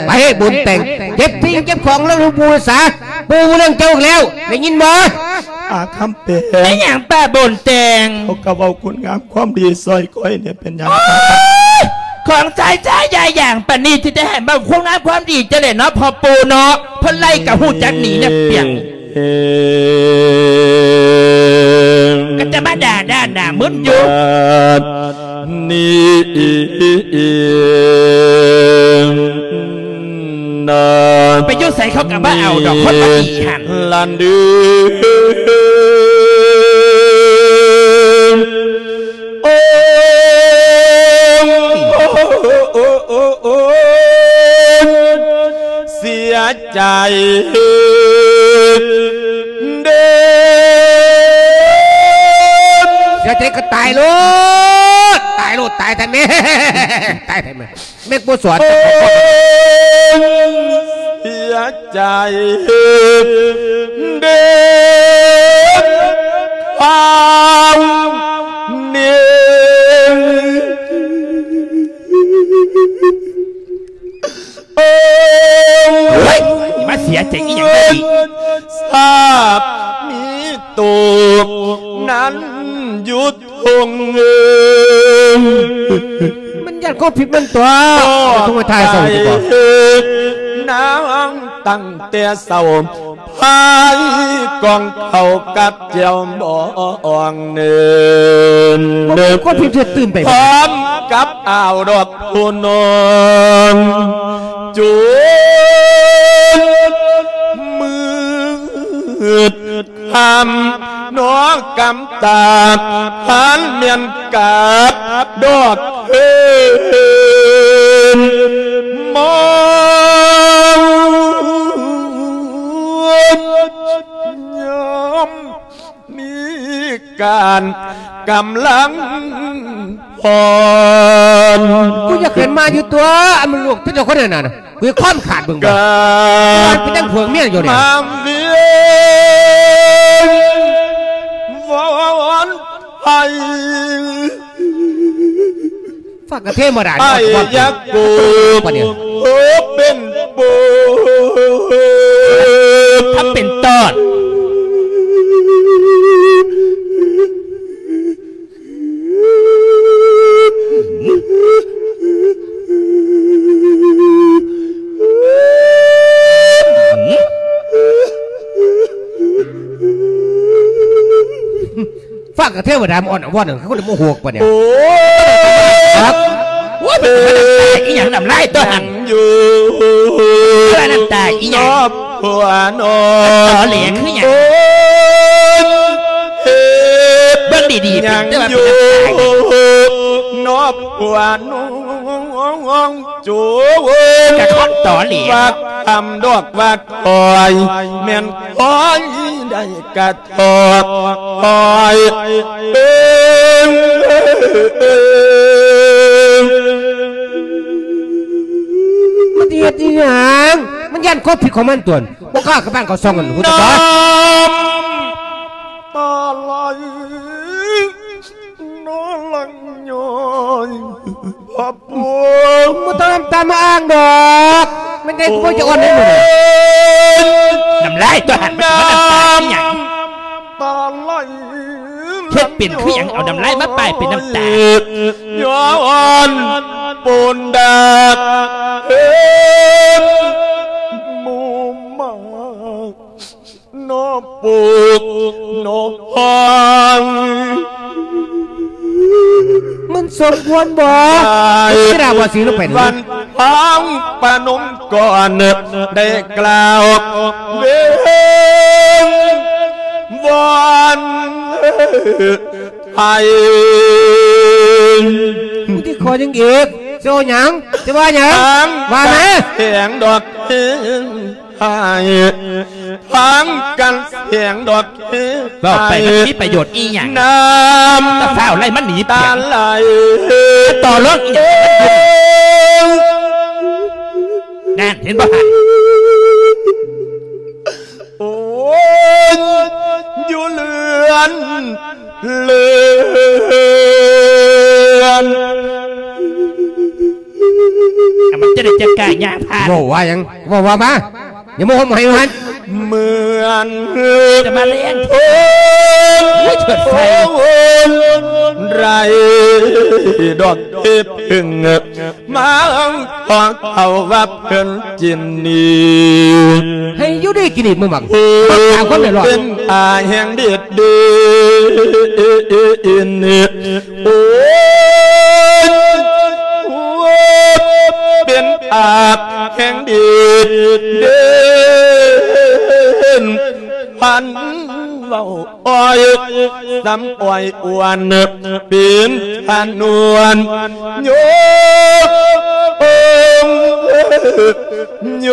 ໄປບຸນແຕ່ງ ເກັບສິ່ງເກັບຂອງລະລູກປູຊາ ປູເລື່ອງເຈົ້າອີກແລ້ວ ໄດ້ຍິນບໍ່? ອາຄຳແປງ ແມ່ນຫຍັງປ້າບຸນແຕ່ງ? ເຂົາກໍເວົ້າຄຸນງາມຄວາມດີຊ່ອຍຂ້ອຍນີ້ ເປັນຫຍັງ? ໂອ້ຍ ຂອງຊາຍຊາຍຢາຍຢ່າງປານນີ້ ທີ່ໄດ້ໃຫ້ເວົ້າຄຸນງາມຄວາມດີຈັ່ງໃດເນາະ ພໍ່ປູເນາະ ເພິ່ນໄລ່ກໍຮູ້ຈັກໜີນະປຽງ. ກໍຈະມາດ່າດ້ານໜ້າມຶນຢູ່ ບາດນີ້ນະ ໄປຢູ່ໃສເຂົາກໍບໍ່ເອົາດອກ ຄົນບໍ່ດີຫັ້ນ ລະດື ໂອ້ ໂອ້ ໂອ້ ໂອ້ ເສຍໃຈເດີ ເສຍໃຈກໍຕາຍໂລດ ຕາຍໂລດ ຕາຍແທ້ແມ່ ຕາຍແທ້ແມ່. ແມ່ນບໍ່ສອນ ເສຍໃຈເດີ ຄວາມນີ້ ໂອ້ຍ ມາເສຍໃຈອີ່ຫຍັງ ຊາບມີໂຕນັ້ນຢູ່ ຄົງເອີຍ ມັນຢ້ານຄວາມຜິດມັນຕົວະ ຕ້ອງໄປຖ່າຍເຊົາຢູ່ບໍ່? ນາງຕັ້ງແຕ່ເຊົ້າ ພາຍກ່ອງເຂົ້າກັບແຈ່ວບອງເນີນ ບໍ່ມີຄວາມຜິດເຮັດຕື່ມໄປ ພ້ອມກັບອ້າວດອກຜູ້ນ້ອງ ຈົນມືດ ຄຳນອກກຳຕາ ພັນແມ່ນກາບດອກເພິ່ນມອງ ຍາມມີການກຳລັງ ພອນ ກູຢາກເຫັນມາຢູ່ຕົວະ ອັນມັນລູກເຈົ້າຄົນນັ້ນນະ ກູຄວາມຂາດເບິ່ງບໍ່ ການເປັນຈັ່ງເຜືອງເມຍຢູ່ນີ້ ມາວຽນວອນໄພ ຝາກກະເທມາດາ ອ້າຍຢາກໂກ ປາດນີ້ ໂອ ເປັນໂປ ທຳເປັນຕອດ ຟັງກະເທວະດາມາອ່ອນອາວອນ ຄືຄົນບໍ່ຮູ້ປານນີ້ ໂອ້ຍ ໂອ້ຍ ເປັນອີ່ຫຍັງ ນ້ຳລາຍຕົວຫັ້ນ ຢູ່ ນ້ຳຕາອີ່ຫຍັງ ນ້ອງ ຕອແຫຼຄືຫຍັງ ໂອ້ຍ ເຮັດ ເບິ່ງດີໆ ຫຍັງ ເປັນແຕ່ວ່າ ຢູ່ ເປັນນ້ຳຕາ ນ້ອງ ຜົວນ້ອງ ໂຈ ກະຄົນຕອແຫຼ ວ່າຄຳດອກວ່າຄອຍ ແມ່ນຄອຍໄດ້ກະທອກ ຄອຍເອີຍ ມັນຊິເຮັດອີ່ຫຍັງ? ມັນຢ້ານຄວາມຜິດຂອງມັນຕົວະ ບໍ່ກ້າເຂົ້າບ້ານເຂົ້າຊ່ອງ ຫັ້ນ ຮູ້ຈັກບໍ່? ນ້ຳຕາໄຫຼ ນອນຫຼັງຍ້ອຍ ພະປູ ບໍ່ຕ້ອງນ້ຳຕາມາອ້າງດອກ ແມ່ນໃດກູບໍ່ຈະອ່ອນໃຫ້ມຶງ ນ້ຳລາຍຕົວຫັ້ນ ນ້ຳຕາອີ່ຫຍັງ ຕາໄຫຼ ເຮັດເປັນຄືຫຍັງ ເອົານ້ຳລາຍມາປ້າຍເປັນນ້ຳຕາ ຍ້ອນ ໂປນດາກເອີນໝູ່ໝາກ ນອປູກນອພອງ ມັນສົມຄວນບໍ່? ໄດ້ ທີ່ລາວາສີລົງໄປນີ້ ວັນທອງປະນົມກ່ອນ ໄດ້ກ່າວເວັງວອນ ໄທ ຜູ້ທີ່ຂໍຫຍັງອີກ? ຊິເວົ້າຫຍັງ? ຊິວ່າຫຍັງ? ວ່າມາ ແສງດອກເຫັນໃຫ້ ທາງກັນແສງດອກເຫັນ ເວົ້າໄປມັນມີປະໂຫຍດອີ່ຫຍັງ? ນ້ຳຕາຟ້າວໄຫຼມັນໜີ ຕາໄຫຼ ຕໍ່ລອງອີ່ຫຍັງ? ນັ້ນເຫັນບໍ່ຫັ້ນ? ໂອ້ຍ ຢູ່ເຮືອນ ເລື່ອນ ອ່ະ ມັນຈະໄດ້ຈັດການຍ່າງຜ່ານ ເວົ້າວ່າຫຍັງ? ເວົ້າວ່າມາ ຢ່າມາຫົມໃຫ້ມັນ ເໝືອນຈະມາແລງໂພນ ໂອ້ຍ ເທີດໄຟ ໄດ້ດອກເຫັບເພິ່ງ ມາຂອເຂົ້າວ່າເພິ່ນຈິນດີ ໃຫ້ຢູ່ດີກິນດີ ມຶງບັງ ເປັນອາແຫ່ງເດັດເດນ ໂອ້ຍ ເປັນອາແຫ່ງເດັດເດນ ພັນເວົ້າ ອ້ອຍ ສຳອ້ອຍອວນ ປີນທະນວນ ໂຍກ ໂອງ ໂຍ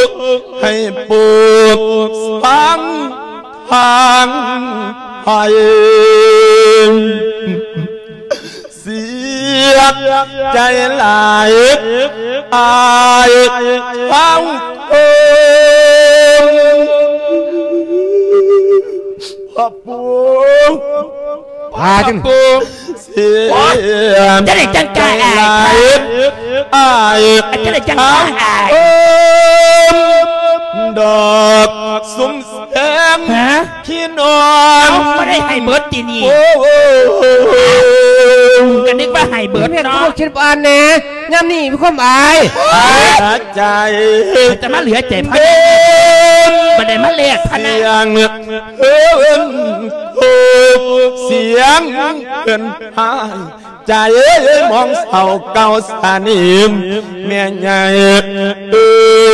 ກ ໃຫ້ໂປກ ຟັງທາງໄພ ເສຍໃຈຫຼາຍ ອາຍເຂົາຄົນ ພໍ່ປູ ພາຈັ່ງ ເສຍ ຈະໄດ້ຈັ່ງກາຍອາຍ ອາຍ ຈະໄດ້ຈັ່ງກາຍອາຍ ດອກສຸມແສງ ຮະ? ພີ່ນ້ອງ ເອົາ ບໍ່ໄດ້ໃຫ້ເບິດຕິນີ້ ໂອ້ ກະນຶກວ່າໃຫ້ເບິດເນາະ ແມ່ນບໍ່ຄິດອ່ານແດ່ ຍາມນີ້ມີຄວາມອາຍ ເສຍໃຈ ຈະມາເຫຼືອໃຈພະນະ ບໍ່ໄດ້ມາແລກພະນະ ສຽງເອີ້ນໂຄ ສຽງເອີ້ນຫາຍ ໃຈມອງເສົ້າເກົ່າສະໜິມ ແມ່ໃຫຍ່ເອີ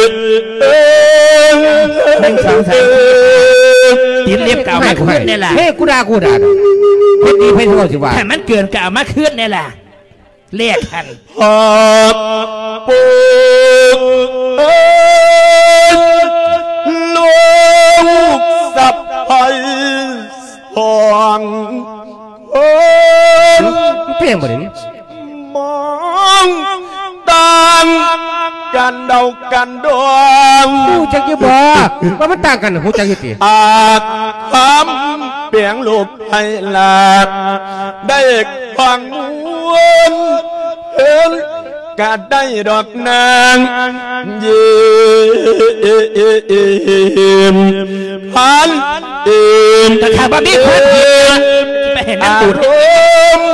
ຍ ເອີຍ ໜຶ່ງ ສອງ ສາມ ສີ່ ຫ້າ ຫົກ ເຈັດ ແປດ ເກົ້າ ມາຄືນແດ່ລະ ເຮີ້ ກູດ່າ ກູດ່າ ເຮັດດີໃຜຊິເວົ້າຊິວ່າ ຖ້າມັນເກີນກະເອົາມາຄືນແດ່ລະ ແລກຫັ້ນ ພອກປູເອີຍ ລູກສະໃພ້ ຂອງຄົນ ເປັນຫຍັງບັດນີ້ ມອງຕ່າງກັນເດົາກັນດອງ ຮູ້ຈັກຢູ່ບໍ່ ວ່າມັນຕ່າງກັນ ຮູ້ຈັກຢູ່ຕິ ອາກຄຳແປງໂລກໃຫ້ລາກ ໄດ້ຟັງວນເພິ່ນ ກະໄດ້ດອກນາງ ເຢ້ມ ພັນເອີມ ກະຖ້າບໍ່ມີຄວາມຜິດ ໄປເຫັນນຳບຸນ ອາລົມ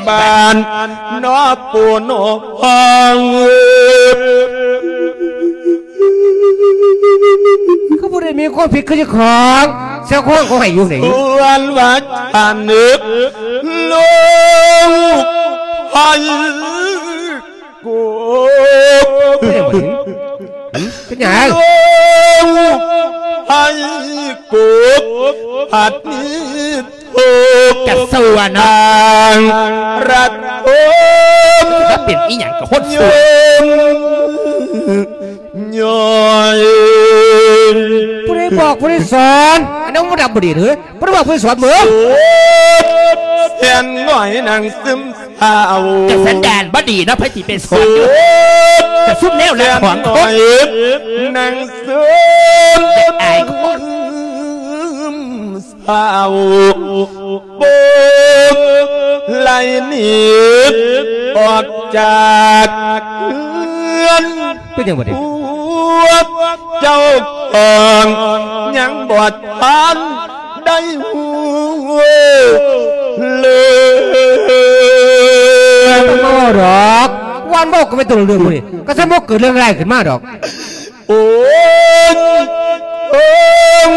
ບ້ານ ນໍປູນໍພໍ່ ຄືບໍ່ໄດ້ມີຄວາມຜິດຄືເຈົ້າຂອງ ເຈົ້າຂອງເຂົາໃຫ້ຢູ່ນີ້ ສ່ວນວ່າຈະນຶກ ລູກໃຜ ໂກກ ເປັນຫຍັງ ເປັນຫຍັງ ໃຫ້ໂກກ ພັດມີໂທກ ກະຊົ່ວເນາະ ທາງລັດໂທມ ແລ້ວເປັນອີ່ຫຍັງກະຄົນຊົ່ວ ຍ້ອຍ ຜູ້ໃດບອກ ຜູ້ໃດສອນ ອັນນັ້ນບໍ່ດັບບໍ່ດີເດີ ບໍ່ໄດ້ບອກ ຜູ້ໃດສອນເບິ່ງ ແມ່ນຫງອຍນາງຊຶມ ເອົາ ກະສັນດານບໍ່ດີເນາະ ໃຜຊິໄປສອນຢູ່ ກະຊຸມແນວລະຂອງຄົນ ນັ່ງຊຶມ ອາຍຄົນ ເສົ້າ ໂປກໄລ່ໜີອອກຈາກເຮືອນ ເປັນຫຍັງບັດນີ້ ພວກເຈົ້າຂອງຍັງບໍ່ທັນ ໄດ້ຮູ້ເລີຍ ບໍ່ເວົ້າດອກ ວັນເວົ້າກໍໄປຕົວເລື່ອງມື້ນີ້ ກໍສະໝົກເກີດເລື່ອງຮ້າຍຂຶ້ນມາດອກ. ໂອ້ຍ ໂອ້ຍ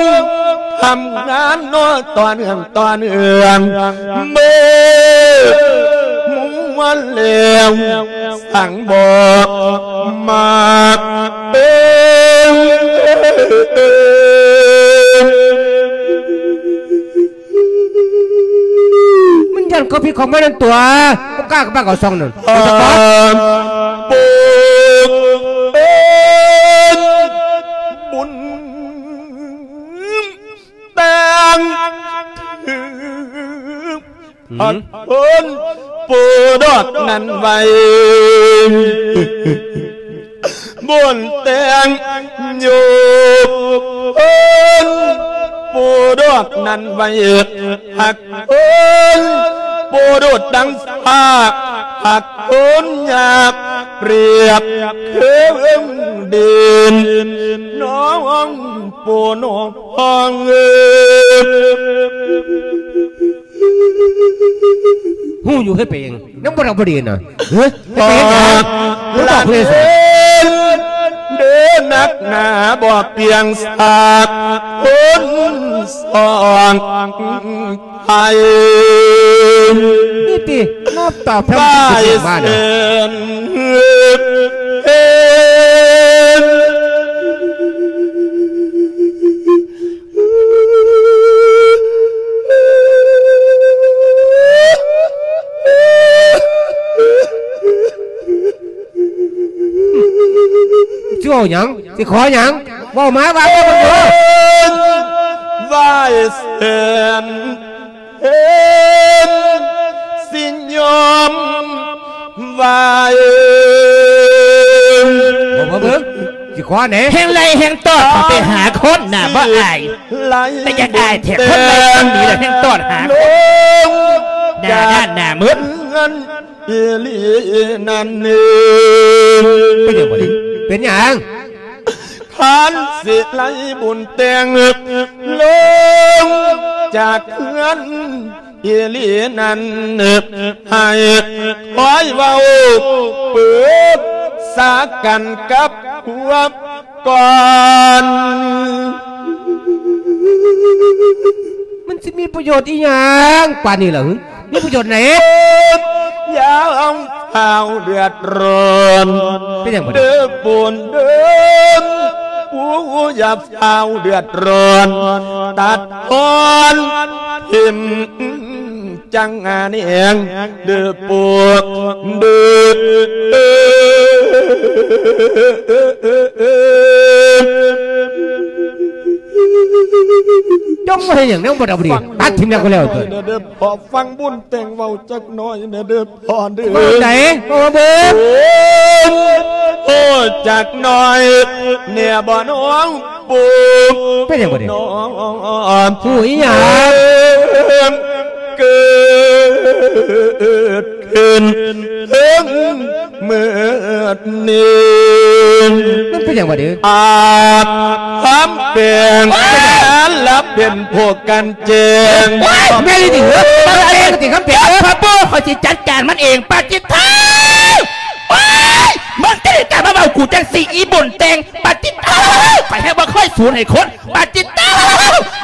ທຳງານເນາະ ຕໍ່ເນື່ອງ ຕໍ່ເນື່ອງ ເບິ່ງ ມ່ວນແລ້ວ ສັງບອກມາກເອີຍ. ມັນຢ້ານຄວາມຜິດຂອງມັນນັ້ນຕົວະ ບໍ່ກ້າກໍປາກເອົາຊ່ອງນັ້ນ ເອີ ເປັນຕາກອດ ບຸນເປັນແຕ່ງ ອືມ ອັນເພິ່ນປູດອກນັ້ນໄວ້ ບຸນແຕ່ງໂຍບເພິ່ນປູດອກນັ້ນໄວ້ ຮັກເພິ່ນປູດູດດັ່ງຟ້າ ຮັກເພິ່ນຫຍາບປຽບຄືເອີງດິນ ນ້ອງປູນ້ອງເອີຍ. ຮູ້ຢູ່ເຮັດໄປເອງ ຍັງບໍ່ໄດ້ບໍ່ດີນະ ເຮີ ເຮັດໄປເຮັດຫຍັງ ບໍ່ບອກເພິ່ນເລີຍ ເດີນັກໜາບໍ່ປຽງສາກຄົນສອງໄທ ນີ້ຕິ ມອບຕອບແທ້ ວ່າ ທີ່ເຮັດມານະ ເອີຍ. ຊິເວົ້າຫຍັງ? ຊິຂໍຫຍັງ? ເວົ້າມາ ວ່າມາເບິ່ງດູ. ໄຫວ້ເຊີນ ເຫັນ ຊິຍອມໄຫວ້ ເບິ່ງ ເບິ່ງ ຊິຂໍແດ່ ແຮ່ງໄລ່ແຮ່ງຕອດເຂົ້າໄປຫາຄົນໜ້າບໍ່ອາຍ ແຕ່ຢາກອາຍແທ້ ຄົນໄລ່ຄົນໜີແລ້ວແຮ່ງຕອດຫາຄົນ ໜ້າດ້ານໜ້າມືດ ເປັນຫຍັງບັດນີ້ ເປັນຫຍັງ? ຄັນຊິໄລ່ບຸນແຕ່ງລົງຈາກເຮືອນອີ່ຫຼີນັ້ນ ໃຫ້ຄອຍເວົ້າປຶກສາກັນກັບພວກກ່ອນ ມັນຊິມີປະໂຫຍດອີ່ຫຍັງປານນີ້ລະຫຶ? ມີປະໂຫຍດໃດ? ຢ່າເອົາເດືອດຮ້ອນ ເປັນຫຍັງບັດນີ້? ເດີປູນເດີ ປູຢ່າຟ້າວເດືອດຮ້ອນ ຕັດອອນຖິ້ມຈັງອາແນງ ເດີປູເດີ ຈົ່ງມາເຮັດຫຍັງແນວບໍ່ດຳດີ ຕັດຖິ້ມແລ້ວກໍແລ້ວເຕີ. ພໍຟັງບຸນແຕ່ງເວົ້າຈັກໜ້ອຍແດ່ເດີພໍ່ເດີ. ເວົ້າໃດ? ເວົ້າມາເບິ່ງ. ໂອ້ ຈັກໜ້ອຍແດ່ບໍ່ນ້ອງປູ. ເປັນຫຍັງບັດນີ້? ຫູອີຫຍັງ? ເກີດຂຶ້ນເຖິງມື້ນີ້ ມັນເປັນຫຍັງບັດນີ້? ອາບຄຳແປງ ໂອ້ຍ ລະເປັນຜູ້ກັນ ແຈ້ງ. ໂອ້ຍ ແມ່ນອີ່ຫຼີເອີຍ ມາແຈ້ງຕິຄຳເປັນ. ພະປູ ຂ້ອຍຊິຈັດການມັນເອງ. ປາຈິດໂທ ໂອ້ຍ ມຶງຈະໄດ້ກ້າມາເວົ້າກູຈັ່ງຊີ້ ອີບຸນແຕ່ງ. ປາຈິດໂທ ຂ້ອຍແຮງບໍ່ເຄີຍສູນໃຫ້ຄົນ. ປາຈິດໂທ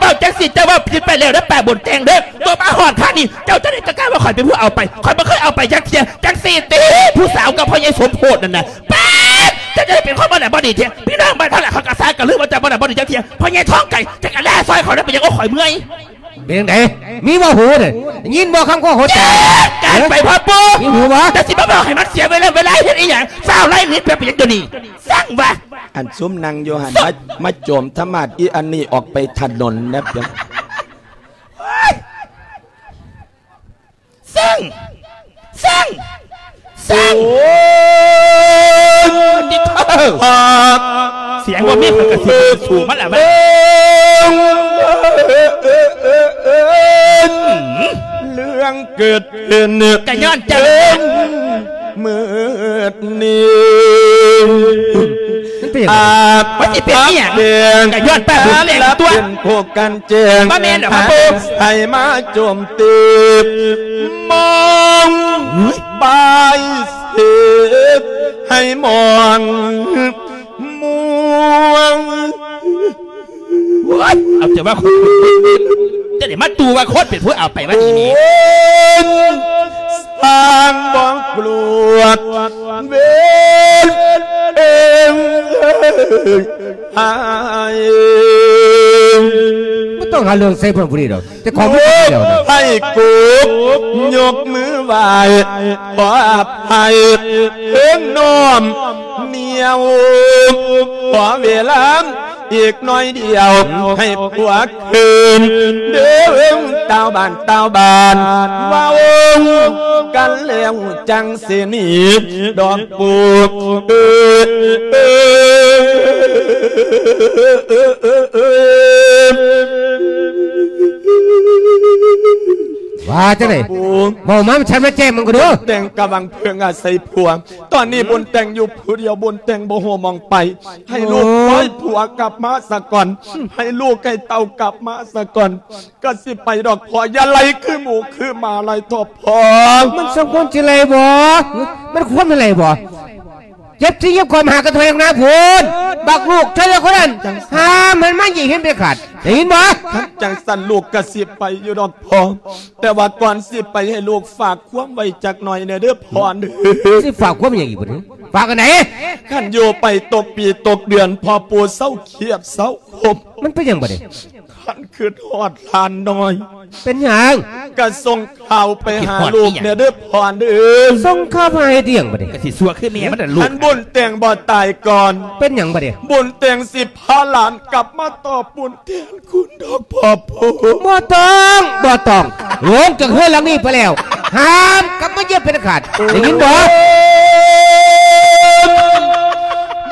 ເວົ້າຈັ່ງຊີ້ ເຈົ້າເວົ້າຜິດໄປແລ້ວເດີ ປາບຸນແຕ່ງເດີ. ຕົວມາຮອດຂ້າງນີ້ ເຈົ້າຈັ່ງໃດກໍກ້າວ່າຂ້ອຍເປັນຜູ້ເອົາໄປ. ຂ້ອຍບໍ່ເຄີຍເອົາໄປຈັກເທື່ອ. ຈັ່ງຊີ້ຕິ ຜູ້ສາວກັບພໍ່ໃຫຍ່ສົມໂພດນັ້ນນະ ປາດ ເຈົ້າຈະໄດ້ເປັນຄົນບໍ່ໜ້າບໍ່ດີແທ້. ພີ່ນ້ອງບ້ານເຮົາລະເຂົາກະຊາກະລືມວ່າເຈົ້າບໍ່ໜ້າບໍ່ດີຈັກເທື່ອ. ພໍ່ໃຫຍ່ທອງໄກ່ ເຈົ້າກະແລ່ຊ່ອຍຂ້ອຍໄດ້ໄປຫຍັງ? ໂອ້ ຂ້ອຍເມື່ອຍ. ເປັນຈັ່ງໃດ? ມີບໍ່ຫູເດ້? ໄດ້ຍິນບໍ່ຄຳຂອງຫົວໃຈ? ການໄປພໍ່ປູ ມີຫູບໍ່? ຈະຊິມາເວົ້າໃຫ້ມັນເສຍເວລາ ເວລາເຮັດອີ່ຫຍັງ? ຟ້າວໄລ່ໜີໄປ ໄປຫຍັງດຽວນີ້? ສ້າງວ່າ ອັນຊຸມນັ່ງຢູ່ຫັ້ນ ມາ ມາໂຈມທຳມາດອີ່ອັນນີ້ອອກໄປຖະໜົນແດ່. ໂອ້ຍ ສ້າງ ສ້າງ ສ້າງ. ໂອ້ຍ ຕິດເທີ ສຽງບໍ່ມີ ຂ້ອຍກະຊິສູ້ມັນລະບັດ. ເລື່ອງເກີດຂຶ້ນກະຍ້ອນເຈົ້າ ມື້ນີ້ ມັນເປັນຫຍັງ? ອາບ ມັນຊິເປັນອີ່ຫຍັງ? ກະຍ້ອນປ້າບຸນແຕ່ງຕົວະ ເປັນຜູ້ກັນແຈ້ງ. ບໍ່ແມ່ນດອກ ໃຫ້ມາໂຈມຕີ ມອງ ບາຍເສດໃຫ້ມອງມ່ວງ. ໂອ້ຍ ເອົາແຕ່ວ່າຄົນ ຈະໄດ້ມາຕູວ່າຄົນເປັນຜູ້ເອົາໄປວ່າດີນີ້. ໂອ້ຍ ຊ່າງບໍ່ກວດເວນເອີງ ບໍ່ຕ້ອງຫາເລື່ອງໃສ່ເພິ່ນຜູ້ນີ້ດອກ ແຕ່ຂອງມັນເປັນແນວນັ້ນ. ໃຫ້ກົບຍົກມືໄຫວ້ຂໍອະໄພເຖິງນ້ອມນຽວ ຂໍເວລາອີກໜ້ອຍດຽວໃຫ້ຜົວຄືນເດີ ຕາວບ້ານ ຕາວບ້ານ ເວົ້າກັນແລ້ວຈັ່ງຊິໜີດອກ. ປູເອີ ວ່າຈັ່ງໃດ? ເວົ້າມາ ມັນຊັດມາແຈ້ງມັນກໍເດີ. ແຕ່ງກຳລັງເພິ່ງອາໄສຜົວ ຕອນນີ້ບຸນແຕ່ງຢູ່ຜູ້ດຽວ ບຸນແຕ່ງບໍ່ຮູ້ໝ່ອງໄປ ໃຫ້ລູກ ໂອ້ຍ ໃຫ້ຜົວກັບມາສາກ່ອນ ໃຫ້ລູກໃຫ້ເຕົ້າກັບມາສາກ່ອນ ກະຊິໄປດອກພໍ່ ຢ່າໄລ່ຄືໝູຄືໝາໄລ່ທອບພໍ່. ມັນສົມຄວນຊິໄລ່ບໍ່? ມັນຄວນຊິໄລ່ບໍ່? ເຈັບທີ່ຍັບຄວາມຫາກະເທີຍນາພຸ້ນ ບັກລູກເທີຍຄົນນັ້ນ ຫ້າມມັນມາຢ້ຽມເຫັນເດັດຂາດ ໄດ້ຍິນບໍ່? ຄັນຈັ່ງຊັ້ນລູກກະຊິໄປຢູ່ດອກພໍ່ ແຕ່ວ່າກ່ອນຊິໄປໃຫ້ລູກຝາກຄວາມໄວ້ຈັກໜ້ອຍແດ່ເດີພໍ່ເດີ. ຊິຝາກຄວາມຫຍັງອີກບັດນີ້? ຝາກອັນໃດ? ຄັນຢູ່ໄປຕົກປີຕົກເດືອນ ພໍ່ປູເຊົາຄຽດເຊົາຄົມ. ມັນເປັນຫຍັງບັດນີ້? ຄັນຄິດຮອດຫຼານນ້ອຍ ເປັນຫຍັງ? ກະສົ່ງຂ່າວໄປຫາລູກແດ່ເດີພໍ່ເດີ. ສົ່ງຂ່າວໄປຫາເຮັດຫຍັງບັດນີ້? ກະຊິຊົ່ວຄືແມ່ມັນລະລູກ. ຄັນບຸນແຕ່ງບໍ່ຕາຍກ່ອນ ເປັນຫຍັງບັດນີ້? ບຸນແຕ່ງຊິພາຫຼານກັບມາຕອບບຸນແທນຄຸນດອກພໍ່ປູ. ບໍ່ຕ້ອງ ບໍ່ຕ້ອງ ລົງຈາກເຮືອນຫຼັງນີ້ໄປແລ້ວ ຫ້າມກັບມາຢ້ຽມເປັນອັນຂາດ ໄດ້ຍິນບໍ່?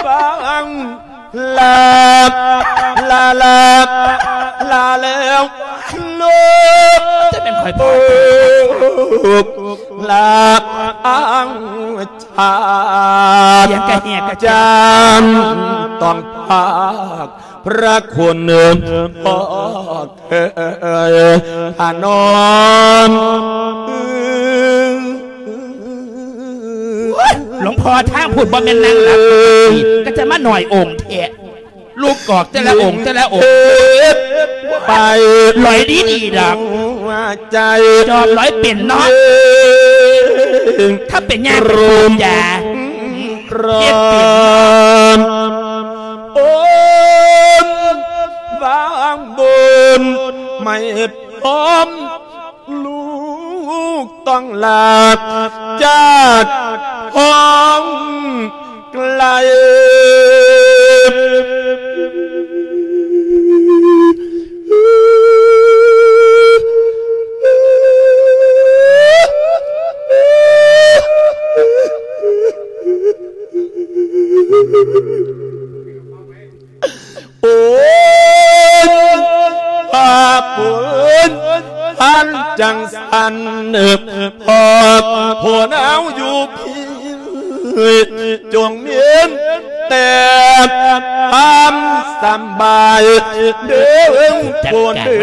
ບາງ ລາ ລາ ລາ ລາແລ້ວລູກ ຈະແມ່ນຂ້ອຍພໍ່ ລາ ອາງ ຈານ ສຽງກະແຫບກະຈານ ຕ້ອງພາກພະຄຸນພໍ່ເອີຍ ພານອນ. ໂອ້ຍ ຫຼວງພໍ່ ທາງພຸ້ນບໍ່ແມ່ນນາງຫຼັບ ກະຈະມາໜ້ອຍອົງແທ້. ລູກກອກແຕ່ລະອົງ ແຕ່ລະອົງ ໄປ ຫຼອຍດີໆດອກ ໃຈ ຈອມຫຼອຍເປັນເນາະ ຖ້າເປັນຍາເປັນປູຢາ ເຮັດເປັນ. ໂອ້ຍ ບາງບຸນ ໄມ່ພ້ອມ ລູກຕ້ອງລາຈາກຫ້ອງໄກ. ໂອ້ຍ ພາບບຸນ ອັນຈັ່ງຊັ້ນ ພໍ່ຜູ້ໜາວຢູ່ພີ້ ຈົ່ງມີແຕ່ຄວາມສຳບາຍເດີ ຜູ້ເດີ.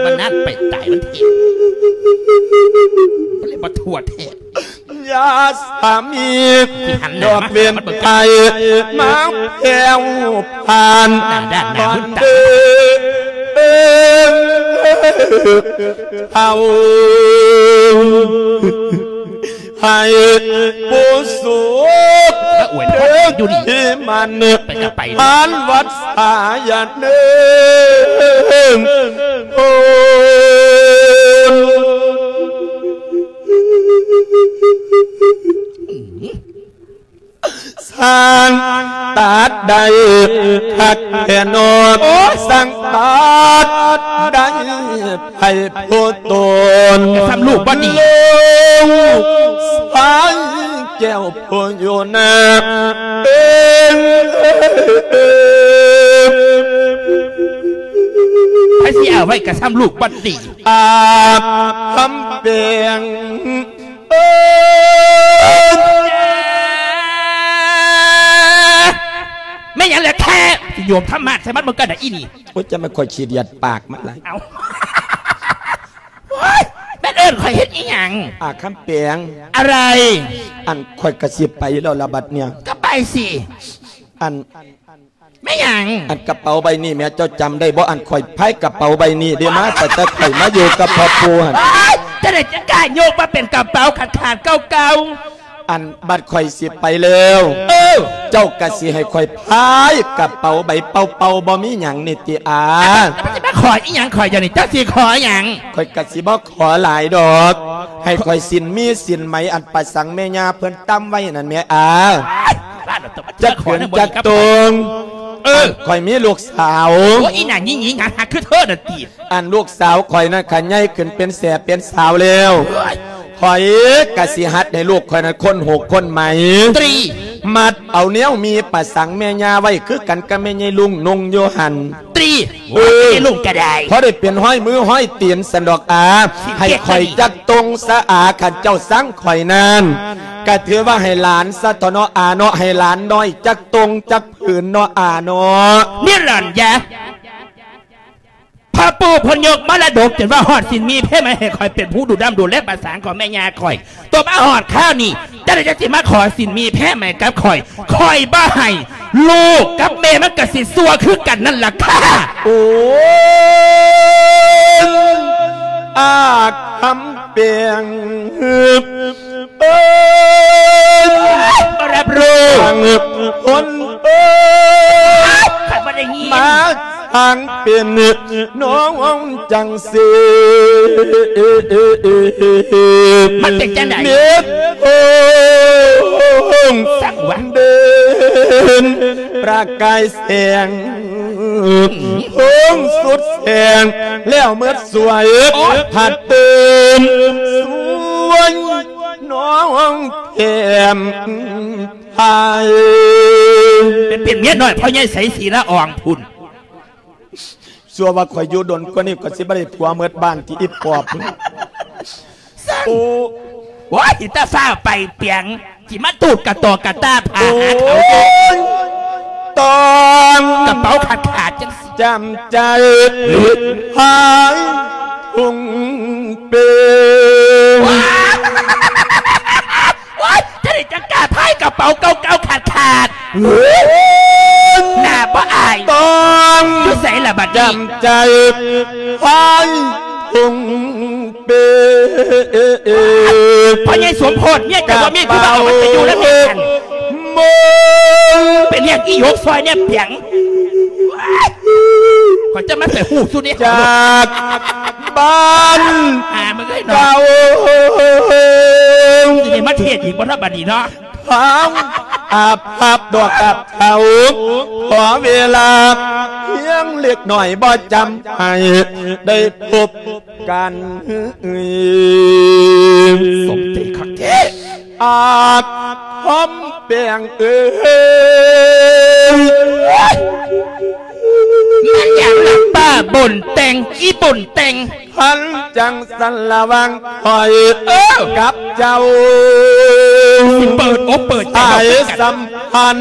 ມັນນັດໄປຕາຍ ມັນເຫັນ ມັນເລີຍບໍ່ທົ່ວແທ້. ຢ່າສາມີດອກເວນໄພມາແຜ່ວຜ່ານ ຕອນເດີເຮົາໃຫ້ຜູ້ສຸກເດີທີ່ມັນ ໄປກະໄປ ຜ່ານວັດສາຍາເດີ ໂອ້ ຊ່າງຕັດໄດ້ຄັກແທ້ເນາະ ໂອ້ຍ ຊ່າງຕັດໄດ້ໃຜຜູ້ຕົນ ກະຊ່ຳລູກບໍ່ດີ ລູກຊາຍແກ້ວຜູ້ຢູ່ໜ້າ ເອີ ໃຜຊິເອົາໄວ້ກະຊ່ຳລູກບໍ່ດີ ອາບຄຳແປງ ເອີ ແມ່ນຫຍັງແຫຼະແທ້ ຊິໂຍມທຳມາດໃສ່ມັນເບິ່ງກັນນະອີນີ້ ໂອ້ຍ ຈະມາຂ້ອຍຂີ້ດຽດປາກມັນຫຼາຍ ເອົ້າ ໂອ້ຍ ແມ່ນເອີ້ນ ຂ້ອຍເຮັດອີ່ຫຍັງ? ອາ ຄຳແປງ ອະໄລ? ອັນ ຂ້ອຍກະຊິໄປແລ້ວລະບັດເນີ້ຍ. ກະໄປຊິ. ອັນ ແມ່ນຫຍັງ? ອັນກະເປົາໃບນີ້ແໝ ເຈົ້າຈຳໄດ້ບໍ່? ອັນຂ້ອຍພາຍກະເປົາໃບນີ້ເດ້ມາ ຕັ້ງແຕ່ຂ້ອຍມາຢູ່ກັບພໍ່ປູ່ຫັ້ນ. ໂອ້ຍ ຈັ່ງໃດຈັ່ງກ້າຍົກມາເປັນກະເປົາຂາດໆເກົ່າໆ? ອັນບັດຂ້ອຍຊິໄປແລ້ວ ເອີ ເຈົ້າກະຊິໃຫ້ຂ້ອຍພາຍກະເປົາໃບເປົ່າໆ ບໍ່ມີຫຍັງນີ້ຕິອາ? ເຈົ້າຊິມາຂໍອີ່ຫຍັງຂ້ອຍດຽວນີ້? ເຈົ້າຊິຂໍຫຍັງ? ຂ້ອຍກະຊິບໍ່ຂໍຫຼາຍດອກ ໃຫ້ຂ້ອຍສິນມີສິນໄໝ ອັນປະສັງແມ່ຍ່າເພິ່ນຕຳໄວ້ນັ້ນແໝອາ. ຈັກເຂີນຈັກຕົງ. ເອີ ຂ້ອຍມີລູກສາວ. ໂອ້ຍ ອີ່ໜ້າຍິງໆ ຫາ ຫາຄືເທີນັ້ນຕິ. ອັນລູກສາວຂ້ອຍນັ້ນ ຄັນໃຫຍ່ຂຶ້ນເປັນແສເປັນສາວແລ້ວ ຂ້ອຍກະຊິຫັດໃຫ້ລູກຂ້ອຍນັ້ນຄົ້ນຫູກຄົ້ນໄໝ ຕຣີ ມັດເອົາແນວມີປະສັງແມ່ຍ່າໄວ້ ຄືກັນກັບແມ່ໃຫຍ່ລຸງນຸ່ງຢູ່ຫັ້ນ ຕຣີ. ເອີ ໂອ້ຍ ແມ່ໃຫຍ່ລຸງກະໄດ້ ພໍໄດ້ເປັນຮອຍມືຮອຍຕີນຊັ້ນດອກອາ. ໃຫ້ຂ້ອຍຈັກຕົງຊະອາ ຄັນເຈົ້າຊັງຂ້ອຍນັ້ນ ກະຖືວ່າໃຫ້ຫຼານຊະເຖາະເນາະອາເນາະ ໃຫ້ຫຼານນ້ອຍຈັກຕົງຈັກຜືນເນາະອາເນາະ. ນິລັນຍາ ພໍ່ປູ່ເພິ່ນຍົກມໍລະດົກ ຈົນວ່າຮອດສິນມີແພໃໝ ໃຫ້ຂ້ອຍເປັນຜູ້ດູດຳດູແລປະສັງຂອງແມ່ຍ່າຂ້ອຍ. ຕົວມາຮອດຄາວນີ້ ຈັ່ງໃດຈັ່ງຊິມາຂໍສິນມີແພໃໝກັບຂ້ອຍ? ຂ້ອຍບໍ່ໃຫ້ ລູກກັບແມ່ມັນກະຊິຊົ່ວຄືກັນນັ້ນລະຄ່າ. ໂອ້ຍ ອາ ຄຳແປງ ເອີຍ ບໍ່ຮັບຮູ້ ຄົນເອີຍ ຂ້ອຍບໍ່ໄດ້ຍິນ ມາສ້າງເປັນນ້ອງຈັ່ງຊີ້ ມັນເປັນຈັ່ງໃດ? ເມັດໂຮງ ສັງວະ ເດັ່ນປະກາຍແສງ ໂຮງສຸດແສງ ແລ້ວເມີດສວຍ ໂອ້ຍ ພັດຕື່ມ ສວຍ ນ້ອງແກ້ມໄພ ໄປເປັນເມຍນ້ອຍພໍ່ໃຫຍ່ໄສສີລະອອງພຸ້ນ. ຊົ່ວວ່າຂ້ອຍຢູ່ດົນກວ່ານີ້ ຂ້ອຍຊິບໍ່ໄດ້ຜົວເມີດບ້ານຕິອີປອບ. ໂອ້ ໂອ້ຍ ຕາຟ້າວໄປປຽງ ຊິມາຕູດກະຕໍກະຕ່າພາຫາເຂົາຢູ່ ໂອ້ຍ ຕ້ອງ ກະເປົາຂາດໆຈັ່ງຊີ້ ຈຳໃຈ ຫາຍທຸ່ງເປ. ໂອ້ຍ ຈັ່ງໃດຈັ່ງກ້າພາຍກະເປົາເກົ່າໆຂາດໆ ເຮີ້ຍ ໜ້າບໍ່ອາຍ ຕ້ອງ ຢູ່ໃສລະບັດນີ້ ຈຳໃຈ ຫາຍທຸ່ງ ເປ. ພໍ່ໃຫຍ່ສົມໂພດ ເມຍເຈົ້າບໍ່ມີຜູ້ມາເອົາມັນໄປຢູ່ນຳເມຍຫັ້ນ ເປັນຫຍັງອີ່ຫຍົກຊອຍແນບປຽງ ຂ້ອຍຈະມາໃສ່ຫູສຸນີ້ ຈາກບ້ານ ຫາມຶງເອີຍເນາະ ເກົ່າ ຊິໄດ້ມາເທດອີກບໍ່ເນາະບັດນີ້ເນາະ. ທາງອາບພາບດອກອາບເຖົ້າ ຂໍເວລາພຽງເລັກນ້ອຍ ບໍ່ຈຳໃຫ້ໄດ້ພົບກັນ. ສົມເດຊະຄັກແທ້ ອາດຄຳແປງເອີຍ ແມ່ນຫຍັງລະປ້າບຸນແຕ່ງ ອີ່ບຸນແຕ່ງ? ຄັນຈັ່ງຊັ້ນລະຫວ່າງຂ້ອຍ ເອີ ກັບເຈົ້າ ຊິເປີດອົກເປີດໃຈ ສາຍສຳພັນ